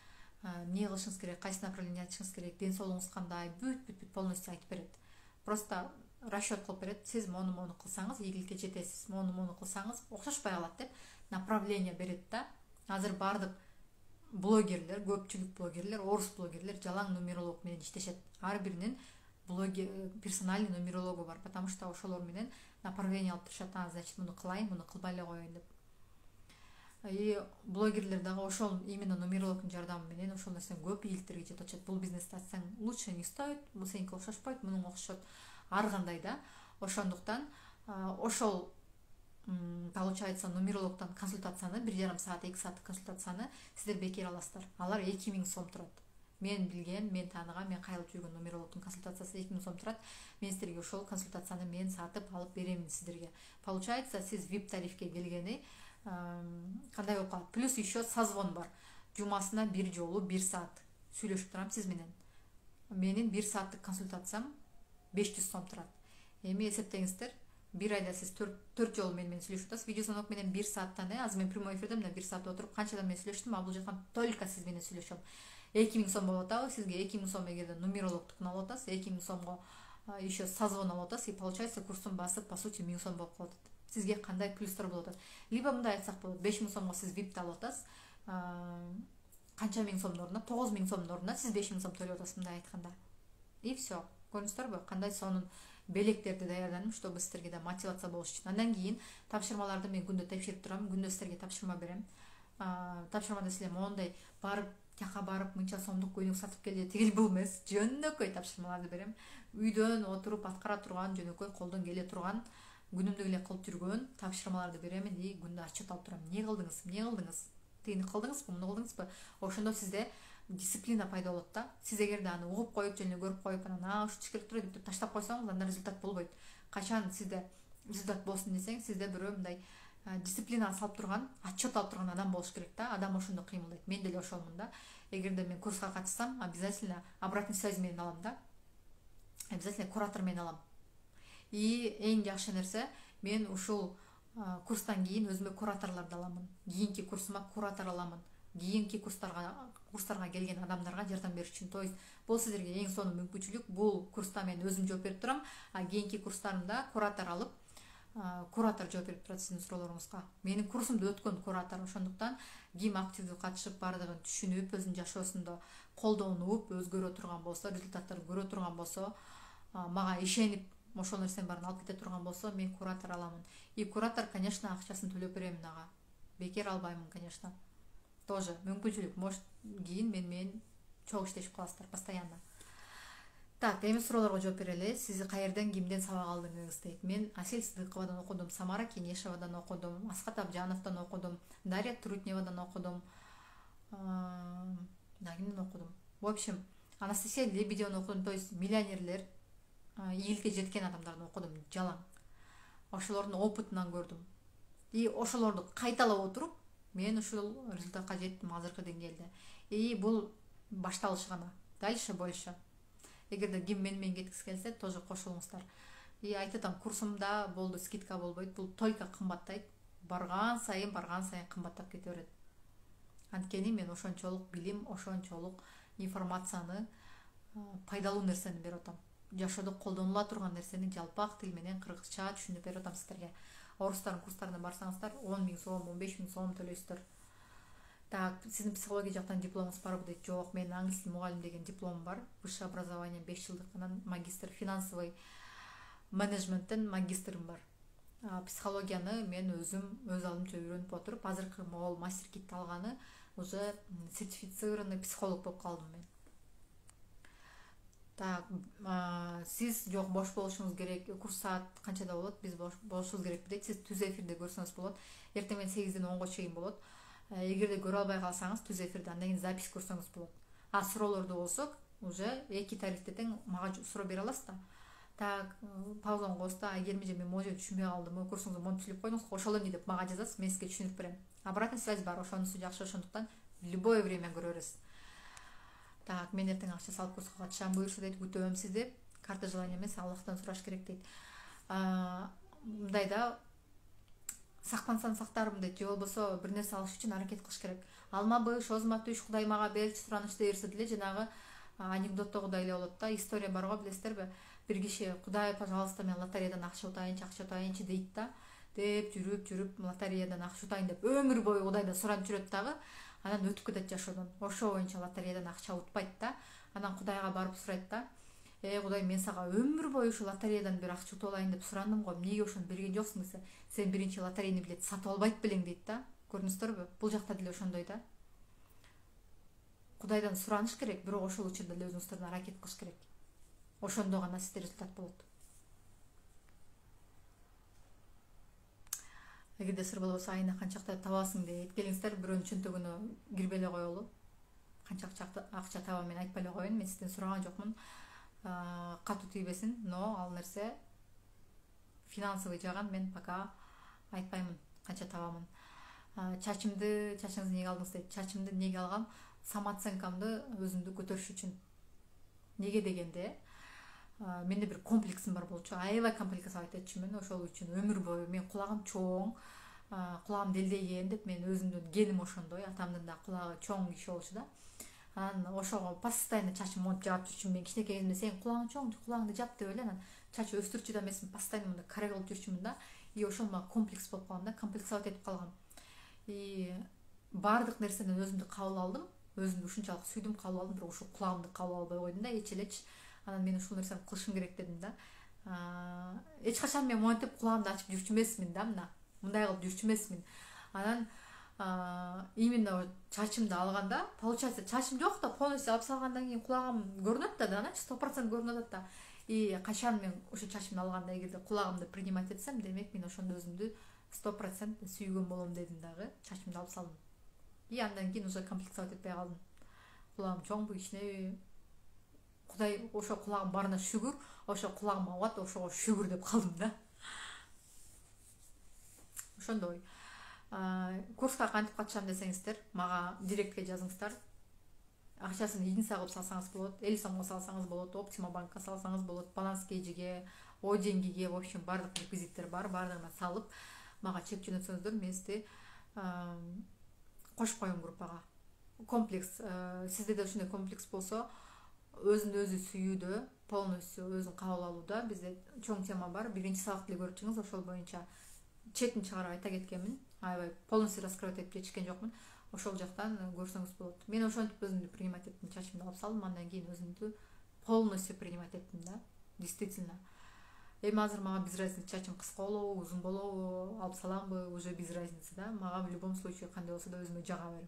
эмне кылышыңыз керек, кайсы направление ачышыңыз керек, ден соолугуңуз кандай, бүт бүт бүт полностью айтып берет. Просто расчет кылып берет. Сиз мону мону кылсаңыз ийгиликке жетесиз, мону мону кылсаңыз окшошпой калат деп направление берет да. Азыр бардык блогерлер, көпчүлүк блогерлер, орус блогерлер жалаң нумеролог менен иштешет. Ар биринин блогер персональный нумерологу бар, потому что ошолор менен направление алып турушат. А, значит, муну кылайын, муну кылбай эле коеюн деп. И блогерлер дагы ошол именно нумерологдун жардамы менен ошол нерсени көп ийгиликтерге жетип атышат. Бул бизнести ачсаң лучше не стоит, бул сеники окшошпойт, мунуңа окшошот. Ар кандай да. Ошондуктан ошол получается нумерологдон консультацияны бир жарым саат, эки сааттык консультацияны сиздер бекер аласыздар. Алар эки миң сом турат. Мен билген, мен тааныган, мен кайрылып жүргөн нумерологдун консультациясы эки миң сом турат. Мен сиздерге ошол консультацияны мен сатып алып беремин сиздерге. Получается, сиз ви ай пи тарифке келгени кандай болуп калат? Плюс еще созвон бар. Жумасына бир жолу бир саат сүйлөшүп турам сиз менен. Менин бир сааттык консультациям беш жүз сом турат. Эми эсептеңиздер, бир айда сиз төрт жолу мен менен сүйлөшүп атасыз. Видеозвонок менен бир сааттан, азыр мен прямой эфирде мына бир саат отуруп канчадан мен сүйлөштүм, а бул жактан только сиз менен сүйлөшөм. эки миң сом болуп атабы сизге? эки миң сом эгерде нумерологдукун алып атасыз, эки миң сомго еще созвон алып атасыз, и получается курсун басып, по сути, миң сом болуп калат. Сизге кандай плюстар болуп атат? Либо мындай айтсак болот, беш миң сомго сиз ви ай пи алып атасыз, канча миң сомдун ордуна, тогуз миң сомдун ордуна сиз беш миң сом төлөп атасыз, мындай айтканда. И все. Көрүңүздөрбү, кандай сонун белектерди даярдадым, чтобы сиздерге да мотивация болуш үчүн. Андан кийин тапшырмаларды мен күндө текшерип турам, күндө сиздерге тапшырма берем. Тапшырмада силер моундай барып, жака барып мынча сомдук көйнөк сатып келди, тигил бул эмес, жөнөкөй тапшырмаларды берем. Үйдөн отуруп аткара турган, жөнөкөй колдон келе турган, күнүмдүк эле кылып жүргөн тапшырмаларды беремин. И күндө отчет алып турам. Эмне кылдыңыз? Эмне кылдыңыз? Тигини кылдыңызбы, муну кылдыңызбы? Ошондо сизде дисциплина пайда болот да. Сиз эгерде аны угуп коюп, жөн эле көрүп коюп, анан а ушинтип керек туруп деп таштап койсоңуз, анда результат болбойт. Качан сизде результат болсун десең, сизде бирөө мындай дисциплина салып турган, отчет алып турган адам болуш керек да. Адам ошондо кыймылдайт. Мен деле ошолмун да. Эгерде мен курска катышсам, обязательно обратный связь менен алам да. Обязательно куратор менен алам. И эң жакшы нерсе, мен ушул курстан кийин өзүмө кураторлорду аламын. Кийинки курсума куратор аламын. Кийинки курстарга курстарга келген адамдарга жардам бериш үчүн. То есть бул сиздерге эң сонун мүмкүнчүлүк. Бул курста мен өзүм жооп берип турам, а кийинки курстарымда куратор алып, куратор жооп берип турат сиздин суроолоруңузга. Менин курсумду өткөн куратор, ошондуктан ким активдүү катышып баардыгын түшүнүп, өзүнүн жашоосунда колдонуп, өзгөрө турган болсо, результаттарды көрө турган болсо, мага ишенип ошол нерсенин баарын алып кете турган болсо, мен куратор аламын. И куратор, конечно, акчасын төлөп беремин ага. Бекер албаймын, конечно. Тоже мүмкүнчүлүк, может, кийин мен менен чогуу иштешип каласыздар постоянно. Так, эми суроолорго жооп берели. Сиз каерден, кимден сабак алдыңыз дейт. Мен Асель Сыдыковадан окудум, Самара Кенешевадан окудум, Аскат Абжановдон окудум, Дарья Трутневадан окудум. Да, кимден окудум? В общем, Анастасия Лебедеваны окудум, то есть миллионерлер, ийгиликке жеткен адамдарды окудум жалаң. Ошолордун опытынан көрдүм. И ошолорду кайталап отуруп, мен ушул результатка жеттим азыркы деңгээлде. И бул башталыш гана. Дальше больше. Эгерде ким мен менен кеткиси келсе, тоже кошулуңуздар. И айтып атам, курсумда болду, скидка болбойт, бул только кымбаттайт. Барган сайын, барган сайын кымбаттап кете берет. Анткени мен ошончолук билим, ошончолук информацияны, пайдалуу нерсени берип атам. Жашоодо колдонула турган нерсени жалпак тил менен кыргызча түшүнүп берип атам сиздерге. Орустардын курстарына барсаңыздар, он миң сом, он беш миң сом төлөйсүздөр. Так, сиздин психология жактан дипломуңуз барбы дейт. Жок, менин англис тил мугалим деген дипломум бар. Высшее образование беш жылдык, анан магистр финансовый менеджменттен магистрым бар. Психологияны мен өзүм өз алдымча үйрөнүп отуруп, азыркы могул мастер китти алганы уже сертифицированный психолог болуп калдым мен. Так, сиз жок бош болушуңуз керек. Курс саат канчада болот? Биз болушубуз керек дейт. Сиз түз эфирде көрсөңүз болот. Эртең менен сегизден онго чейин болот. Эгерде көрө албай калсаңыз, түз эфирде андан кийин запись көрсөңүз болот. А суроолорду болсо, уже эки тарифте тең мага суроо бере аласыз да. Так, паузаны коесуз да, Айгерим эже, мен могу жерде түшүнбөй калдым, курсуңузду монтип түшүрүп койдуңуз, ошол эмне деп мага жазасыз, мен сизге түшүндүрүп берем. Обратная связь бар, ошонусу жакшы, ошондуктан любое время көрө бересиз. Так, мен эртең акча салып курска катышам, буюрса дейт, күтөм сизди. Карта желания эмес, Аллахтан сураш керек дейт. Мындай да, сактансам сактармын дейт, же болбосо бир нерсе алыш үчүн аракет кылыш керек. Алмабы, шозма түш, Кудай мага берчи, суранычты берсе деле, жанагы анекдоттогудай эле болот да, история бар го, билесиздерби? Бир киши, Кудай, пожалуйста, мен лотереядан акча утайынчы, акча утайынчы дейт да, деп жүрүп жүрүп лотереядан акча утайын деп өмүр бою Кудайдан суранып жүрөт дагы, анан өтүп кетет жашоодон. Ошо боюнча лотереядан акча утпайт да. Анан Кудайга барып сурайт да, э Кудай, мен сага өмүр бою ушу лотереядан бир акча утуп алайын деп сурандым го, эмнеге ошону берген жоксуң десе, сен биринчи лотерейный билет сатып албайт белең дейт да. Көрдүңүздөрбү? Бул жакта деле ошондой да. Кудайдан сураныш керек, бирок ошол учурда эле өзүңүздөрдөн аракет кылыш керек. Ошондо гана сизде результат болот. Эгерде сыр болбосо, айына канчакта табасың дейт. Келиңиздер, бирөөнүн чөнтөгүнө кирбей эле коелу. Канча акча табам мен айтпай эле коеюн, мен сизден сураган жокмун. Катуу тийбесин, но ал нерсе финансовый жагын мен пока айтпаймын, канча табамын. Чачымды, чачыңызды эмнеге алдыңыз дейт. Чачымды эмнеге алгам? Самооценкамды өзүмдү көтөрүш үчүн. Неге дегенде, менде бир комплексим бар болчу. Аябай комплекс айтчумун, ошол үчүн өмүр бою мен кулагым чоң, кулагым делдейген деп мен өзүмдүн геним ошондой, атамдын да кулагы чоң киши болчу да. Анан ошого постоянно чачым монтип жаап жүрчүмүн. Мен кичинекей кезимде сен кулагың чоң, кулагыңды жап деп эле анан чач өстүрчү да эмесмин, постоянно мындай каре кылып жүрчүмүн да. И ошол мага комплекс болуп калган да, комплексовать этип калгам. И баардык нерседен өзүмдү кабыл алдым, өзүмдү ушунчалык сүйдүм, кабыл алдым, бирок ушул кулагымды кабыл албай койдум да, эч элеч. Анан мен ушул нерсени кылышым керек дедим да. Эч качан мен монтип кулагымды ачып жүрчү эмесмин да, мына. Мындай кылып жүрчү эмесмин. Анан именно чачымды алганда, получается, чачым жок да, полностью алып салгандан кийин кулагым көрүнөт да, да, сто процент көрүнөт да. И качан мен ошо чачымды алганда эгерде кулагымды принимать этсем, демек мен ошондо өзүмдү сто процент сүйгөн болом дедим дагы, чачымды алып салдым. И андан кийин уже комплексовать этпей калдым. Кулагым чоңбу, кичинеби? Кудай ошо кулагым барына шүгүр, ошо кулагым абат, ошого шүгүр деп калдым да. Ошондой. Курска кантип катышам десеңиздер, мага директке жазыңыздар. Акчасын единица кылып салсаңыз болот, элүү сомго салсаңыз болот, Optima банкка салсаңыз болот, баланс кейжиге, о деньгиге, в общем, бардык реквизиттер бар, бардыгына салып, мага чек жөнөтсөңүздөр, мен сизди кошуп коем группага. Комплекс, сизде да ушундай комплекс болсо, өзүн өзү сүйүүдө, полностью өзүн кабыл алууда бизде чоң тема бар. Биринчи сабакты эле көрүп чыгыңыз, ошол боюнча четин чыгарып айта кеткенмин. Аябай полностью раскрывать этип жетишкен жокмун. Ошол жактан көрсөңүз болот. Мен ошентип өзүмдү принимать эттим, чачымды алып салдым, андан кийин өзүмдү полностью принимать эттим да. Действительно. Эми азыр мага без разницы, чачым кыска болобу, узун болобу, алып саламбы, уже без разницы да. Мага в любом случае кандай болсо да өзүмө жага берем.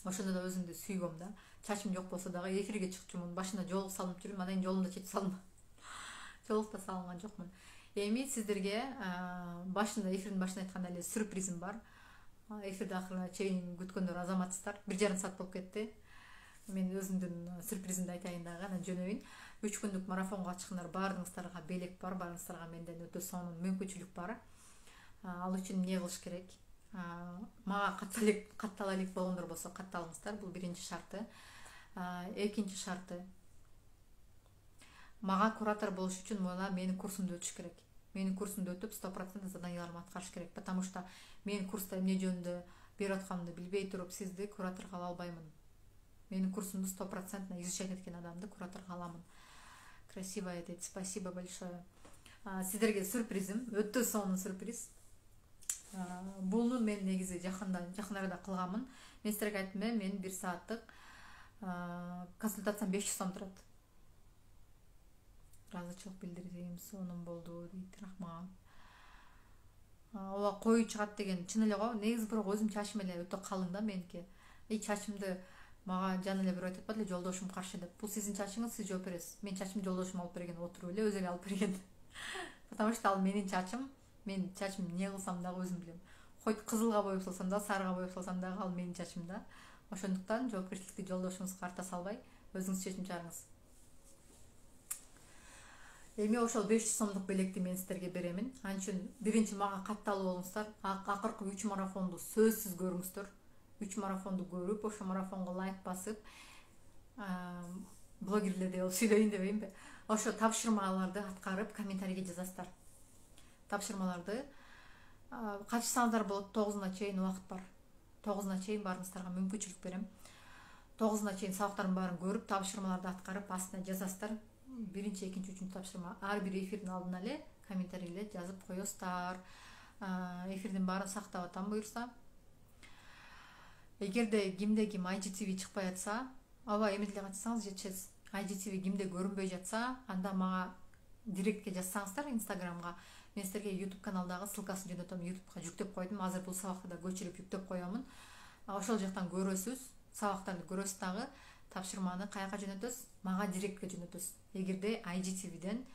Ошондо да өзүмдү сүйгөм да. Чачым жок болсо дагы эфирге чыкчумун. Башында жолук салынып жүрүм, анан кийин жолумду чечип салдым. Жолук да салган жокмун. Эми сиздерге башында, эфирдин башында айткандай эле сюрпризим бар. Эфирди акырына чейин күткөндөр азаматсыздар. Бир жарым саат болуп кетти. Мен өзүмдүн сюрпризимди айтайын дагы, анан жөнөйүн. үч күндүк марафонго чыккандар баарыңыздарга белек бар, баарыңыздарга менден өтө сонун мүмкүнчүлүк бар. Ал үчүн эмне кылыш керек? Мага катталык каттала элек болгондор болсо катталыңыздар. Бул биринчи шарты. Экинчи шарты. Мага куратор болуш үчүн мына менин курсумду өтүш керек. Менин курсумду өтүп сто процент заданияларымды аткарыш керек. Потому что мен курста эмне жөнүндө берип атканымды билбей туруп сизди кураторго ала албаймын. Менин курсумду сто процент изучать эткен адамды кураторго аламын. Красивая дейт. Спасибо большое. Сиздерге сюрпризим, өтө сонун сюрприз. Буну мен негизи жакында, жакын арада кылганмын. Мен сиздерге айттым, мен бир сааттык консультациям беш жүз сом турат. Ыраазычылык билдирдим, сонун болду дейт, рахмат. Ооба коюу чыгат деген чын эле го. Негизи бирок өзүм чачым эле өтө калың да меники. И чачымды мага жана эле бирөө айтып атпады эле, жолдошум каршы деп. Бул сиздин чачыңыз, сиз жооп бересиз. Мен чачымды жолдошум алып берген, отуруп эле өзү эле алып берген. Потому что ал менин чачым. Мен чачым эмне кылсам дагы өзүм билем. Хоть кызылга боеп салсам да, сарыга боеп салсам дагы ал менин чачым да. Ошондуктан жоопкерчиликти жолдошуңузга арта салбай, өзүңүз чечим чыгарыңыз. Эми ошол беш жүз сомдук белекти мен сиздерге беремин. Ал үчүн биринчи мага катталып болуңуздар. Акыркы үч марафонду сөзсүз көрүңүздөр. үч марафонду көрүп, ошо марафонго лайк басып, блогерлердей болуп сүйлөйүн дебейинби? Ошо тапшырмаларды аткарып, комментарийге жазасыздар. Тапшырмаларды качсаңыздар болот, тогузуна чейин убакыт бар. тогузуна чейин баарыңыздарга мүмкүнчүлүк берем. тогузуна чейин сабактардын баарын көрүп, тапшырмаларды аткарып, астына жазасыздар. Биринчи, экинчи, үчүнчү тапшырма. Ар бир эфирдин алдына эле комментарийлер жазып коесуздар. Эфирдин баарын сактап атам буюрса. Эгерде кимде ким ай джи ти ви чыкпай атса, аба эми деле катышсаңыз жетишет. ай джи ти ви кимде көрүнбөй жатса, анда мага директке жазсаңыздар Инстаграмга. Мен сиздерге YouTube каналдагы ссылкасын жөнөтөм, YouTubeга жүктөп койдум. Азыр бул сабакты да көчүрүп жүктөп коёмун. Ошол жактан көрөсүз, сабактарды көрөсүз дагы. Тапшырманы каяка жөнөтөсүз? Мага директке жөнөтөсүз. Эгерде ай джи ти виден,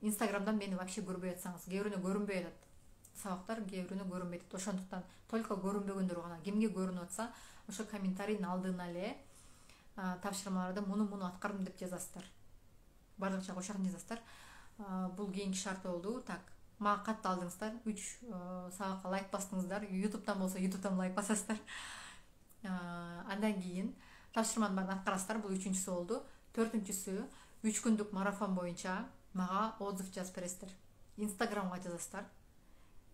Инстаграмдан мени вообще көрбөй атсаңыз, кээ бирөөнө көрүнбөй атат. Сабактар кээ бирөөнө көрүнбөй атат. Ошондуктан только көрүнбөгөндөр гана, кимге көрүнүп атса, ошо комментарийдин алдына эле тапшырмаларды муну-муну аткардым деп жазасыздар. Бардыкча кошагын жазасыздар. Бул кийинки шарты болду. Так, мага катталдыңыздар, үч сабакка лайк бастыңыздар. YouTube'дан болсо YouTube'дан лайк басасыздар. Андан кийин тапшырманын баарын аткарасыздар. Бул үчүнчүсү болду. Төртүнчүсү, үч күндүк марафон боюнча мага отзыв жазып бересиздер. Инстаграмга жазасыздар.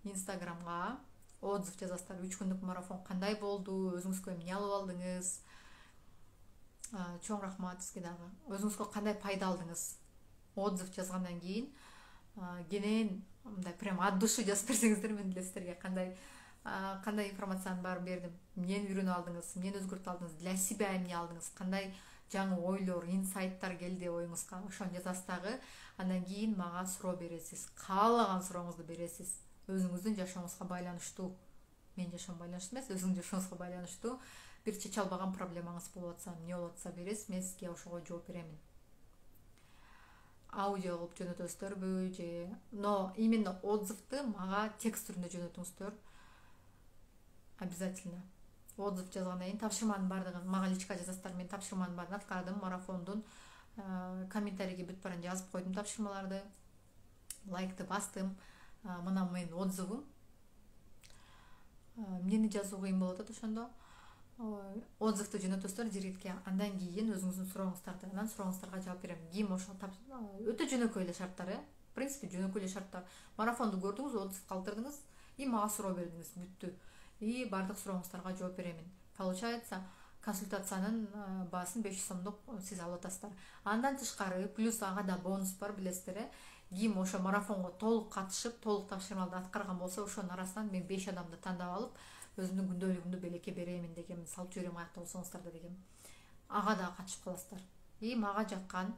Инстаграмга отзыв жазасыздар. үч күндүк марафон кандай болду? Өзүңүзгө эмне алып алдыңыз? Чоң рахмат сизге дагы. Өзүңүзгө кандай пайда алдыңыз? Отзыв жазгандан кийин кенен мындай прям от души жазып берсеңиздер, мен деле сиздерге кандай кандай информациянын баарын бердим, эмнени үйрөнүп алдыңыз, эмнени өзгөртүп алдыңыз, для себя эмне алдыңыз, кандай жаңы ойлор, инсайттар келди оюңузга, ошону жазасыз дагы. Андан кийин мага суроо бересиз, каалаган сурооңузду бересиз. Өзүңүздүн жашооңузга байланыштуу. Менин жашоом байланыштуу эмес, өзүңүздүн жашооңузга байланыштуу. Бир чече албаган проблемаңыз болуп атса, эмне болуп атса бересиз, мен сизге ошого жооп беремин. Аудио кылып жөнөтөсүздөрбү же, но именно отзывды мага текст түрүндө жөнөтүңүздөр. Обязательно. Отзыв жазгандан кийин тапшырманын баардыгын мага личка жазасыздар. Мен тапшырманын баарын аткардым, марафондун комментарийге бүт баарын жазып койдум тапшырмаларды. Лайкты бастым. Мына менин отзывым. Эмнени жазуу кыйын болуп атат ошондо? Отзывды жөнөтөсүздөр директке. Андан кийин өзүңүздүн сурооңуздарды, анан сурооңуздарга жооп берем. Ким ошо өтө жөнөкөй эле шарттар, э? В принципе, жөнөкөй эле шарттар. Марафонду көрдүңүз, отзыв калтырдыңыз, и мага суроо бердиңиз, бүттү. И бардык сурооңуздарга жооп беремин. Получается, консультациянын баасын беш жүз сомдук сиз алып атасыздар. Андан тышкары плюс ага да бонус бар, билесиздер э. Ким ошо марафонго толук катышып, толук тапшырмаларды аткарган болсо, ошонун арасынан мен беш адамды тандап алып, өзүмдүн күндөлүгүмдү белекке беремин дегем, салып жиберем аякта болсоңуздар да дегем. Ага да катышып каласыздар. И мага жаккан,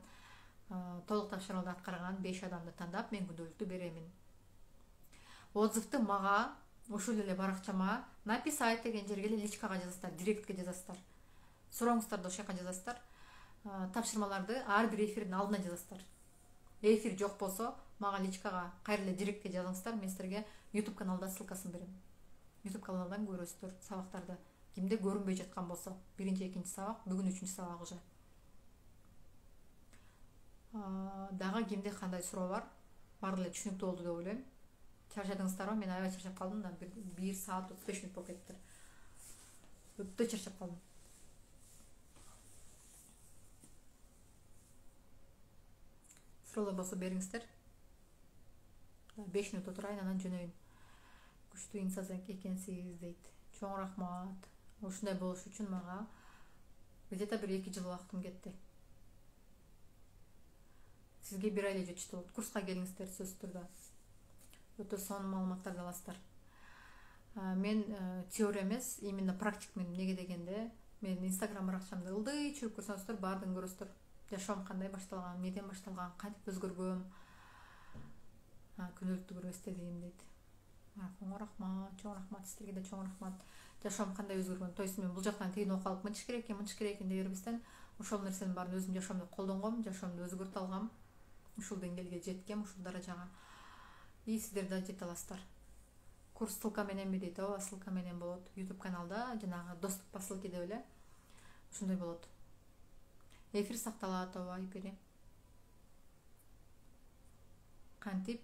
толук тапшырмаларды аткарган беш адамды тандап мен күндөлүктү беремин. Отзывды мага ушул эле баракчама написать деген жерге эле личкага жазасыздар, директке жазасыздар. Сурооңуздарды ошол жака жазасыздар. Тапшырмаларды ар бир эфирдин алдына жазасыздар. Эфир жок болсо, мага личкага кайра эле директке жазыңыздар, мен силерге YouTube каналда ссылкасын берем. YouTube каналдан көрөсүздөр сабактарды. Кимде көрүнбөй жаткан болсо, биринчи, экинчи сабак, бүгүн үчүнчү сабак уже. Дагы кимде кандай суроо бар? Баары эле түшүнүктүү болду деп ойлойм. Чарчадыңыздарбы? Мен аябай чарчап калдым да, бир саат отуз беш мүнөт болуп кетти. Өтө чарчап калдым. Суроолор болсо бериңиздер. беш мүнөт отурайын, анан жөнөйүн. Күчтүү инсан экенсиз дейт. Чоң рахмат. Ушундай болуш үчүн мага где-то бир эки жыл убактым кетти. Сизге бир ай эле жетиштүү болот. Курска келиңиздер, сөзсүз түрдө. Өтө сонун маалыматтарды аласыздар. Мен теория эмес, именно практикмин. Эмнеге дегенде, мен Instagram баракчамды ылдый чүрүп көрсөңүздөр, баардыгын көрөсүздөр. Жашоом кандай башталган, эмнеден башталган, кантип өзгөргөм. Күнделиктүү көрүп эстедим дейт. Чоң рахмат, чоң рахмат, силерге да чоң рахмат. Жашоом кандай өзгөргөн. То есть мен бул жактан тыйын окуп алып мынчыш керек экен, мынчыш керек экен деп бербестен, ошол нерсенин баарын өзүм жашоомдо колдонгом, жашоомду өзгөртө алгам. Ушул деңгээлге жеткем, ушул даражага. И сиздер да жете аласыздар. Курс ссылка мененби дейт, ооба, ссылка менен болот. YouTube каналда жанагы доступ по ссылке деп эле ушундай болот. Эфир сакталат, ооба, эфири. Кантип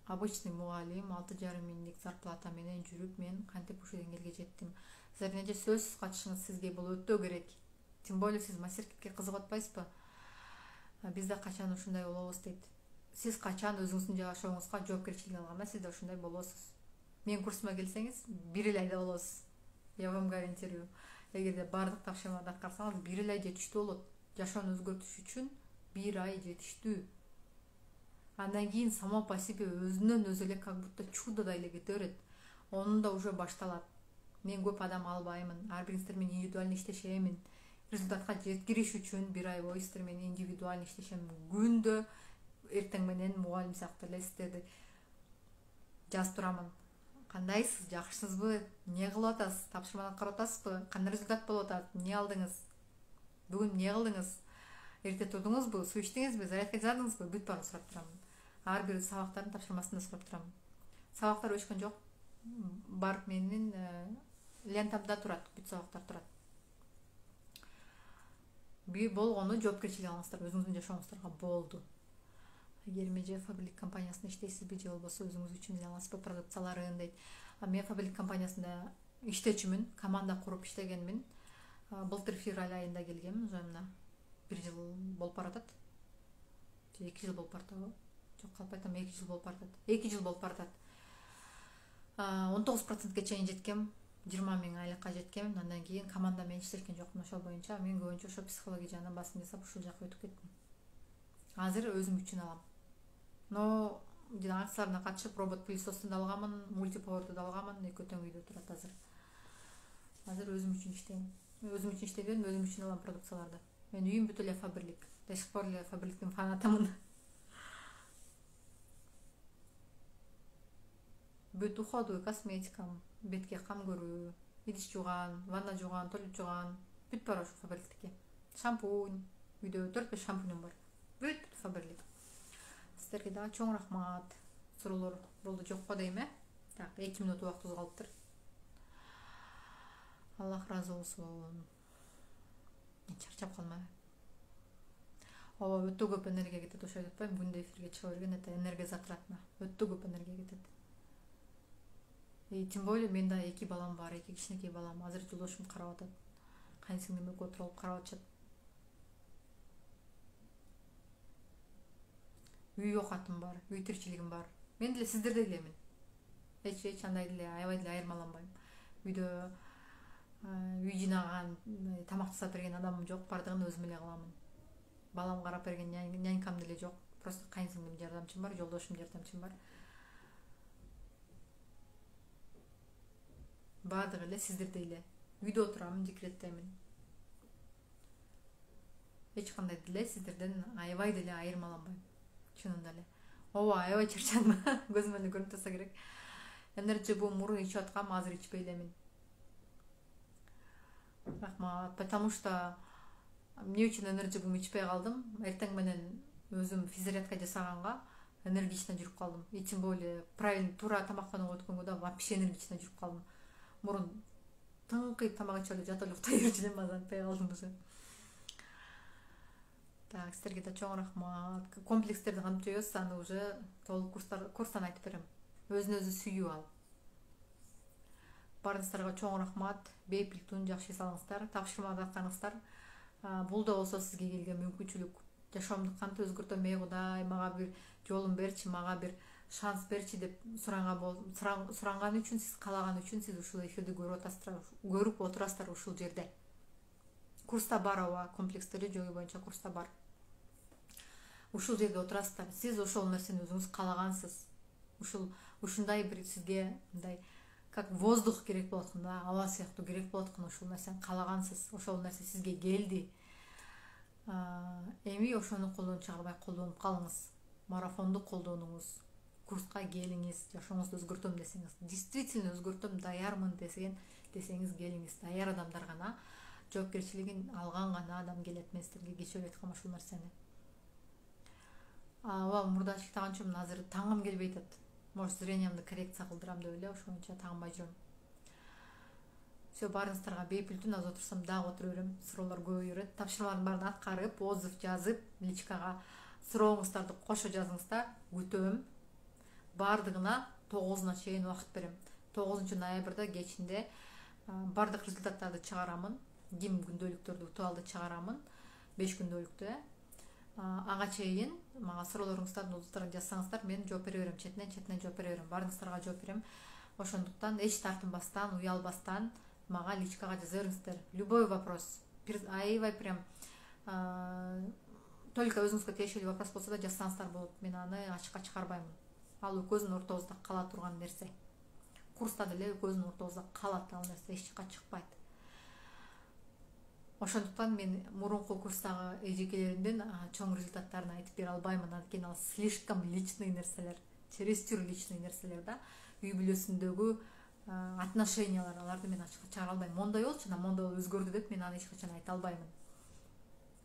обычный мугалим алты жарым миңдик зарплата менен жүрүп, мен кантип ушул деңгээлге жеттим. Силердин сөзсүз катышыңыз сизге бул өтө керек. Тем более сиз мастер-клипке кызыгып атпайсызбы? Биз да качан ушундай болобуз дейт. Сиз качан өзүңүздүн жашооңузга жоопкерчилик алганда, сиз да ушундай болосуз. Мен курсума келсеңиз, бир эле айда болосуз. Я вам гарантирую. Эгерде баардык тапшырмаларды аткарсаңыз, бир эле ай жетиштүү болот. Жашоону өзгөртүш үчүн бир ай жетиштүү. Андан кийин само по себе өзүнөн өзү эле как будто чудодай эле кете берет. Онун да уже башталат. Мен көп адам албаймын. Ар бириңиздер менен индивидуально иштешемин. Результатка жеткириш үчүн бир ай бою сиздер менен индивидуально иштешем. Күндө эртең менен мугалим сыяктуу эле сиздерди жазып турамын. Кандайсыз, жакшысызбы? Эмне кылып атасыз? Тапшырманы аткарып атасызбы? Кандай результат болуп атат? Эмне алдыңыз? Бүгүн эмне кылдыңыз? Эрте турдуңузбу? Суу ичтиңизби? Зарядка жасадыңызбы? Бүт баарын сурап турамын. Ар бир сабактардын тапшырмасын да сурап турамын. Сабактар өчкөн жок. Бар менин лентамда турат, бүт сабактар турат. Би болгону жоопкерчилик алыңыздар, өзүңүздүн жашооңуздарга болду. Эгер Меже Фабрик компаниясында иштейсизби же болбосо өзүңүз үчүн изе аласызбы продукцияларын дейт. Мен Фабрик компаниясында иштечүмүн, команда куруп иштегенмин. Былтыр февраль айында келгем, уже мына бир жыл болуп баратат. Же эки жыл болуп баратабы? Жок, калп айтам, эки жыл болуп баратат. эки жыл болуп баратат. он тогуз процентке чейин жеткем, жыйырма миң айлыкка жеткем. Андан кийин команда менен иштешкен жокмун ошол боюнча. Мен көбүнчө ошо психология жагынан басым жасап ушул жака өтүп кеттим. Азыр өзүм үчүн алам. Но жана акцияларына катышып робот пылесосту да алганмын, мультиповорду да алганмын, экөө тең үйдө турат азыр. Азыр өзүм үчүн иштейм. Өзүм үчүн иштебедим, өзүм үчүн алам продукцияларды. Мен үйүм бүт эле Фабрик. До сих пор эле Фабриктин фанатымын. Бүт уходовый косметикам, бетке кам көрүү, идиш жууган, ванна жууган, туалет жууган, бүт бар ошо Фабриктики. Шампунь, үйдө төрт беш шампуньум бар. Бүт Фабрик. Сиздерге да чоң рахмат. Суроолор болду жокко дейм э? Так, эки мүнөт убактыбыз калыптыр. Аллах разы болсун. Мен чарчап калмайм. Ооба, өтө көп энергия кетет, ошо айтпайм, күндө эфирге чыга берген, это энергия затратно. Өтө көп энергия кетет. И тем более мен да эки балам бар, эки кичинекей балам. Азыр жолдошум карап атат. Кайнсиңдим экөө отуруп карап атышат. Үй окатым бар, үй тиричилигим бар. Мен деле сиздердей элемин. Эч эч андай деле аябай деле айырмаланбайм. Үйдө үй жыйнаган, тамак жасап берген адамым жок, бардыгын өзүм эле кыламын. Балам карап берген нянькам деле жок, просто кайынсиңдим жардамчым бар, жолдошум жардамчым бар. Бардыгы эле сиздердей эле үйдө отурамын, декреттемин. Эч кандай деле сиздерден аябай деле айырмаланбайм, чынында эле. Ооба, аябай чарчадым. Көзүм эле көрүнүп турса керек. Энерджи бу мурун ичип аткам, азыр ичпей элемин. Рахмат, потому что эмне үчүн энерджи бум ичпей калдым? Эртең менен өзүм физзарядка жасаганга энергично жүрүп калдым. Ичим более правильно, туура тамактанууга өткөнгө да вообще энергично жүрүп калдым. Мурун тыңкыйып тамак ичип эле жатып эле уктай берчү элем, азыр антпай калдым уже. Так, силерге да чоң рахмат. Комплекстерди кантип жойбуз, аны уже толук курстар курстан айтып берем. Өзүн өзү сүйүү ал. Баарыңыздарга чоң рахмат. Бейпилтун жакшы эс алыңыздар, тапшырмада атканыңыздар. Бул да болсо сизге келген мүмкүнчүлүк. Жашоомду кантип өзгөртөм, эй Кудай, мага бир жолун берчи, мага бир шанс берчи деп суранган үчүн, сиз каалаган үчүн сиз ушул эфирди көрүп атасыздар, көрүп отурасыздар ушул жерде. Курста бар, ооба, комплекстерди жою боюнча курста бар. Ушул жерде отурасыздар. Сиз ошол нерсени өзүңүз каалагансыз. Ушул ушундай бир сизге мындай как воздух керек болот экен да, аба сыяктуу керек болот экен, ушул нерсени каалагансыз. Ошол нерсе сизге келди. Эми ошону колдон чыгарбай колдонуп калыңыз. Марафонду колдонуңуз. Курска келиңиз, жашооңузду өзгөртөм десеңиз, действительно өзгөртөм, даярмын десеген десеңиз келиңиз. Даяр адамдар гана, жоопкерчилигин алган гана адам келет. Мен силерге кечээ айткам ушул нерсени. Ооба, мурда чыктаганчумун, азыр таңым келбей атат. Может, зрениямды коррекция кылдырам деп эле, ошон үчүн таңбай жүрөм. Все, баарыңыздарга бейпилтун, азыр отурсам дагы отура берем. Суроолор көбөйө берет. Тапшырмалардын баарын аткарып, отзыв жазып, личкага сурооңуздарды кошо жазыңыздар. Күтөм. Бардыгына тогузуна чейин убакыт берем. тогузунчу ноябрда кечинде бардык результаттарды чыгарамын. Ким күндөлүктөрдү утуп чыгарамын. беш күндөлүктө. Ага чейин мага суроолоруңуздардын отзывдарын жазсаңыздар, мен жооп бере берем, четинен четинен жооп бере берем. Баарыңыздарга жооп берем. Ошондуктан эч тартынбастан, уялбастан мага личкага жаза бериңиздер. Любой вопрос. Аябай прям только өзүңүзгө тиешелүү вопрос болсо да жазсаңыздар болот. Мен аны ачыкка чыгарбаймын. Ал экөөбүздүн ортобузда кала турган нерсе. Курста деле экөөбүздүн ортобузда калат ал нерсе, эч жакка чыкпайт. Ошондуктан мен мурунку курстагы эжекелеримдин чоң результаттарын айтып бере албаймын. Анткени ал слишком личный нерселер, чересчур личный нерселер да. Үй бүлөсүндөгү отношениялар, аларды мен ачыкка чыгара албайм. Мондай болчу, ана мондай өзгөрдү деп мен аны эч качан айта албаймын.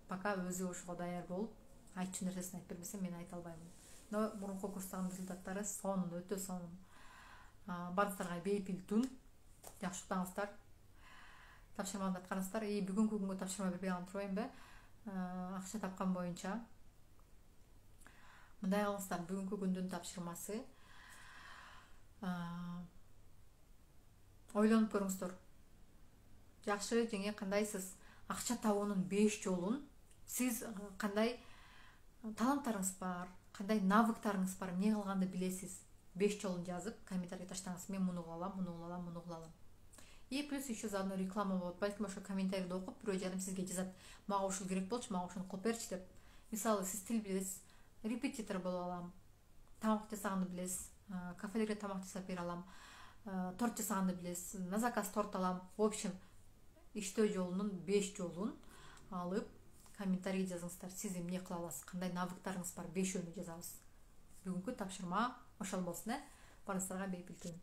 Пока өзү ошого даяр болуп, айтчу нерсесин айтып бербесем, мен айта албаймын. Но мурунку курстагы результаттары сонун, өтө сонун. Баарыңыздарга бейпилтун, жакшы уктаңыздар. Тапшырманы аткарыңыздар. И бүгүнкү күнгө тапшырма бербей калып турбаймбы? Акча тапкан боюнча. Мындай кылыңыздар, бүгүнкү күндүн тапшырмасы. Ойлонуп көрүңүздөр. Жакшы жеңе кандайсыз? Акча табуунун беш жолун сиз кандай таланттарыңыз бар, кандай навыктарыңыз бар, эмне кылганды билесиз? беш жолун жазып, комментарий таштаңыз. Мен муну кылалам, муну кылалам, муну кылалам. И плюс еще заодно реклама болот. Балким ошо комментарийди окуп, бирөө жарым сизге жазат. Мага ушул керек болчу, мага ушуну кылып берчи деп. Мисалы, сиз тил билесиз, репетитор боло алам. Тамак жасаганды билесиз, кафелерге тамак жасап бере алам. Торт жасаганды билесиз, на заказ торт алам. В общем, иштөө жолунун беш жолун алып, комментарий жазыңыздар. Сиз эмне кыла аласыз, кандай навыктарыңыз бар, бешөөнү жазабыз. Бүгүнкү тапшырма ошол болсун, э? Баарыңыздарга бейпилтун.